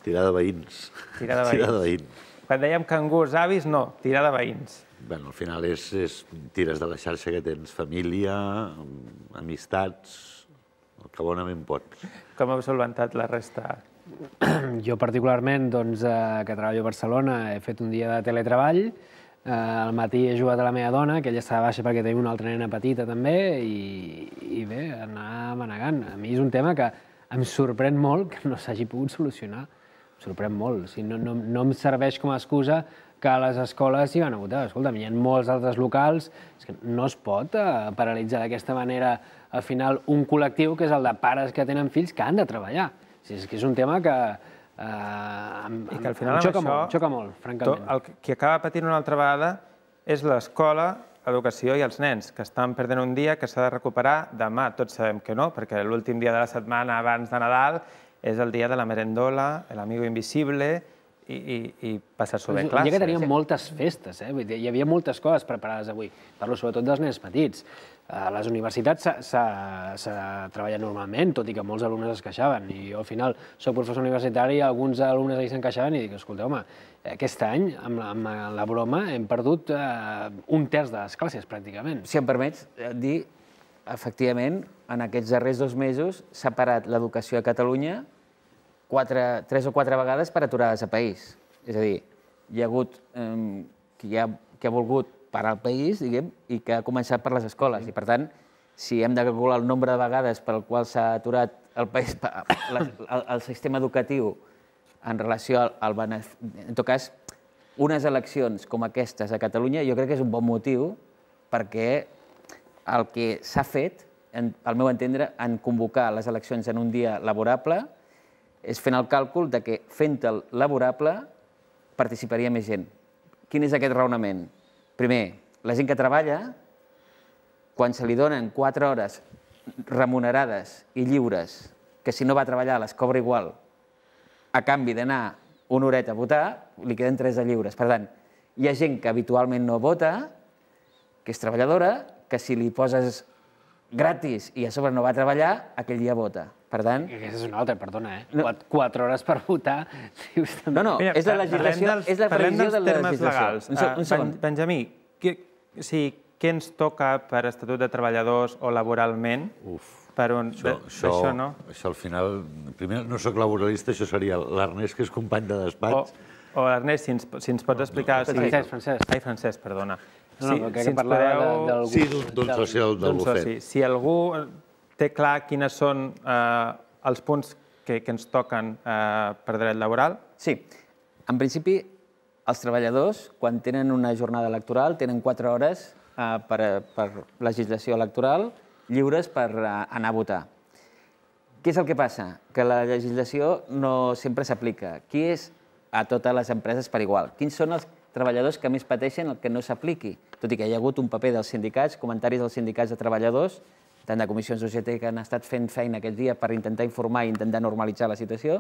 Tirar de veïns. Tirar de veïns. Quan dèiem cangurs avis, no, tirar de veïns. Bé, al final és tires de la xarxa que tens, família, amistats, el que bonament pots. Com heu solventat la resta? Jo particularment, que treballo a Barcelona, he fet un dia de teletreball. Al matí he jugat a la meva dona, que ella està baixa perquè tenim una altra nena petita també, i bé, anar manegant. A mi és un tema que em sorprèn molt que no s'hagi pogut solucionar. Em sorprèn molt. No em serveix com a excusa que a les escoles s'hi van a votar. Escolta'm, hi ha molts altres locals, no es pot paralitzar d'aquesta manera al final un col·lectiu que és el de pares que tenen fills que han de treballar. És que és un tema que em xoca molt, francament. Qui acaba patint una altra vegada és l'escola, l'educació i els nens, que estan perdent un dia que s'ha de recuperar demà. Tots sabem que no, perquè l'últim dia de la setmana abans de Nadal és el dia de la merendola, l'amigo invisible i passar-s'ho bé a classe. Un dia que teníem moltes festes, hi havia moltes coses preparades avui. Parlo sobretot dels nens petits. A les universitats s'ha treballat normalment, tot i que molts alumnes es queixaven. I jo al final soc professor universitari i alguns alumnes ahir se'n queixaven i dic, escolta, home, aquest any, amb la broma, hem perdut un terç de les classes, pràcticament. Si em permets dir, efectivament, en aquests darrers dos mesos s'ha parat l'educació a Catalunya tres o quatre vegades per aturades a país. És a dir, hi ha hagut qui ha volgut parar el país, diguem, i que ha començat per les escoles. I, per tant, si hem de calcular el nombre de vegades per el qual s'ha aturat el país, el sistema educatiu en relació al benefici... En tot cas, unes eleccions com aquestes a Catalunya jo crec que és un bon motiu perquè el que s'ha fet, al meu entendre, en convocar les eleccions en un dia laborable, és fent el càlcul de que fent-el laborable participaria més gent. Quin és aquest raonament? Primer, la gent que treballa, quan se li donen quatre hores remunerades i lliures, que si no va a treballar les cobra igual, a canvi d'anar una horeta a votar, li queden tres de lliures. Per tant, hi ha gent que habitualment no vota, que és treballadora, que si li poses gratis i a sobre no va a treballar, aquell dia vota. Per tant... Aquesta és una altra, perdona, eh? Quatre hores per votar... No, no, és la legislació, és la previsió de la legislació. Un segon. Benjamí, què ens toca per Estatut de Treballadors o laboralment? Uf, això no. Això al final... Primer, no soc laboralista, això seria l'Ernest, que és company de despatx. O Ernest, si ens pots explicar... Francesc, Francesc. Ai, Francesc, perdona. No, no, que parlava d'algú... Sí, d'un soci del bufet. Si algú té clar quines són els punts que ens toquen per dret laboral... Sí. En principi, els treballadors, quan tenen una jornada electoral, tenen quatre hores per legislació electoral lliures per anar a votar. Què és el que passa? Que la legislació no sempre s'aplica. Qui és a totes les empreses per igual? Quins són els treballadors que més pateixen el que no s'apliqui? Tot i que hi ha hagut un paper dels sindicats, comentaris dels sindicats de treballadors, tant de comissions d'U G T que han estat fent feina aquest dia per intentar informar i intentar normalitzar la situació,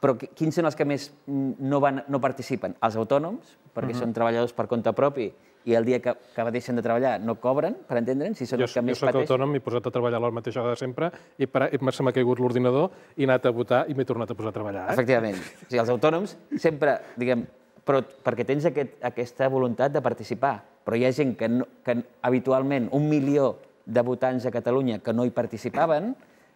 però quins són els que més no participen? Els autònoms, perquè són treballadors per compte propi i el dia que deixen de treballar no cobren, per entendre'ns, si són els que més pateixen. Jo soc autònom, m'he posat a treballar a la mateixa hora de sempre i se m'ha caigut l'ordinador i he anat a votar i m'he tornat a posar a treballar. Efectivament. O sigui, els autònoms sempre, diguem, però perquè tens aquesta voluntat de participar. Però hi ha gent que habitualment, un milió de votants a Catalunya que no hi participaven,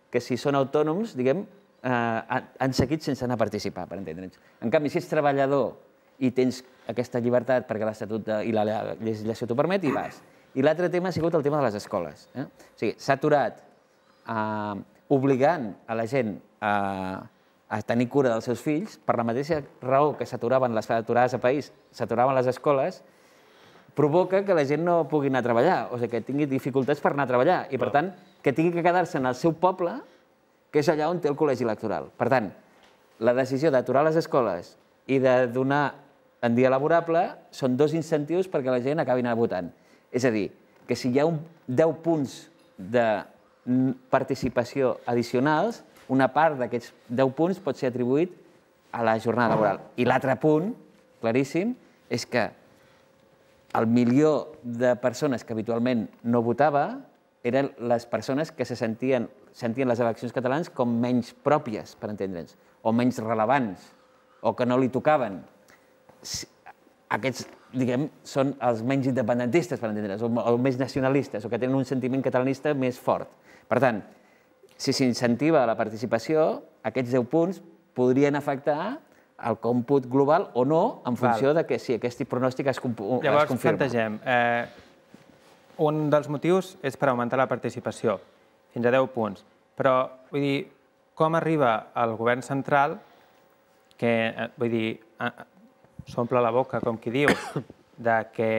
que si són autònoms, diguem, han seguit sense anar a participar, per entendre'ns. En canvi, si ets treballador i tens aquesta llibertat perquè l'Estatut i la legislació t'ho permet, hi vas. I l'altre tema ha sigut el tema de les escoles. O sigui, s'ha aturat obligant a la gent a tenir cura dels seus fills, per la mateixa raó que s'aturaven les aturades a país, s'aturaven les escoles, provoca que la gent no pugui anar a treballar, o sigui, que tingui dificultats per anar a treballar, i per tant, que tingui que quedar-se en el seu poble, que és allà on té el col·legi electoral. Per tant, la decisió d'aturar les escoles i de donar en dia laborable són dos incentius perquè la gent acabi anar votant. És a dir, que si hi ha deu punts de participació addicionals, una part d'aquests deu punts pot ser atribuït a la jornada laboral. I l'altre punt, claríssim, és que el milió de persones que habitualment no votava eren les persones que se sentien sentien les eleccions catalanes com menys pròpies, per entendre'ns, o menys rellevants, o que no li tocaven. Aquests, diguem, són els menys independentistes, per entendre'ns, o més nacionalistes, o que tenen un sentiment catalanista més fort. Per tant, si s'incentiva la participació, aquests deu punts podrien afectar el còmput global o no, en funció de que si aquest pronòstic es confirma. Llavors, plantegem, un dels motius és per augmentar la participació, fins a deu punts. Però, vull dir, com arriba el govern central, que, vull dir, s'omple la boca, com qui diu, de que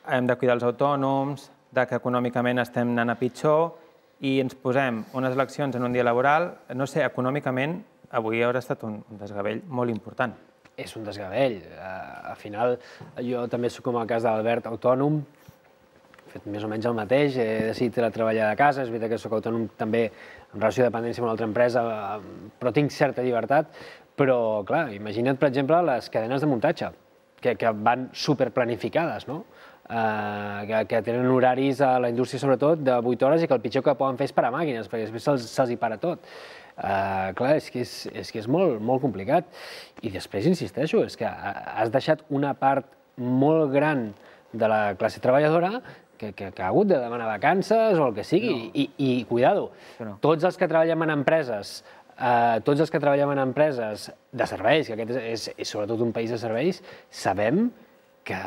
hem de cuidar els autònoms, de que econòmicament estem anant a pitjor, i ens posem unes eleccions en un dia laboral, no sé, econòmicament, avui haurà estat un desgavell molt important. És un desgavell. Al final, jo també soc com el cas d'Albert, autònom, he fet més o menys el mateix, he decidit treballar de casa, és veritat que soc autònom també en relació de dependència amb una altra empresa, però tinc certa llibertat, però, clar, imagina't, per exemple, les cadenes de muntatge, que van superplanificades, no? Que tenen horaris a la indústria, sobretot, de vuit hores i que el pitjor que poden fer és parar màquines, perquè després se'ls hi para tot. Clar, és que és molt complicat. I després, insisteixo, és que has deixat una part molt gran de la classe treballadora que ha hagut de demanar vacances o el que sigui. I, cuidado, tots els que treballem en empreses tots els que treballem en empreses de serveis, que aquest és sobretot un país de serveis, sabem que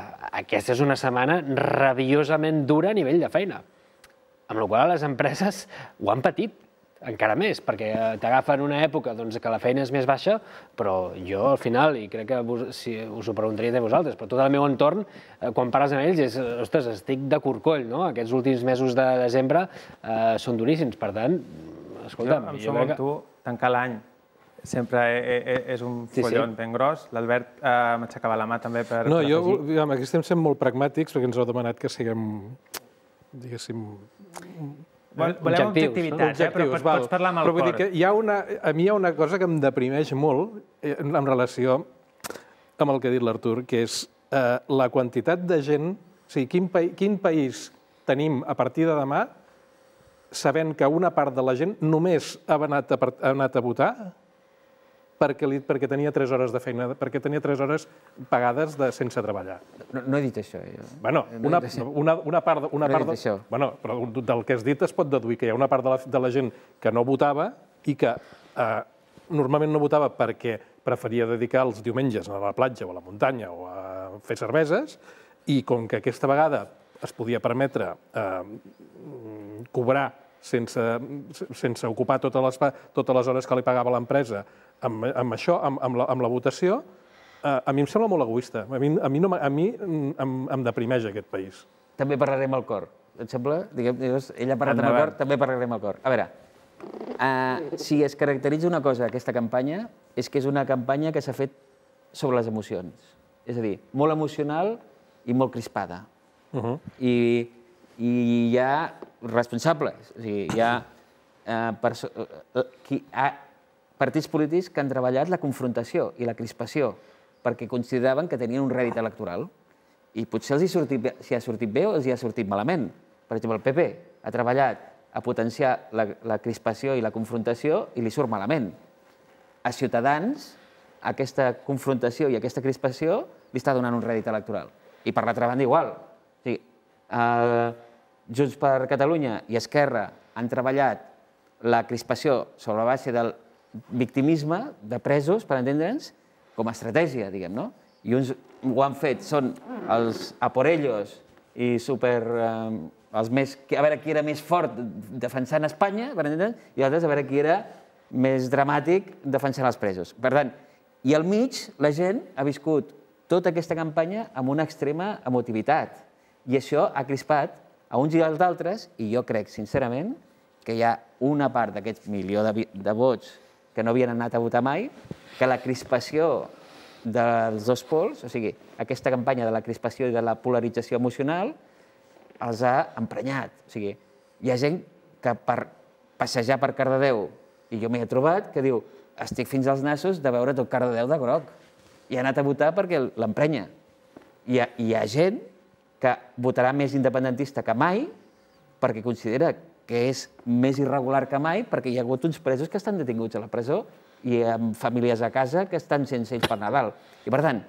aquesta és una setmana rabiosament dura a nivell de feina. Amb la qual cosa les empreses ho han patit. encara més, perquè t'agafa en una època que la feina és més baixa, però jo al final, i crec que us ho preguntaria de vosaltres, però tot el meu entorn, quan parles amb ells, és, ostres, estic de corcoll, no? Aquests últims mesos de desembre són duríssims, per tant, escolta'm... Jo em som amb tu, tancar l'any sempre és un follon ben gros. L'Albert m'aixecava la mà també per afegir. No, jo, aquí estem sent molt pragmàtics perquè ens heu demanat que siguem, diguéssim... Volem objectivitats, però pots parlar amb el cor. A mi hi ha una cosa que em deprimeix molt en relació amb el que ha dit l'Artur, que és la quantitat de gent... O sigui, quin país tenim a partir de demà sabent que una part de la gent només ha anat a votar perquè tenia tres hores de feina, perquè tenia tres hores pagades sense treballar. No he dit això. Bueno, una part... No he dit això. Bueno, però del que has dit es pot deduir que hi ha una part de la gent que no votava i que normalment no votava perquè preferia dedicar els diumenges a la platja o a la muntanya o a fer cerveses, i com que aquesta vegada es podia permetre cobrar sense ocupar totes les hores que li pagava l'empresa amb això, amb la votació, a mi em sembla molt egoista. A mi em deprimeix aquest país. També parlarem al cor. Et sembla? Ella ha parlat amb el cor, també parlarem al cor. A veure, si es caracteritza una cosa aquesta campanya, és que és una campanya que s'ha fet sobre les emocions. És a dir, molt emocional i molt crispada. I hi ha responsables, hi ha partits polítics que han treballat la confrontació i la crispació perquè consideraven que tenien un rèdit electoral i potser si ha sortit bé o els hi ha sortit malament. Per exemple, el P P ha treballat a potenciar la crispació i la confrontació i li surt malament. A Ciutadans, aquesta confrontació i aquesta crispació li està donant un rèdit electoral. I per l'altra banda igual. Junts per Catalunya i Esquerra han treballat la crispació sobre la base del victimisme de presos, per entendre'ns, com a estratègia, diguem, no? I uns ho han fet, són els a por ellos i super... els més... a veure qui era més fort defensant Espanya, per entendre'ns, i altres a veure qui era més dramàtic defensant els presos. Per tant, i al mig la gent ha viscut tota aquesta campanya amb una extrema emotivitat. I això ha crispat a uns i als altres, i jo crec, sincerament, que hi ha una part d'aquest milió de vots que no havien anat a votar mai, que la crispació dels dos pols, o sigui, aquesta campanya de la crispació i de la polarització emocional, els ha emprenyat. O sigui, hi ha gent que per passejar per Cardedeu, i jo m'hi he trobat, que diu, estic fins als nassos de veure tot Cardedeu de groc. I ha anat a votar perquè l'emprenya. Hi ha gent que votarà més independentista que mai perquè considera que és més irregular que mai perquè hi ha hagut uns presos que estan detinguts a la presó i amb famílies a casa que estan sense ells per Nadal. I per tant,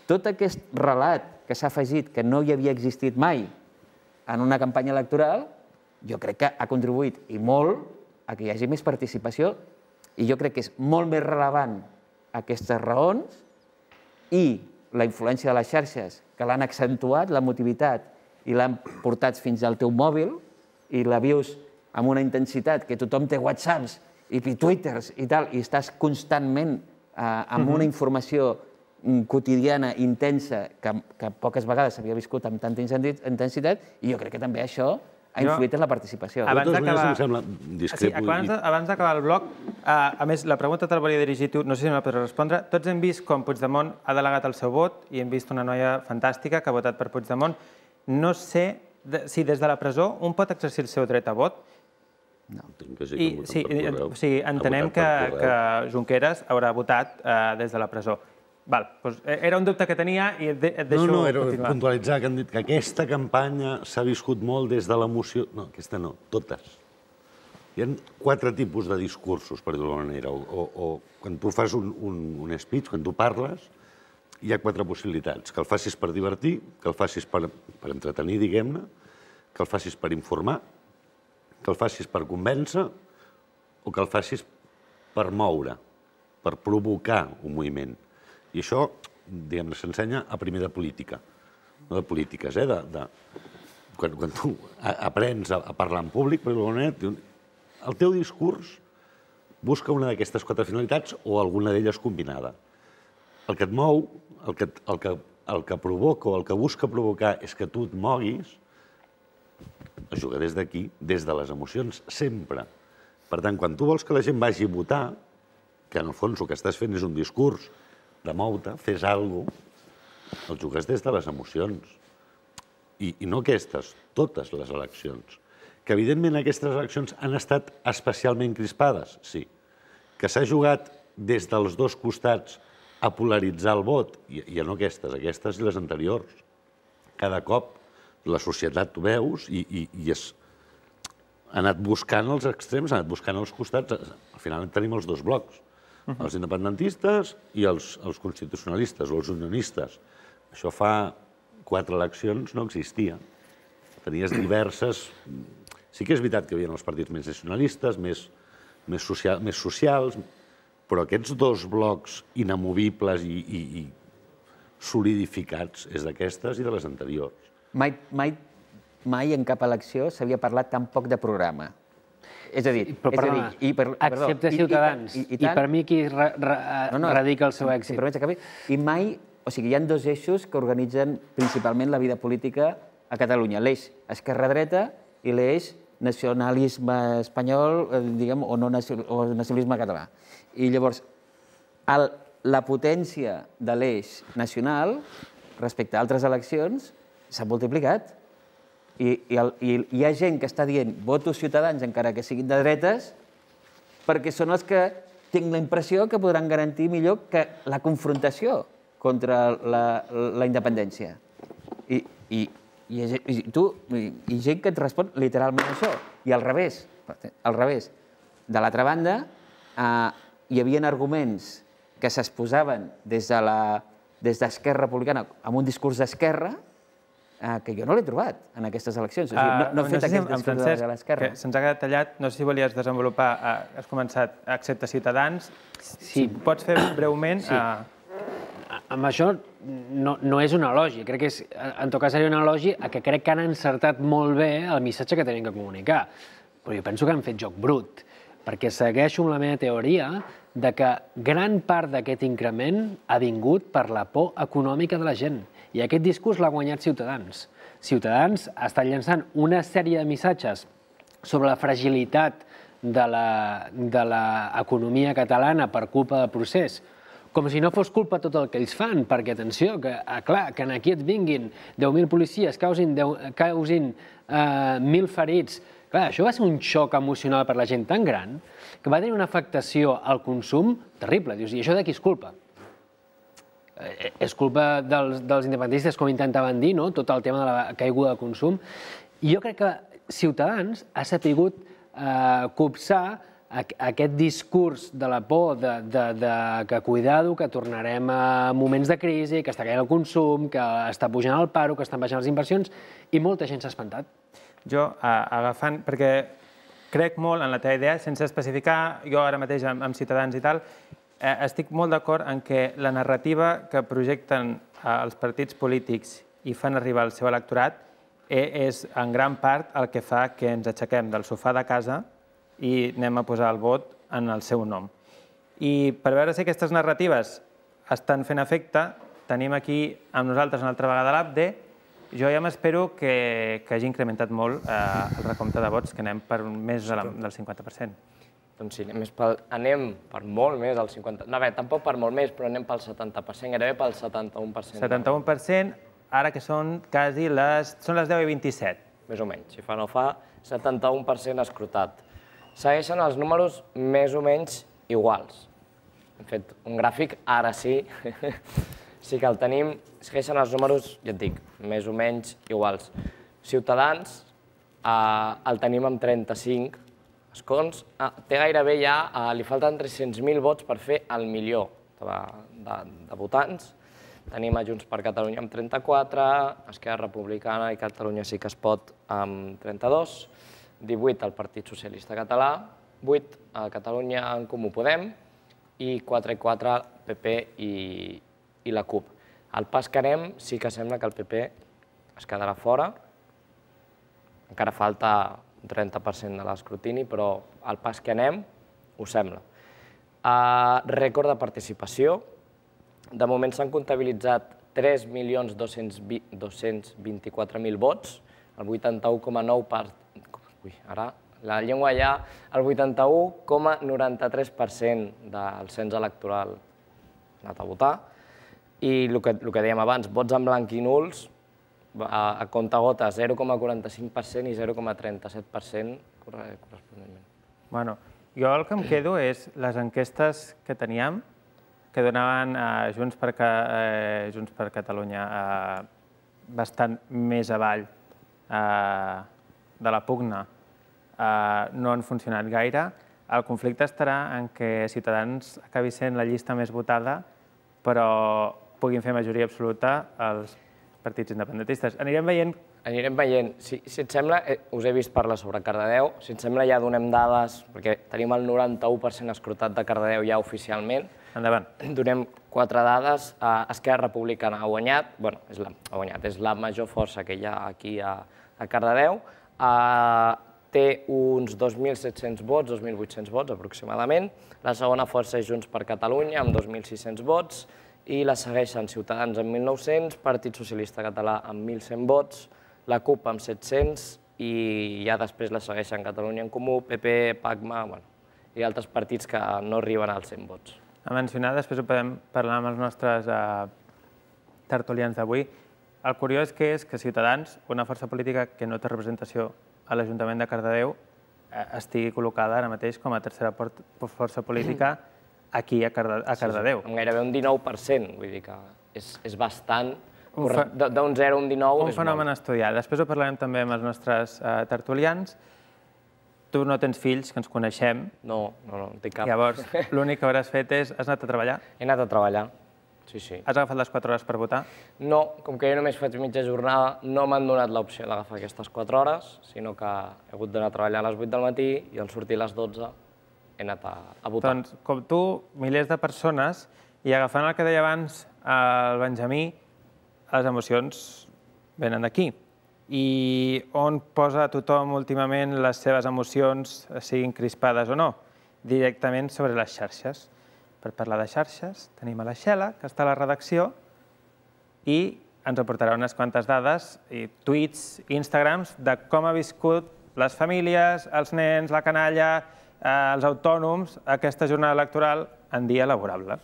tot aquest relat que s'ha afegit que no hi havia existit mai en una campanya electoral, jo crec que ha contribuït i molt a que hi hagi més participació i jo crec que és molt més rellevant aquestes raons i la influència de les xarxes que l'han accentuat, l'emotivitat, i l'han portat fins al teu mòbil i la vius amb una intensitat que tothom té whatsapps i twitters i tal, i estàs constantment amb una informació quotidiana, intensa, que poques vegades s'havia viscut amb tanta intensitat, i jo crec que també això ha influït en la participació. Abans d'acabar el bloc, a més, la pregunta te la volia dirigir tu, no sé si me la podràs respondre. Tots hem vist com Puigdemont ha delegat el seu vot i hem vist una noia fantàstica que ha votat per Puigdemont. No sé si des de la presó un pot exercir el seu dret a vot. No. Sí, entenem que Junqueras haurà votat des de la presó. Era un dubte que tenia i et deixo continuar. No, no, era puntualitzar que han dit que aquesta campanya s'ha viscut molt des de l'emoció. No, aquesta no, totes. Hi ha quatre tipus de discursos, per dir-ho d'alguna manera. O quan tu fas un speech, quan tu parles, hi ha quatre possibilitats. Que el facis per divertir, que el facis per entretenir, diguem-ne, que el facis per informar, que el facis per convèncer o que el facis per moure, per provocar un moviment. I això, diguem-ne, s'ensenya a primer de política, no de polítiques, eh? Quan tu aprens a parlar en públic, per d'alguna manera, el teu discurs busca una d'aquestes quatre finalitats o alguna d'elles combinada. El que et mou, el que, el que, el que provoca o el que busca provocar és que tu et moguis, es juga des d'aquí, des de les emocions, sempre. Per tant, quan tu vols que la gent vagi a votar, que en el fons el que estàs fent és un discurs de mou-te, fes alguna cosa, el jugues des de les emocions. I, I no aquestes, totes les eleccions. Que, evidentment, aquestes eleccions han estat especialment crispades, sí. Que s'ha jugat des dels dos costats a polaritzar el vot, i, i no aquestes, aquestes i les anteriors. Cada cop la societat ho veus i, i, i és, ha anat buscant els extrems, ha anat buscant els costats. Al final tenim els dos blocs, els independentistes i els, els constitucionalistes o els unionistes. Això fa quatre eleccions no existia. Tenies diverses... Sí que és veritat que hi havia els partits més nacionalistes, més, més, social, més socials, però aquests dos blocs inamovibles i, i, i solidificats és d'aquestes i de les anteriors. Mai, mai, mai en cap elecció s'havia parlat tan poc de programa. És a dir... Però, perdona, és a dir, i per, excepte perdó, Ciutadans, i, i, i, i per mi qui ra, ra, no, no, radica el seu èxit. Si I mai... O sigui, hi ha dos eixos que organitzen principalment la vida política a Catalunya. L'eix esquerra-dreta i l'eix nacionalisme espanyol, diguem, o, no, o nacionalisme català. I llavors, el, la potència de l'eix nacional respecte a altres eleccions s'ha multiplicat. I, i, el, I hi ha gent que està dient voto Ciutadans encara que siguin de dretes perquè són els que tinc la impressió que podran garantir millor que la confrontació contra la, la independència. I, i, i, i tu, i, i gent que et respon literalment això. I al revés, al revés. De l'altra banda, eh, hi havia arguments que s'exposaven des de la, des d'Esquerra Republicana amb un discurs d'esquerra eh, que jo no l'he trobat en aquestes eleccions. O sigui, no, no he fet aquest discurs de l'esquerra. Se'ns ha quedat tallat, no sé si volies desenvolupar, eh, has començat, excepte Ciutadans, si pots fer breument... Sí. Eh, amb això no, no és un elogi, crec que és, en tot cas seria un elogi a que crec que han encertat molt bé el missatge que tenen que comunicar. Però jo penso que han fet joc brut, perquè segueixo amb la meva teoria de que gran part d'aquest increment ha vingut per la por econòmica de la gent. I aquest discurs l'ha guanyat Ciutadans. Ciutadans ha estat llançant una sèrie de missatges sobre la fragilitat de l'economia catalana per culpa del procés, com si no fos culpa tot el que ells fan, perquè, atenció, que, clar, que aquí et vinguin deu mil policies, causin, causin eh, mil ferits. Clar, això va ser un xoc emocional per la gent tan gran que va tenir una afectació al consum terrible. Dius, i això de qui és culpa? Eh, és culpa dels, dels independentistes, com intentaven dir, no? Tot el tema de la caiguda de consum. I jo crec que Ciutadans ha sapigut eh, copsar aquest discurs de la por de, de, de que cuidado, que tornarem a moments de crisi, que està caient el consum, que està pujant el paro, que estan baixant les inversions, i molta gent s'ha espantat. Jo, agafant, perquè crec molt en la teva idea, sense especificar, jo ara mateix amb, amb Ciutadans i tal, eh, estic molt d'acord en que la narrativa que projecten eh, els partits polítics i fan arribar al seu electorat eh, és en gran part el que fa que ens aixequem del sofà de casa i anem a posar el vot en el seu nom. I per veure si aquestes narratives estan fent efecte, tenim aquí amb nosaltres una altra vegada l'A B D E. Jo ja m'espero que, que hagi incrementat molt eh, el recompte de vots, que anem per més de la, del cinquanta per cent. Doncs sí, anem, pel, anem per molt més del cinquanta per cent. No, bé, tampoc per molt més, però anem pel setanta per cent, gairebé pel setanta-u per cent. setanta-u per cent, ara que són quasi les... són les deu i vint-i-set. Més o menys, si fa no fa, setanta-u per cent escrutat. Segueixen els números més o menys iguals. Hem fet un gràfic, ara sí, sí que el tenim. Segueixen els números, ja et dic, més o menys iguals. Ciutadans eh, el tenim amb trenta-cinc escons. Ah, té gairebé ja, eh, li falten tres-cents mil vots per fer el milió de, de, de votants. Tenim a Junts per Catalunya amb trenta-quatre, Esquerra Republicana i Catalunya sí que es pot amb trenta-dos, divuit al Partit Socialista Català, vuit a Catalunya en Comú Podem i quatre i quatre P P i, i la CUP. Al pas que anem, sí que sembla que el P P es quedarà fora. Encara falta un trenta per cent de l'escrutini, però al pas que anem ho sembla. Rècord de participació. De moment s'han comptabilitzat tres milions dos-cents vint-i-quatre mil vots, el vuitanta-u coma nou per cent, ui, ara la llengua ja, el vuitanta-u coma noranta-tres per cent del cens electoral ha anat a votar. I el que dèiem abans, vots en blanc i nuls, a compte-gota zero coma quaranta-cinc per cent i zero coma trenta-set per cent corresponentment. Bueno, jo el que em quedo és les enquestes que teníem, que donaven a Junts per Catalunya bastant més avall de la pugna, no han funcionat gaire. El conflicte estarà en què Ciutadans acabi sent la llista més votada, però puguin fer majoria absoluta els partits independentistes. Anirem veient... Anirem veient. Si et sembla, us he vist parlar sobre Cardedeu, si et sembla ja donem dades, perquè tenim el noranta-u per cent escrutat de Cardedeu ja oficialment. Endavant. Donem quatre dades. Esquerra Republicana ha guanyat, bueno, ha guanyat, és la major força que hi ha aquí a Cardedeu. Té uns dos mil set-cents vots, dos mil vuit-cents vots aproximadament. La segona força és Junts per Catalunya, amb dos mil sis-cents vots, i la segueixen Ciutadans amb mil nou-cents, Partit Socialista Català amb mil cent vots, la CUP amb set-cents i ja després la segueixen Catalunya en Comú, P P, PACMA i altres partits que no arriben als cent vots. A mencionar, després ho podem parlar amb els nostres tertulians d'avui. El curiós que és que Ciutadans, una força política que no té representació a l'Ajuntament de Cardedeu, estigui col·locada ara mateix com a tercera força política aquí a Cardedeu. Amb gairebé un dinou per cent, vull dir que és bastant... D'un zero a un dinou... Un fenomen a estudiar. Després ho parlarem també amb els nostres tertulians. Tu no tens fills, que ens coneixem. No, no, no, tinc cap. Llavors, l'únic que hauràs fet és... Has anat a treballar? He anat a treballar, sí, sí. Has agafat les quatre hores per votar? No, com que jo només faig mitja jornada, no m'han donat l'opció d'agafar aquestes quatre hores, sinó que he hagut d'anar a treballar a les vuit del matí i al sortir a les dotze he anat a votar. Doncs, com tu, milers de persones, i agafant el que deia abans el Benjamí, les emocions venen d'aquí. I on posa tothom últimament les seves emocions, siguin crispades o no? Directament sobre les xarxes. Per parlar de xarxes, tenim a la Xela, que està a la redacció, i ens aportarà unes quantes dades, i tuits, Instagrams, de com ha viscut les famílies, els nens, la canalla, els autònoms, aquesta jornada electoral en dia laborable.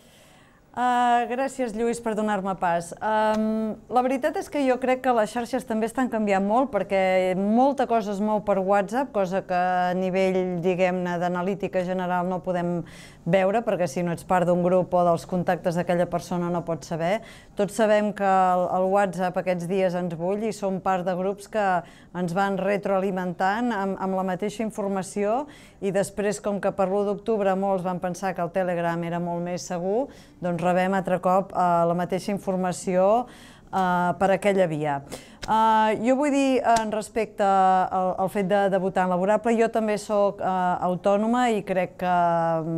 Gràcies, Lluís, per donar-me pas. La veritat és que jo crec que les xarxes també estan canviant molt perquè molta cosa es mou per WhatsApp, cosa que a nivell, diguem-ne, d'analítica general no podem veure, perquè si no ets part d'un grup o dels contactes d'aquella persona no pots saber. Tots sabem que el WhatsApp aquests dies ens bull i som part de grups que ens van retroalimentant amb la mateixa informació i després, com que per l'u d'octubre molts van pensar que el Telegram era molt més segur, doncs rebem altre cop la mateixa informació per aquella via. Jo vull dir, respecte al fet de votar en laborable, jo també soc autònoma i crec que,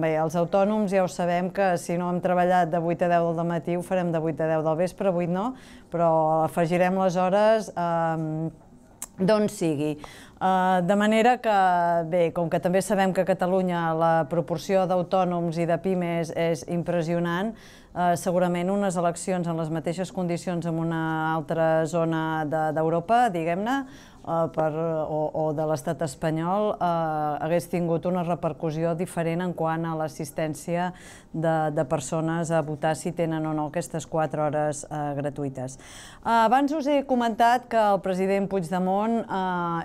bé, els autònoms ja ho sabem que si no hem treballat de vuit a deu del matí ho farem de vuit a deu del vespre, vuit no, però afegirem les hores d'on sigui. De manera que, bé, com que també sabem que a Catalunya la proporció d'autònoms i de pimes és impressionant, segurament unes eleccions en les mateixes condicions en una altra zona d'Europa, diguem-ne, o de l'estat espanyol, hagués tingut una repercussió diferent en quant a l'assistència de persones a votar si tenen o no aquestes quatre hores gratuïtes. Abans us he comentat que el president Puigdemont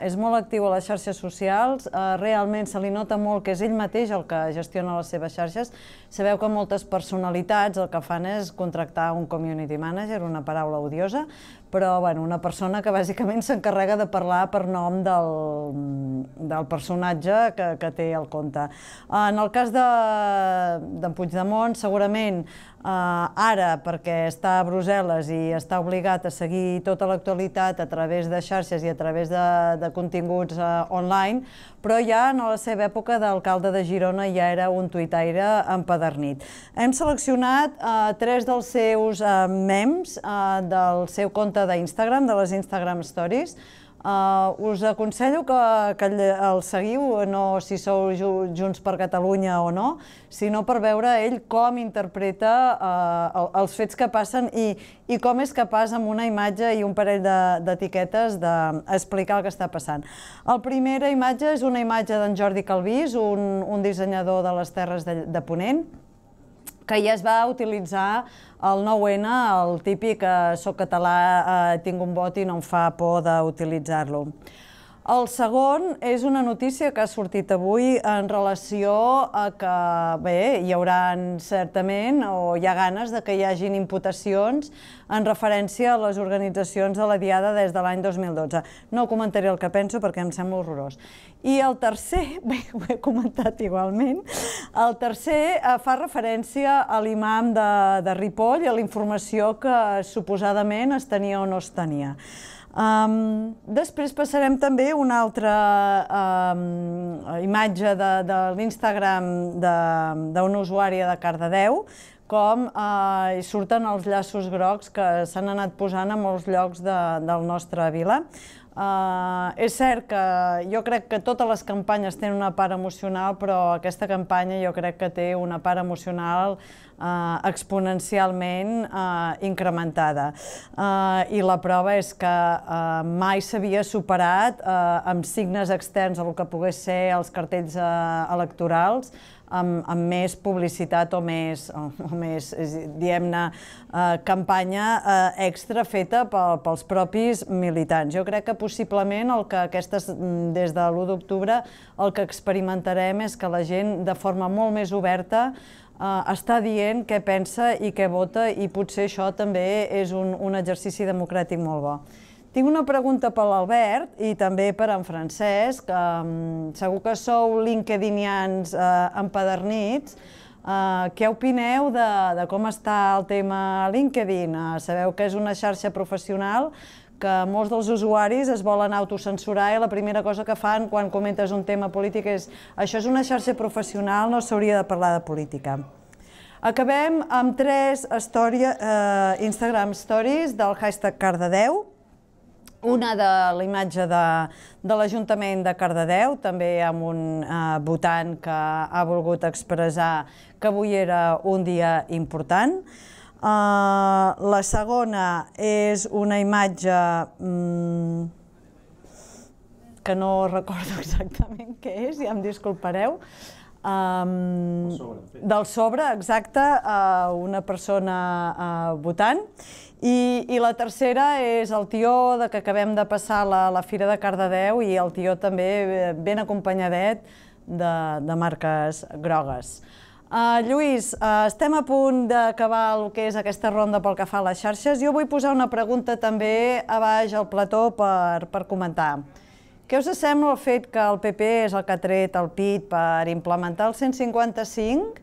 és molt actiu a les xarxes socials, realment se li nota molt que és ell mateix el que gestiona les seves xarxes. Sabeu que moltes personalitats el que fan és contractar un community manager, una paraula odiosa, però una persona que bàsicament s'encarrega de parlar per nom del personatge que té al compte. En el cas d'en Puigdemont, segurament ara, perquè està a Brussel·les i està obligat a seguir tota l'actualitat a través de xarxes i a través de continguts online, però ja en la seva època d'alcalde de Girona ja era un tuitaire empadernit. Hem seleccionat tres dels seus memes del seu compte d'Instagram, de les Instagram Stories. Us aconsello que el seguiu, no si sou Junts per Catalunya o no, sinó per veure ell com interpreta els fets que passen i com és capaç amb una imatge i un parell d'etiquetes d'explicar el que està passant. La primera imatge és una imatge d'en Jordi Calvís, un dissenyador de les Terres de Ponent, que ja es va utilitzar el nou ene, el típic soc català, tinc un vot i no em fa por d'utilitzar-lo. El segon és una notícia que ha sortit avui en relació a que, bé, hi haurà certament, o hi ha ganes de que hi hagin imputacions en referència a les organitzacions de la Diada des de l'any dos mil dotze. No comentaré el que penso perquè em sembla horrorós. I el tercer, bé, ho he comentat igualment, el tercer fa referència a l'imam de Ripoll i a la informació que suposadament es tenia o no es tenia. Després passarem també una altra imatge de l'Instagram d'una usuària de Cardedeu, com surten els llaços grocs que s'han anat posant a molts llocs del nostre vila. És cert que jo crec que totes les campanyes tenen una part emocional, però aquesta campanya jo crec que té una part emocional exponencialment incrementada. I la prova és que mai s'havia superat amb signes externs a el que pogués ser els cartells electorals, amb més publicitat o més, diguem-ne, campanya extra feta pels propis militants. Jo crec que possiblement el que aquestes, des de l'u d'octubre, el que experimentarem és que la gent de forma molt més oberta està dient què pensa i què vota i potser això també és un exercici democràtic molt bo. Tinc una pregunta per l'Albert i també per en Francesc. Segur que sou linkedinians empadernits. Què opineu de com està el tema LinkedIn? Sabeu que és una xarxa professional que molts dels usuaris es volen autocensurar i la primera cosa que fan quan comentes un tema polític és això és una xarxa professional, no s'hauria de parlar de política. Acabem amb tres Instagram Stories del hashtag Cardedeu. Una de la imatge de l'Ajuntament de Cardedeu, també amb un votant que ha volgut expressar que avui era un dia important. La segona és una imatge que no recordo exactament què és, ja em disculpareu, del sobre, exacte, una persona votant. I la tercera és el tió que acabem de passar a la Fira de Cardedeu i el tió també ben acompanyadet de marques grogues. Lluís, estem a punt d'acabar el que és aquesta ronda pel que fa a les xarxes. Jo vull posar una pregunta també a baix al plató per comentar. Què us sembla el fet que el P P és el que ha tret el pit per implementar el cent cinquanta-cinc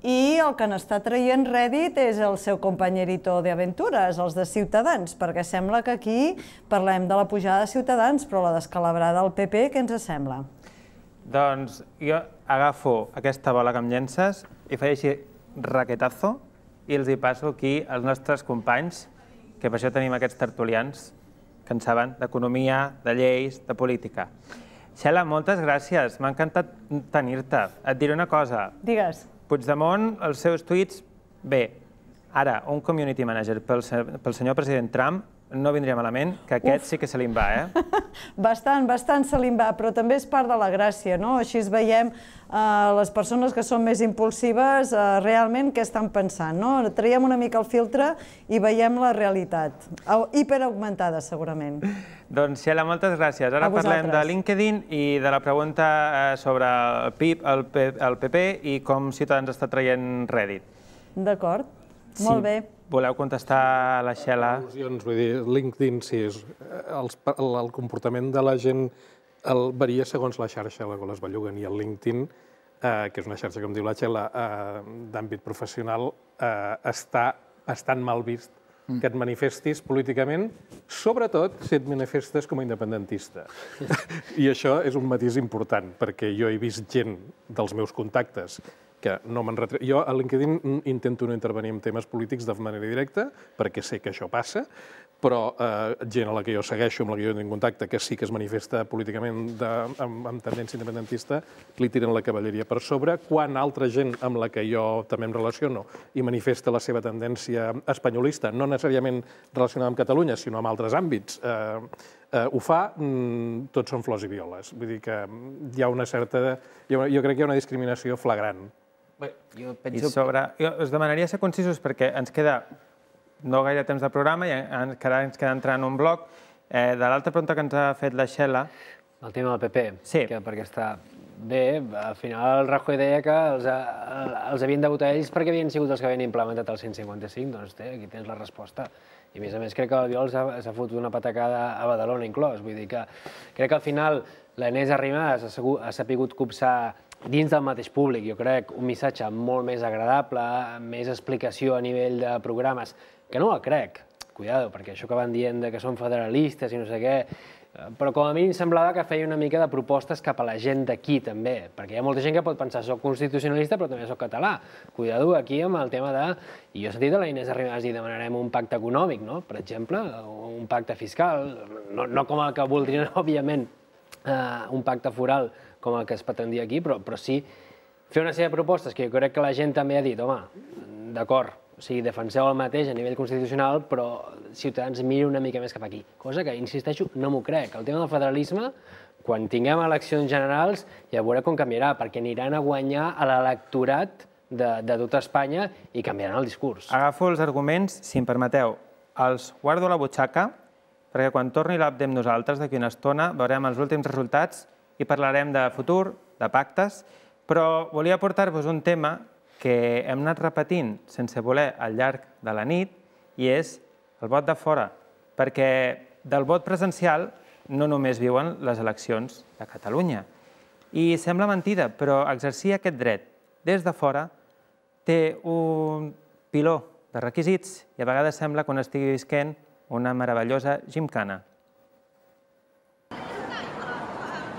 i el que n'està traient rèdit és el seu companyerito d'aventures, els de Ciutadans, perquè sembla que aquí parlem de la pujada de Ciutadans, però la descalabrada del P P, què ens sembla? Doncs jo agafo aquesta bola que em llences i faig així raquetazo i els hi passo aquí als nostres companys, que per això tenim aquests tertulians que en saben d'economia, de lleis, de política. Xela, moltes gràcies, m'ha encantat tenir-te. Et diré una cosa. Digues. Puigdemont, els seus tuits, bé, ara, un community manager pel senyor president Trump no vindria malament, que aquest sí que se li'n va, eh? Bastant, bastant se li'n va, però també és part de la gràcia, no? Així veiem les persones que són més impulsives realment què estan pensant, no? Traiem una mica el filtre i veiem la realitat, hiperaugmentada segurament. Doncs, Xela, moltes gràcies. Ara parlem de LinkedIn i de la pregunta sobre el P P i com Ciutadans està traient rèdit. D'acord, molt bé. Voleu contestar a la Xela? Vull dir, LinkedIn, sí, el comportament de la gent varia segons la xarxa a la qual es belluguen, i el LinkedIn, que és una xarxa, com diu la Xela, d'àmbit professional, està bastant mal vist que et manifestis políticament, sobretot si et manifestes com a independentista. I això és un matís important, perquè jo he vist gent dels meus contactes que no me'n retre... Jo a LinkedIn intento no intervenir en temes polítics de manera directa, perquè sé que això passa, però gent a la que jo segueixo, amb la que jo tinc contacte, que sí que es manifesta políticament amb tendència independentista, li tiren la cavalleria per sobre, quan altra gent amb la que jo també em relaciono i manifesta la seva tendència espanyolista, no necessàriament relacionada amb Catalunya, sinó amb altres àmbits, ho fa, tots són flors i violes. Vull dir que hi ha una certa... Jo crec que hi ha una discriminació flagrant. I sobre... Jo us demanaria ser concisos perquè ens queda no gaire temps de programa i encara ens queda entrar en un bloc. De l'altra pregunta que ens ha fet la Xela... El tema del P P. Sí. Perquè està bé, al final el Rajoy deia que els havien de votar ells perquè havien sigut els que havien implementat el cent i cinquanta cinc. Doncs aquí tens la resposta. I a més a més crec que l'Albiol s'ha fotut una patacada a Badalona inclòs. Vull dir que crec que al final l'Inés Arrimadas ha sapigut copsar dins del mateix públic, jo crec, un missatge molt més agradable, més explicació a nivell de programes, que no el crec, cuidado, perquè això que van dient que són federalistes i no sé què, però com a mínim semblava que feia una mica de propostes cap a la gent d'aquí també, perquè hi ha molta gent que pot pensar soc constitucionalista però també soc català. Cuidado aquí amb el tema de... I jo he sentit a la Inés Arrimadas dir demanarem un pacte econòmic, no? Per exemple, un pacte fiscal, no com el que voldrien, òbviament, un pacte foral com el que es pretendia aquí, però sí fer una sèrie de propostes que jo crec que la gent també ha dit, home, d'acord, o sigui, defenseu el mateix a nivell constitucional, però Ciutadans mira una mica més cap aquí. Cosa que, insisteixo, no m'ho crec. El tema del federalisme, quan tinguem eleccions generals, ja veurà com canviarà, perquè aniran a guanyar a l'electorat de tota Espanya i canviaran el discurs. Agafo els arguments, si em permeteu, els guardo a la butxaca, perquè quan torni l'app amb nosaltres d'aquí una estona veurem els últims resultats i parlarem de futur, de pactes, però volia portar-vos un tema que hem anat repetint sense voler al llarg de la nit i és el vot de fora, perquè del vot presencial no només viuen les eleccions de Catalunya. I sembla mentida, però exercir aquest dret des de fora té un piló de requisits i a vegades sembla que un estigui visquent una meravellosa gimcana.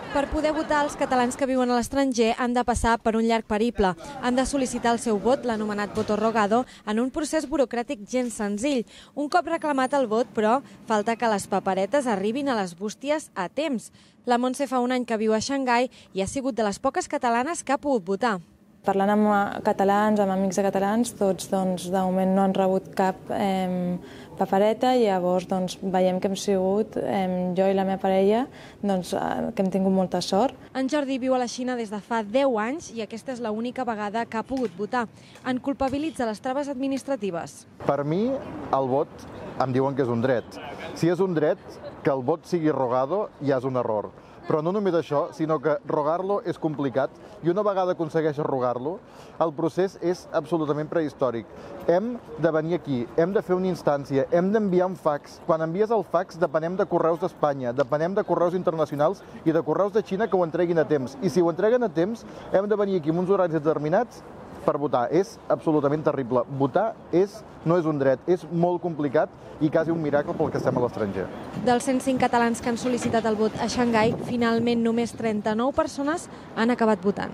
Per poder votar, els catalans que viuen a l'estranger han de passar per un llarg periple. Han de sol·licitar el seu vot, l'anomenat voto rogado, en un procés burocràtic gens senzill. Un cop reclamat el vot, però, falta que les paperetes arribin a les bústies a temps. La Montse fa un any que viu a Xangai i ha sigut de les poques catalanes que ha pogut votar. Parlant amb catalans, amb amics de catalans, tots de moment no han rebut cap papereta i llavors veiem que hem sigut, jo i la meva parella, que hem tingut molta sort. En Jordi viu a la Xina des de fa deu anys i aquesta és l'única vegada que ha pogut votar. En culpabilitza les traves administratives. Per mi, el vot em diuen que és un dret. Si és un dret, que el vot sigui rogado ja és un error. Però no només això, sinó que rogar-lo és complicat i una vegada aconsegueixes rogar-lo, el procés és absolutament prehistòric. Hem de venir aquí, hem de fer una instància, hem d'enviar un fax. Quan envies el fax depenem de correus d'Espanya, depenem de correus internacionals i de correus de Xina que ho entreguin a temps. I si ho entreguen a temps, hem de venir aquí amb uns horaris determinats per votar. És absolutament terrible. Votar és, no és un dret, és molt complicat i quasi un miracle pel que estem a l'estranger. Dels cent cinc catalans que han sol·licitat el vot a Xangai, finalment només trenta-nou persones han acabat votant.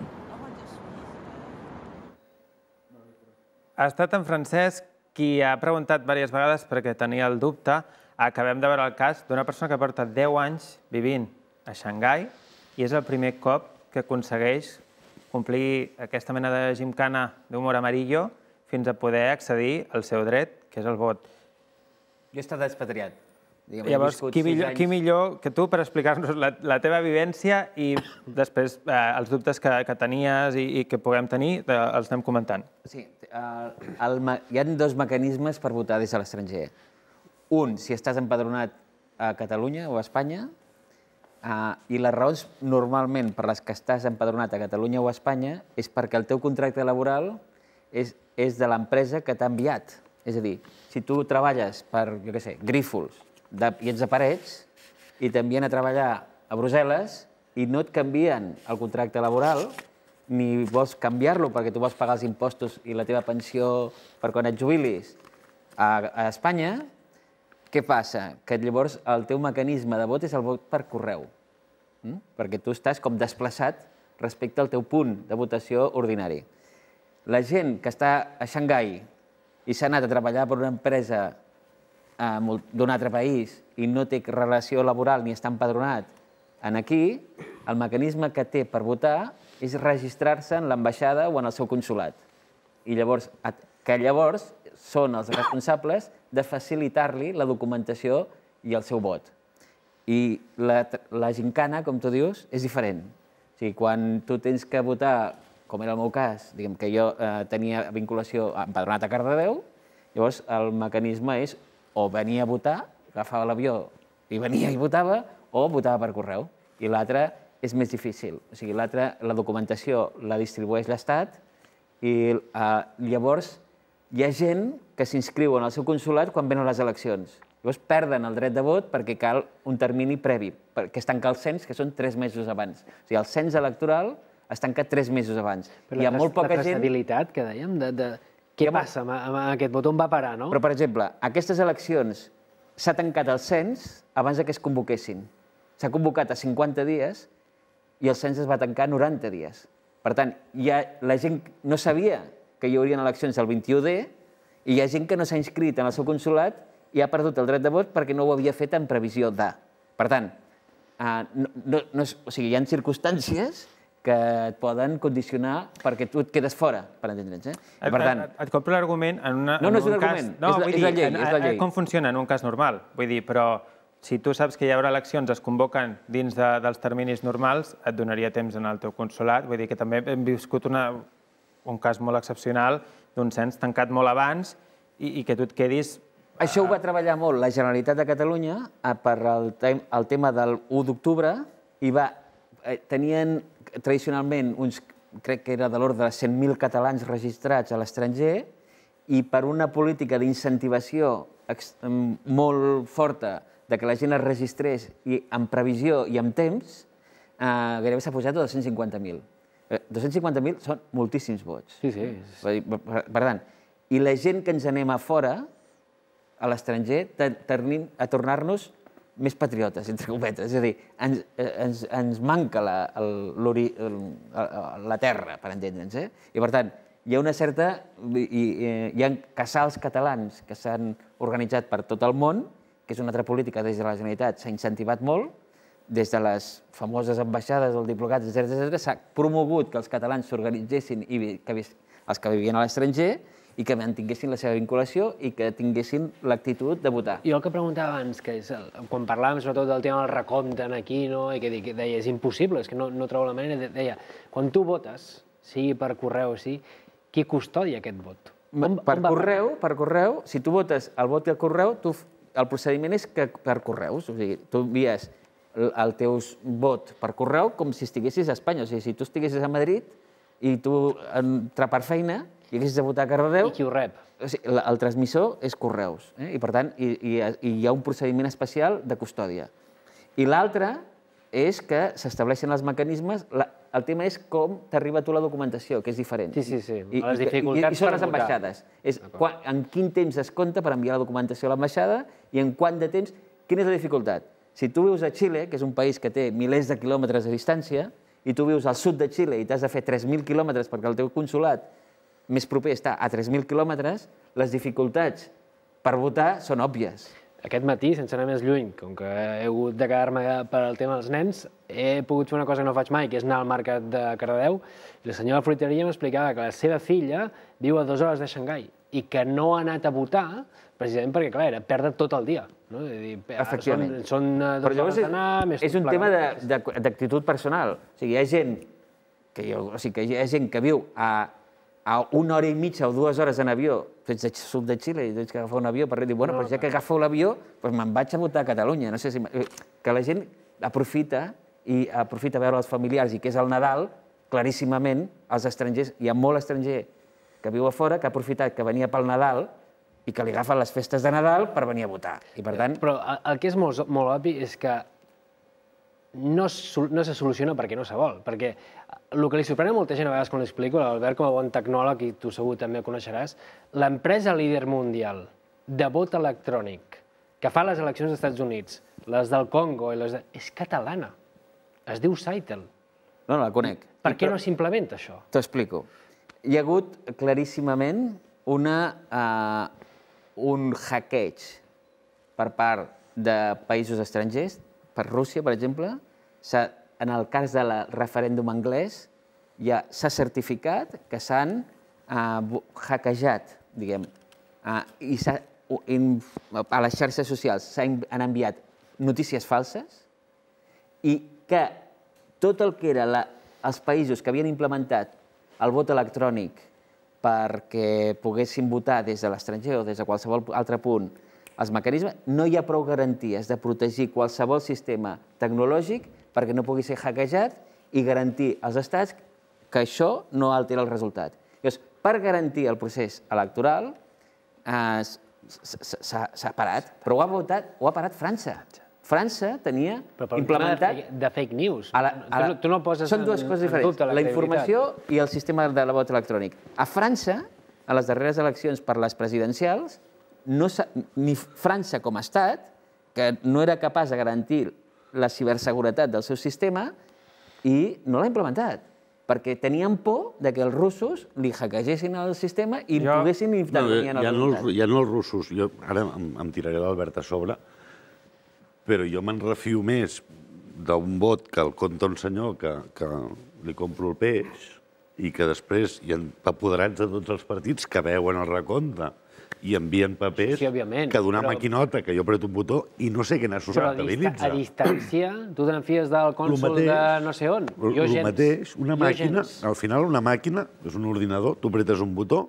Ha estat en Francesc qui ha preguntat diverses vegades perquè tenia el dubte. Acabem de veure el cas d'una persona que porta deu anys vivint a Xangai i és el primer cop que aconsegueix complir aquesta mena de gimcana d'humor amarillo fins a poder accedir al seu dret, que és el vot. Jo he estat expatriat. Llavors, qui millor que tu per explicar-nos la teva vivència i després els dubtes que tenies i que puguem tenir, els anem comentant. Sí, hi ha dos mecanismes per votar des de l'estranger. Un, si estàs empadronat a Catalunya o a Espanya, i les raons normalment per les que estàs empadronat a Catalunya o a Espanya és perquè el teu contracte laboral és de l'empresa que t'ha enviat. És a dir, si tu treballes per, jo què sé, Grífols, i ets de Parets, i t'envien a treballar a Brussel·les i no et canvien el contracte laboral, ni vols canviar-lo perquè tu vols pagar els impostos i la teva pensió per quan et jubilis a Espanya, què passa? Que llavors el teu mecanisme de vot és el vot per correu, perquè tu estàs com desplaçat respecte al teu punt de votació ordinari. La gent que està a Xangai i s'ha anat a treballar per una empresa d'un altre país i no té relació laboral ni està empadronat aquí, el mecanisme que té per votar és registrar-se en l'ambaixada o en el seu consulat. I llavors, que llavors són els responsables de facilitar-li la documentació i el seu vot. I la gincana, com tu dius, és diferent. O sigui, quan tu tens que votar, com era el meu cas, diguem que jo tenia vinculació empadronat a Cardedeu, llavors el mecanisme és o venia a votar, agafava l'avió i venia i votava, o votava per correu. I l'altre és més difícil. O sigui, l'altre, la documentació la distribueix l'Estat i llavors hi ha gent que s'inscriu en el seu consulat quan venen les eleccions. Llavors perden el dret de vot perquè cal un termini previ, que es tanca el cens, que són tres mesos abans. O sigui, el cens electoral es tanca tres mesos abans. Però la traçabilitat que dèiem, què passa amb aquest vot? On va parar, no? Però, per exemple, aquestes eleccions s'ha tancat el cens abans que es convoquessin. S'ha convocat a cinquanta dies i el cens es va tancar a noranta dies. Per tant, la gent no sabia que hi haurien eleccions el vint-i-u de i hi ha gent que no s'ha inscrit en el seu consulat i ha perdut el dret de vot perquè no ho havia fet en previsió de. Per tant, hi ha circumstàncies que et poden condicionar perquè tu et quedes fora, per entendre'ns. Et compro l'argument en un cas... No, no és un argument, és la llei, és la llei. Com funciona en un cas normal? Vull dir, però si tu saps que hi haurà eleccions, es convoquen dins dels terminis normals, et donaria temps en el teu consulat. Vull dir que també hem viscut un cas molt excepcional d'un cens tancat molt abans i que tu et quedis... Això ho va treballar molt la Generalitat de Catalunya per el tema del u d'octubre i tenien tradicionalment uns, crec que era de l'ordre de cent mil catalans registrats a l'estranger i per una política d'incentivació molt forta de que la gent es registrés en previsió i en temps, gairebé s'ha pujat a dos-cents cinquanta mil. dos-cents cinquanta mil són moltíssims vots. Sí, sí. Per tant, i la gent que ens anem a fora, a l'estranger, tenim a tornar-nos més patriotes, entre cometes. És a dir, ens manca la terra, per entendre'ns. I, per tant, hi ha una certa... Hi ha casals catalans que s'han organitzat per tot el món, que és una altra política des de la Generalitat, s'ha incentivat molt, des de les famoses ambaixades, els diplocats, etcètera, s'ha promogut que els catalans s'organitzessin, els que vivien a l'estranger, i que mantinguessin la seva vinculació i que tinguessin l'actitud de votar. Jo el que preguntava abans, que és quan parlàvem sobretot del tema del recompte aquí, i que deia, és impossible, és que no trobo la manera, deia, quan tu votes, sigui per correu o sí, qui custodia aquest vot? Per correu, per correu, si tu votes el vot i el correu, el procediment és per correus, o sigui, tu envies el teu vot per correu com si estiguessis a Espanya, o sigui, si tu estiguessis a Madrid i tu per feina i haguessis de votar a Cardedeu... I qui ho rep? El transmissor és correus, i per tant hi ha un procediment especial de custòdia. I l'altre és que s'estableixen els mecanismes, el tema és com t'arriba a tu la documentació, que és diferent. Sí, sí, sí, les dificultats per votar. I són les ambaixades. En quin temps es compta per enviar la documentació a l'ambaixada i en quant de temps... Quina és la dificultat? Si tu vius a Xile, que és un país que té milers de quilòmetres de distància, i tu vius al sud de Xile i t'has de fer tres mil quilòmetres perquè el teu consulat més proper està a tres mil quilòmetres, les dificultats per votar són òbvies. Aquest matí, sense anar més lluny, com que he hagut de quedar-me per al tema dels nens, he pogut fer una cosa que no faig mai, que és anar al mercat de Cardedeu, i la senyora fruiteria m'explicava que la seva filla viu a dues hores de Xangai i que no ha anat a votar precisament perquè, clar, era perdre tot el dia. Efectivament. Són dues hores d'anar, més tot plegat. És un tema d'actitud personal. O sigui, hi ha gent que viu a a una hora i mitja o dues hores en avió, tu ets del sud de Xile i tens que agafar un avió per dir, bueno, doncs ja que agafo l'avió, doncs me'n vaig a votar a Catalunya. No sé si... Que la gent aprofita i aprofita veure els familiars i que és el Nadal, claríssimament, els estrangers, hi ha molt estranger que viu a fora, que ha aprofitat que venia pel Nadal i que li agafen les festes de Nadal per venir a votar. I per tant... Però el que és molt obvi és que no se soluciona perquè no se vol, perquè el que li sorprèn a molta gent a vegades quan l'explico, l'Albert com a bon tecnòleg, i tu segur també ho coneixeràs, l'empresa líder mundial de vot electrònic que fa les eleccions dels Estats Units, les del Congo, és catalana, es diu Saitel. No, no la conec. Per què no s'implementa això? T'ho explico. Hi ha hagut claríssimament un hackeig per part de països estrangers, per Rússia, per exemple, en el cas del referèndum anglès, ja s'ha certificat que s'han hackejat, diguem, i a les xarxes socials s'han enviat notícies falses i que tot el que eren els països que havien implementat el vot electrònic perquè poguessin votar des de l'estranger o des de qualsevol altre punt els mecanismes, no hi ha prou garanties de protegir qualsevol sistema tecnològic perquè no pugui ser hackejat i garantir als estats que això no altera el resultat. Llavors, per garantir el procés electoral s'ha parat, però ho ha votat, ho ha parat França. França tenia implementat... De fake news. Tu no poses en dubte la credibilitat. Són dues coses diferents, la informació i el sistema de vot electrònic. A França, a les darreres eleccions per les presidencials, ni França com a estat, que no era capaç de garantir la ciberseguretat del seu sistema, i no l'ha implementat, perquè tenien por que els russos li hackegessin el sistema i poguessin intervenir en el resultat. Ja no els russos, ara em tiraré l'Albert a sobre, però jo me'n refio més d'un vot que el compta un senyor que li compro el peix i que després hi ha apoderats de tots els partits que veuen el recompte i envien papers que donar maquinota, que jo apreto un botó i no sé què n'ha sortabilitza. Però a distància, tu te'n fies del cònsol de no sé on? El mateix, una màquina, al final una màquina, és un ordinador, tu apretes un botó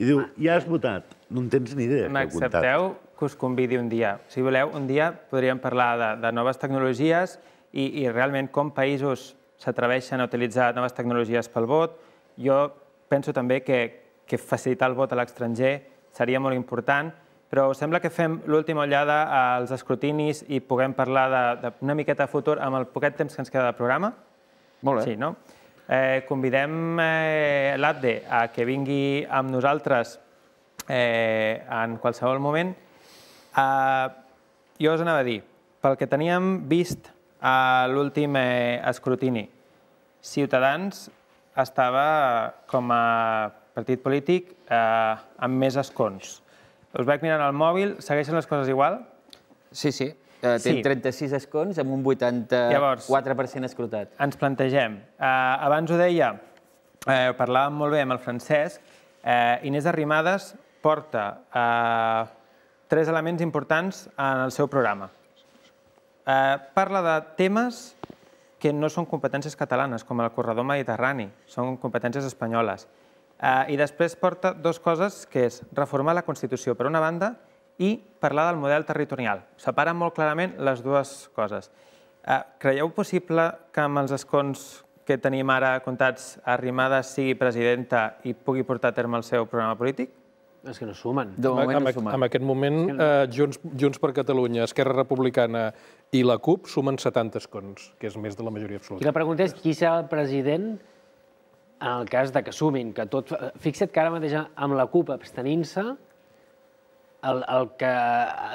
i diu, ja has votat, no en tens ni idea. M'accepteu que us convidi un dia. Si voleu, un dia podríem parlar de noves tecnologies i realment com països s'atreveixen a utilitzar noves tecnologies pel vot. Jo penso també que facilitar el vot a l'estranger seria molt important, però sembla que fem l'última ullada als escrutinis i puguem parlar d'una miqueta de futur amb el poquet temps que ens queda de programa. Molt bé. Sí, no? Convidem l'Abde a que vingui amb nosaltres en qualsevol moment. Jo us anava a dir, pel que teníem vist a l'últim escrutini, Ciutadans estava com a partit polític amb més escons. Us vaig mirant al mòbil, segueixen les coses igual? Sí, sí. Té trenta-sis escons amb un vuitanta-quatre per cent escrutat. Ens plantegem. Abans ho deia, parlàvem molt bé amb el Francesc, Inés Arrimadas porta tres elements importants en el seu programa. Parla de temes que no són competències catalanes, com el corredor mediterrani, són competències espanyoles. I després porta dues coses, que és reformar la Constitució per una banda i parlar del model territorial. Separen molt clarament les dues coses. Creieu possible que amb els escons que tenim ara comptats Arrimadas sigui presidenta i pugui portar a terme el seu programa polític? És que no sumen. En aquest moment, Junts per Catalunya, Esquerra Republicana i la CUP sumen setanta escons, que és més de la majoria absoluta. I la pregunta és qui serà el president en el cas que sumin, que tot... Fixa't que ara mateix amb la CUP abstenint-se,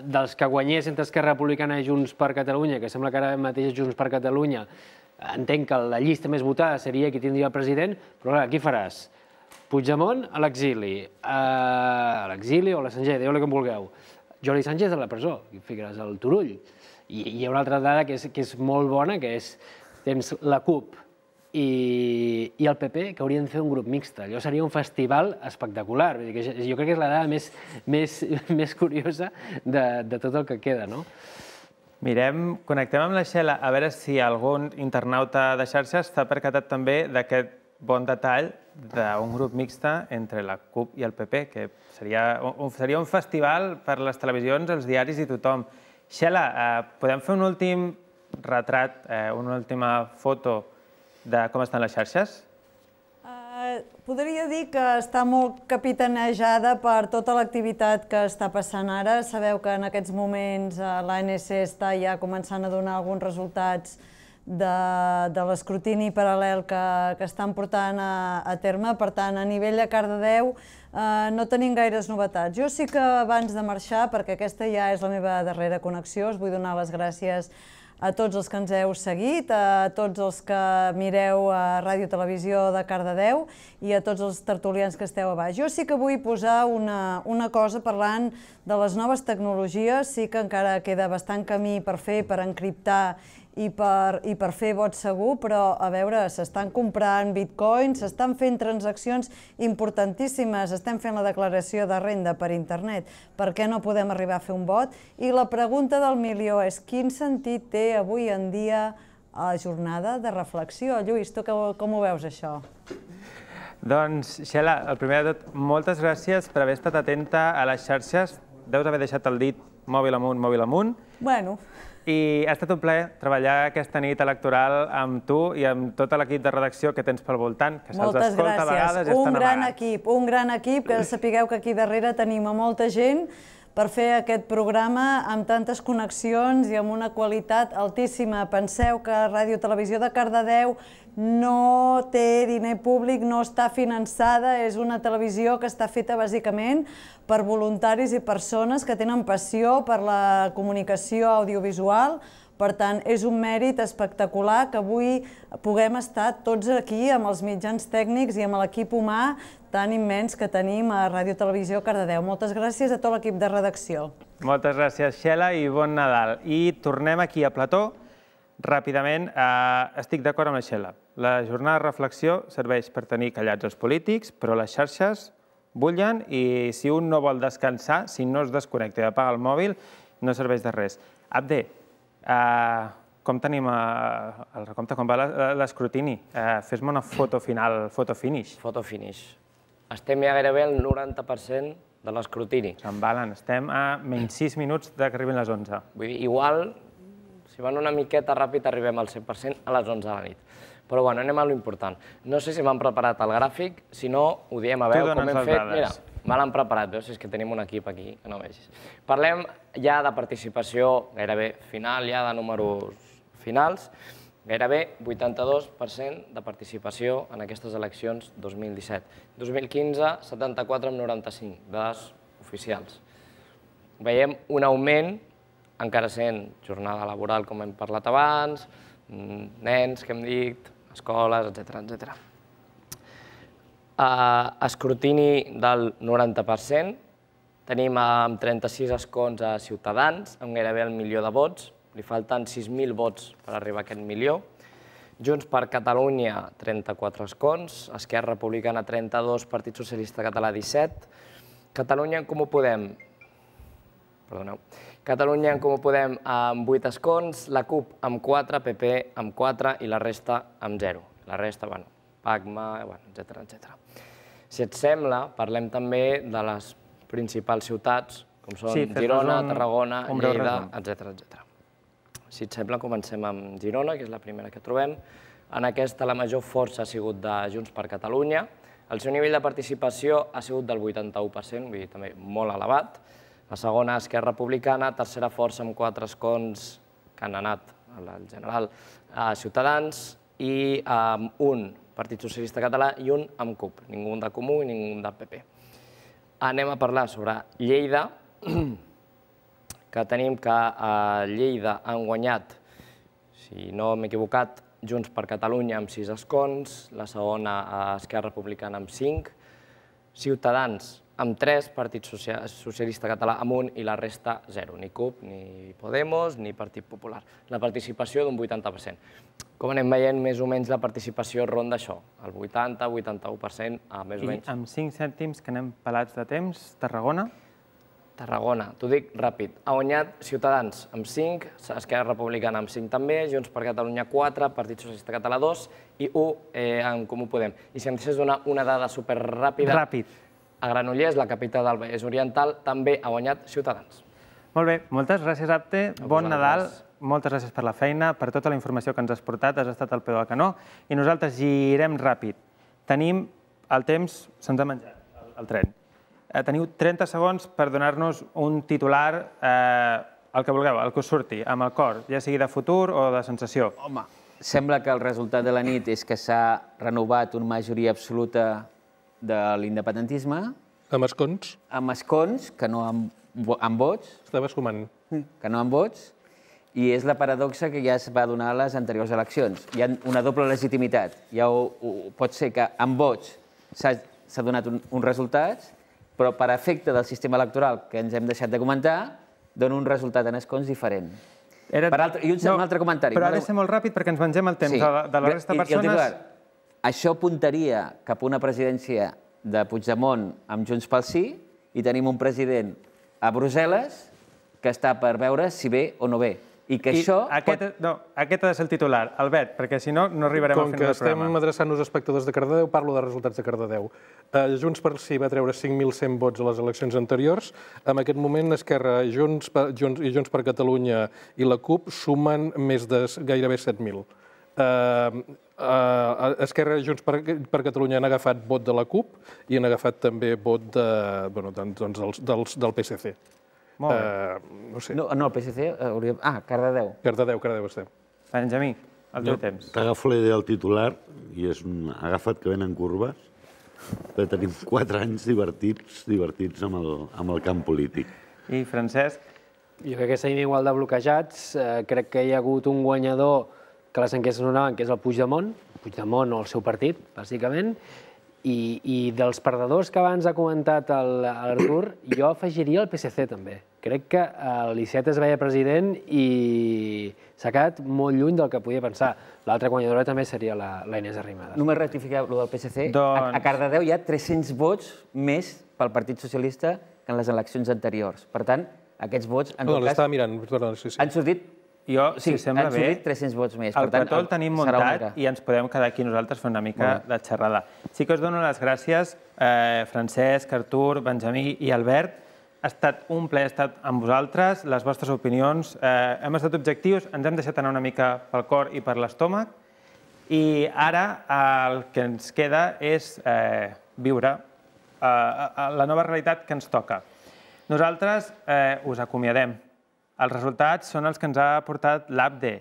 dels que guanyés entre Esquerra Republicana i Junts per Catalunya, que sembla que ara mateix Junts per Catalunya, entenc que la llista més votada seria qui tindria el president, però clar, qui faràs? Puigdemont a l'exili, a l'exili o a l'estranger, dieu-li com vulgueu. Jordi Sánchez a la presó, i ficaràs al Turull. I hi ha una altra dada que és molt bona, que és tens la CUP i el P P que haurien de fer un grup mixt. Allò seria un festival espectacular. Jo crec que és la dada més curiosa de tot el que queda, no? Mirem, connectem amb la Xela a veure si algun internauta de xarxes s'ha percatat també d'aquest bon detall d'un grup mixta entre la CUP i el P P, que seria un festival per les televisions, els diaris i tothom. Xela, podem fer un últim retrat, una última foto de com estan les xarxes? Podria dir que està molt capitanejada per tota l'activitat que està passant ara. Sabeu que en aquests moments l'A N C està ja començant a donar alguns resultats de l'escrutini paral·lel que estan portant a terme. Per tant, a nivell de Cardedeu no tenim gaires novetats. Jo sí que abans de marxar, perquè aquesta ja és la meva darrera connexió, us vull donar les gràcies a tots els que ens heu seguit, a tots els que mireu a Ràdio Televisió de Cardedeu i a tots els tertulians que esteu a baix. Jo sí que vull posar una, una cosa parlant de les noves tecnologies. Sí que encara queda bastant camí per fer, per encriptar i per, i per fer vot segur, però a veure, s'estan comprant bitcoins, s'estan fent transaccions importantíssimes, estem fent la declaració de renda per internet. Per què no podem arribar a fer un vot? I la pregunta del milió és quin sentit té avui en dia la jornada de reflexió? Lluís, tu com ho veus, això? Doncs, Xela, el primer de tot, moltes gràcies per haver estat atenta a les xarxes. Deus haver deixat el dit mòbil amunt, mòbil amunt. Bueno... I ha estat un plaer treballar aquesta nit electoral amb tu i amb tot l'equip de redacció que tens pel voltant, que se'ls escolta a vegades i estan amagats. Un gran equip, un gran equip, que sapigueu que aquí darrere tenim a molta gent per fer aquest programa amb tantes connexions i amb una qualitat altíssima. Penseu que Ràdio Televisió de Cardedeu no té diner públic, no està finançada, és una televisió que està feta bàsicament per voluntaris i persones que tenen passió per la comunicació audiovisual. Per tant, és un mèrit espectacular que avui puguem estar tots aquí amb els mitjans tècnics i amb l'equip humà tan immens que tenim a Ràdio Televisió Cardedeu. Moltes gràcies a tot l'equip de redacció. Moltes gràcies, Xela, i bon Nadal. I tornem aquí a plató. Ràpidament, estic d'acord amb la Xela. La jornada de reflexió serveix per tenir callats els polítics, però les xarxes bullen i si un no vol descansar, si no es desconnecta i apaga el mòbil, no serveix de res. Abde, com tenim el recompte? Com va l'escrutini? Fes-me una foto final, foto finish. Foto finish. Estem ja gairebé al noranta per cent de l'escrutini. S'embalen, estem a menys sis minuts que arribin les onze. Vull dir, igual, si van una miqueta ràpid, arribem al cent per cent a les onze de la nit. Però bueno, anem a l'important. No sé si m'han preparat el gràfic, si no, ho diem a veure com hem fet. Mira, me l'han preparat, veus? És que tenim un equip aquí que no vegis. Parlem ja de participació gairebé final, ja de números finals. Gairebé vuitanta-dos per cent de participació en aquestes eleccions dos mil disset. dos mil quinze, setanta-quatre coma noranta-cinc, dades oficials. Veiem un augment, encara sent jornada laboral, com hem parlat abans, nens, que hem dit, escoles, etcètera, etcètera. Escrutini del noranta per cent, tenim amb trenta-sis escons a Ciutadans, amb gairebé el milió de vots, li falten sis mil vots per arribar a aquest milió. Junts per Catalunya, trenta-quatre escons, Esquerra Republicana, trenta-dos, Partit Socialista Català, disset, Catalunya en Comú Podem, perdoneu, Catalunya en Comú Podem amb vuit escons, la CUP amb quatre, P P amb quatre i la resta amb zero. La resta, bueno, PACMA, etcètera, etcètera. Si et sembla, parlem també de les principals ciutats, com són Girona, Tarragona, Lleida, etcètera, etcètera. Si et sembla, comencem amb Girona, que és la primera que trobem. En aquesta la major força ha sigut de Junts per Catalunya. El seu nivell de participació ha sigut del vuitanta-u per cent, vull dir, també molt elevat. La segona, Esquerra Republicana, tercera força amb quatre escons que han anat, en general, a Ciutadans, i amb un Partit Socialista Català i un amb CUP, ningú de Comú i ningú de P P. Anem a parlar sobre Lleida, que tenim que a Lleida han guanyat, si no m'he equivocat, Junts per Catalunya amb sis escons, la segona a Esquerra Republicana amb cinc, Ciutadans amb tres, Partit Socialista Català amb un i la resta zero, ni CUP, ni Podemos, ni Partit Popular. La participació d'un vuitanta per cent. Com anem veient, més o menys la participació ronda això, el vuitanta a vuitanta-u per cent, més o menys. I amb cinc cèntims que anem pelats de temps, Tarragona? Tarragona, t'ho dic ràpid, ha guanyat Ciutadans amb cinc, Esquerra Republicana amb cinc també, Junts per Catalunya quatre, Partit Socialista Català dos i u en Comú Podem. I si em deixés donar una dada superràpida, Ràpid. a Granollers, la capital del Vallès Oriental, també ha guanyat Ciutadans. Molt bé, moltes gràcies, Abte. Bon Nadal, moltes gràcies per la feina, per tota la informació que ens has portat, has estat al peu del canó, i nosaltres girem ràpid. Tenim el temps, se'ns ha menjat el tren. Teniu trenta segons per donar-nos un titular, el que vulgueu, el que us surti, amb el cor, ja sigui de futur o de sensació. Home, sembla que el resultat de la nit és que s'ha renovat una majoria absoluta de l'independentisme. Amb escons? Amb escons, que no amb vots. Estaves sumant. Que no amb vots. I és la paradoxa que ja es va donar a les anteriors eleccions. Hi ha una doble legitimitat. Ja pot ser que amb vots s'ha donat uns resultats, però per efecte del sistema electoral que ens hem deixat de comentar, dona un resultat en escons diferent. I un altre comentari. Però ha de ser molt ràpid perquè ens mengem el temps de la resta de persones. Això apuntaria cap a una presidència de Puigdemont amb Junts pel Sí i tenim un president a Brussel·les que està per veure si ve o no ve. I que això... No, aquest ha de ser el titular, Albert, perquè si no, no arribarem al final del programa. Com que estem adreçant-nos a espectadors de Cardedeu, parlo de resultats de Cardedeu. Junts per Sí va treure cinc mil cent vots a les eleccions anteriors. En aquest moment, Esquerra i Junts per Catalunya i la CUP sumen més de gairebé set mil. Esquerra i Junts per Catalunya han agafat vot de la CUP i han agafat també vot del P S C. Molt bé. No sé. No, el P S C... Ah, Cardedeu. Cardedeu, Cardedeu estem. Benjamí, el teu temps. T'agafo la idea del titular i és un agafat que venen curves, però tenim quatre anys divertits, divertits amb el camp polític. I Francesc? Jo crec que seguim igual de bloquejats. Crec que hi ha hagut un guanyador que les enquestes donaven, que és el Puigdemont, Puigdemont o el seu partit, bàsicament, i dels perdedors que abans ha comentat l'Artur, jo afegiria el P S C també. Crec que l'Iceta es veia president i s'ha quedat molt lluny del que podia pensar. L'altra guanyadora també seria la Inés Arrimadas. Només rectificar el del P S C. A Cardedeu hi ha tres-cents vots més pel Partit Socialista que en les eleccions anteriors. Per tant, aquests vots, en tot cas, han sortit si sembla bé, tres-cents vots més. el petó el tenim muntat i ens podem quedar aquí nosaltres fent una mica de xerrada. Sí que us dono les gràcies, Francesc, Artur, Benjamí i Albert. Ha estat un plaer estar amb vosaltres, les vostres opinions. Hem estat objectius, ens hem deixat anar una mica pel cor i per l'estómac i ara el que ens queda és viure la nova realitat que ens toca. Nosaltres us acomiadem. Els resultats són els que ens ha portat l'A P D E.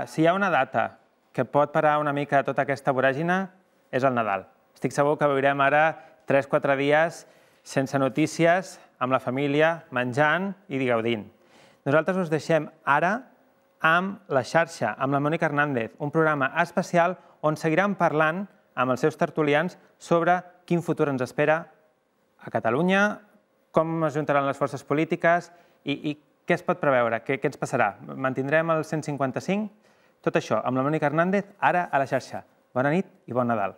Si hi ha una data que pot parar una mica tota aquesta voràgina, és el Nadal. Estic segur que viurem ara tres o quatre dies sense notícies, amb la família, menjant i gaudint. Nosaltres us deixem ara amb La Xarxa, amb la Mònica Hernández, un programa especial on seguiran parlant amb els seus tertulians sobre quin futur ens espera a Catalunya, com es juntaran les forces polítiques i què es pot preveure, què ens passarà? Mantindrem el cent cinquanta-cinc? Tot això amb la Mònica Hernández, ara a La Xarxa. Bona nit i bon Nadal.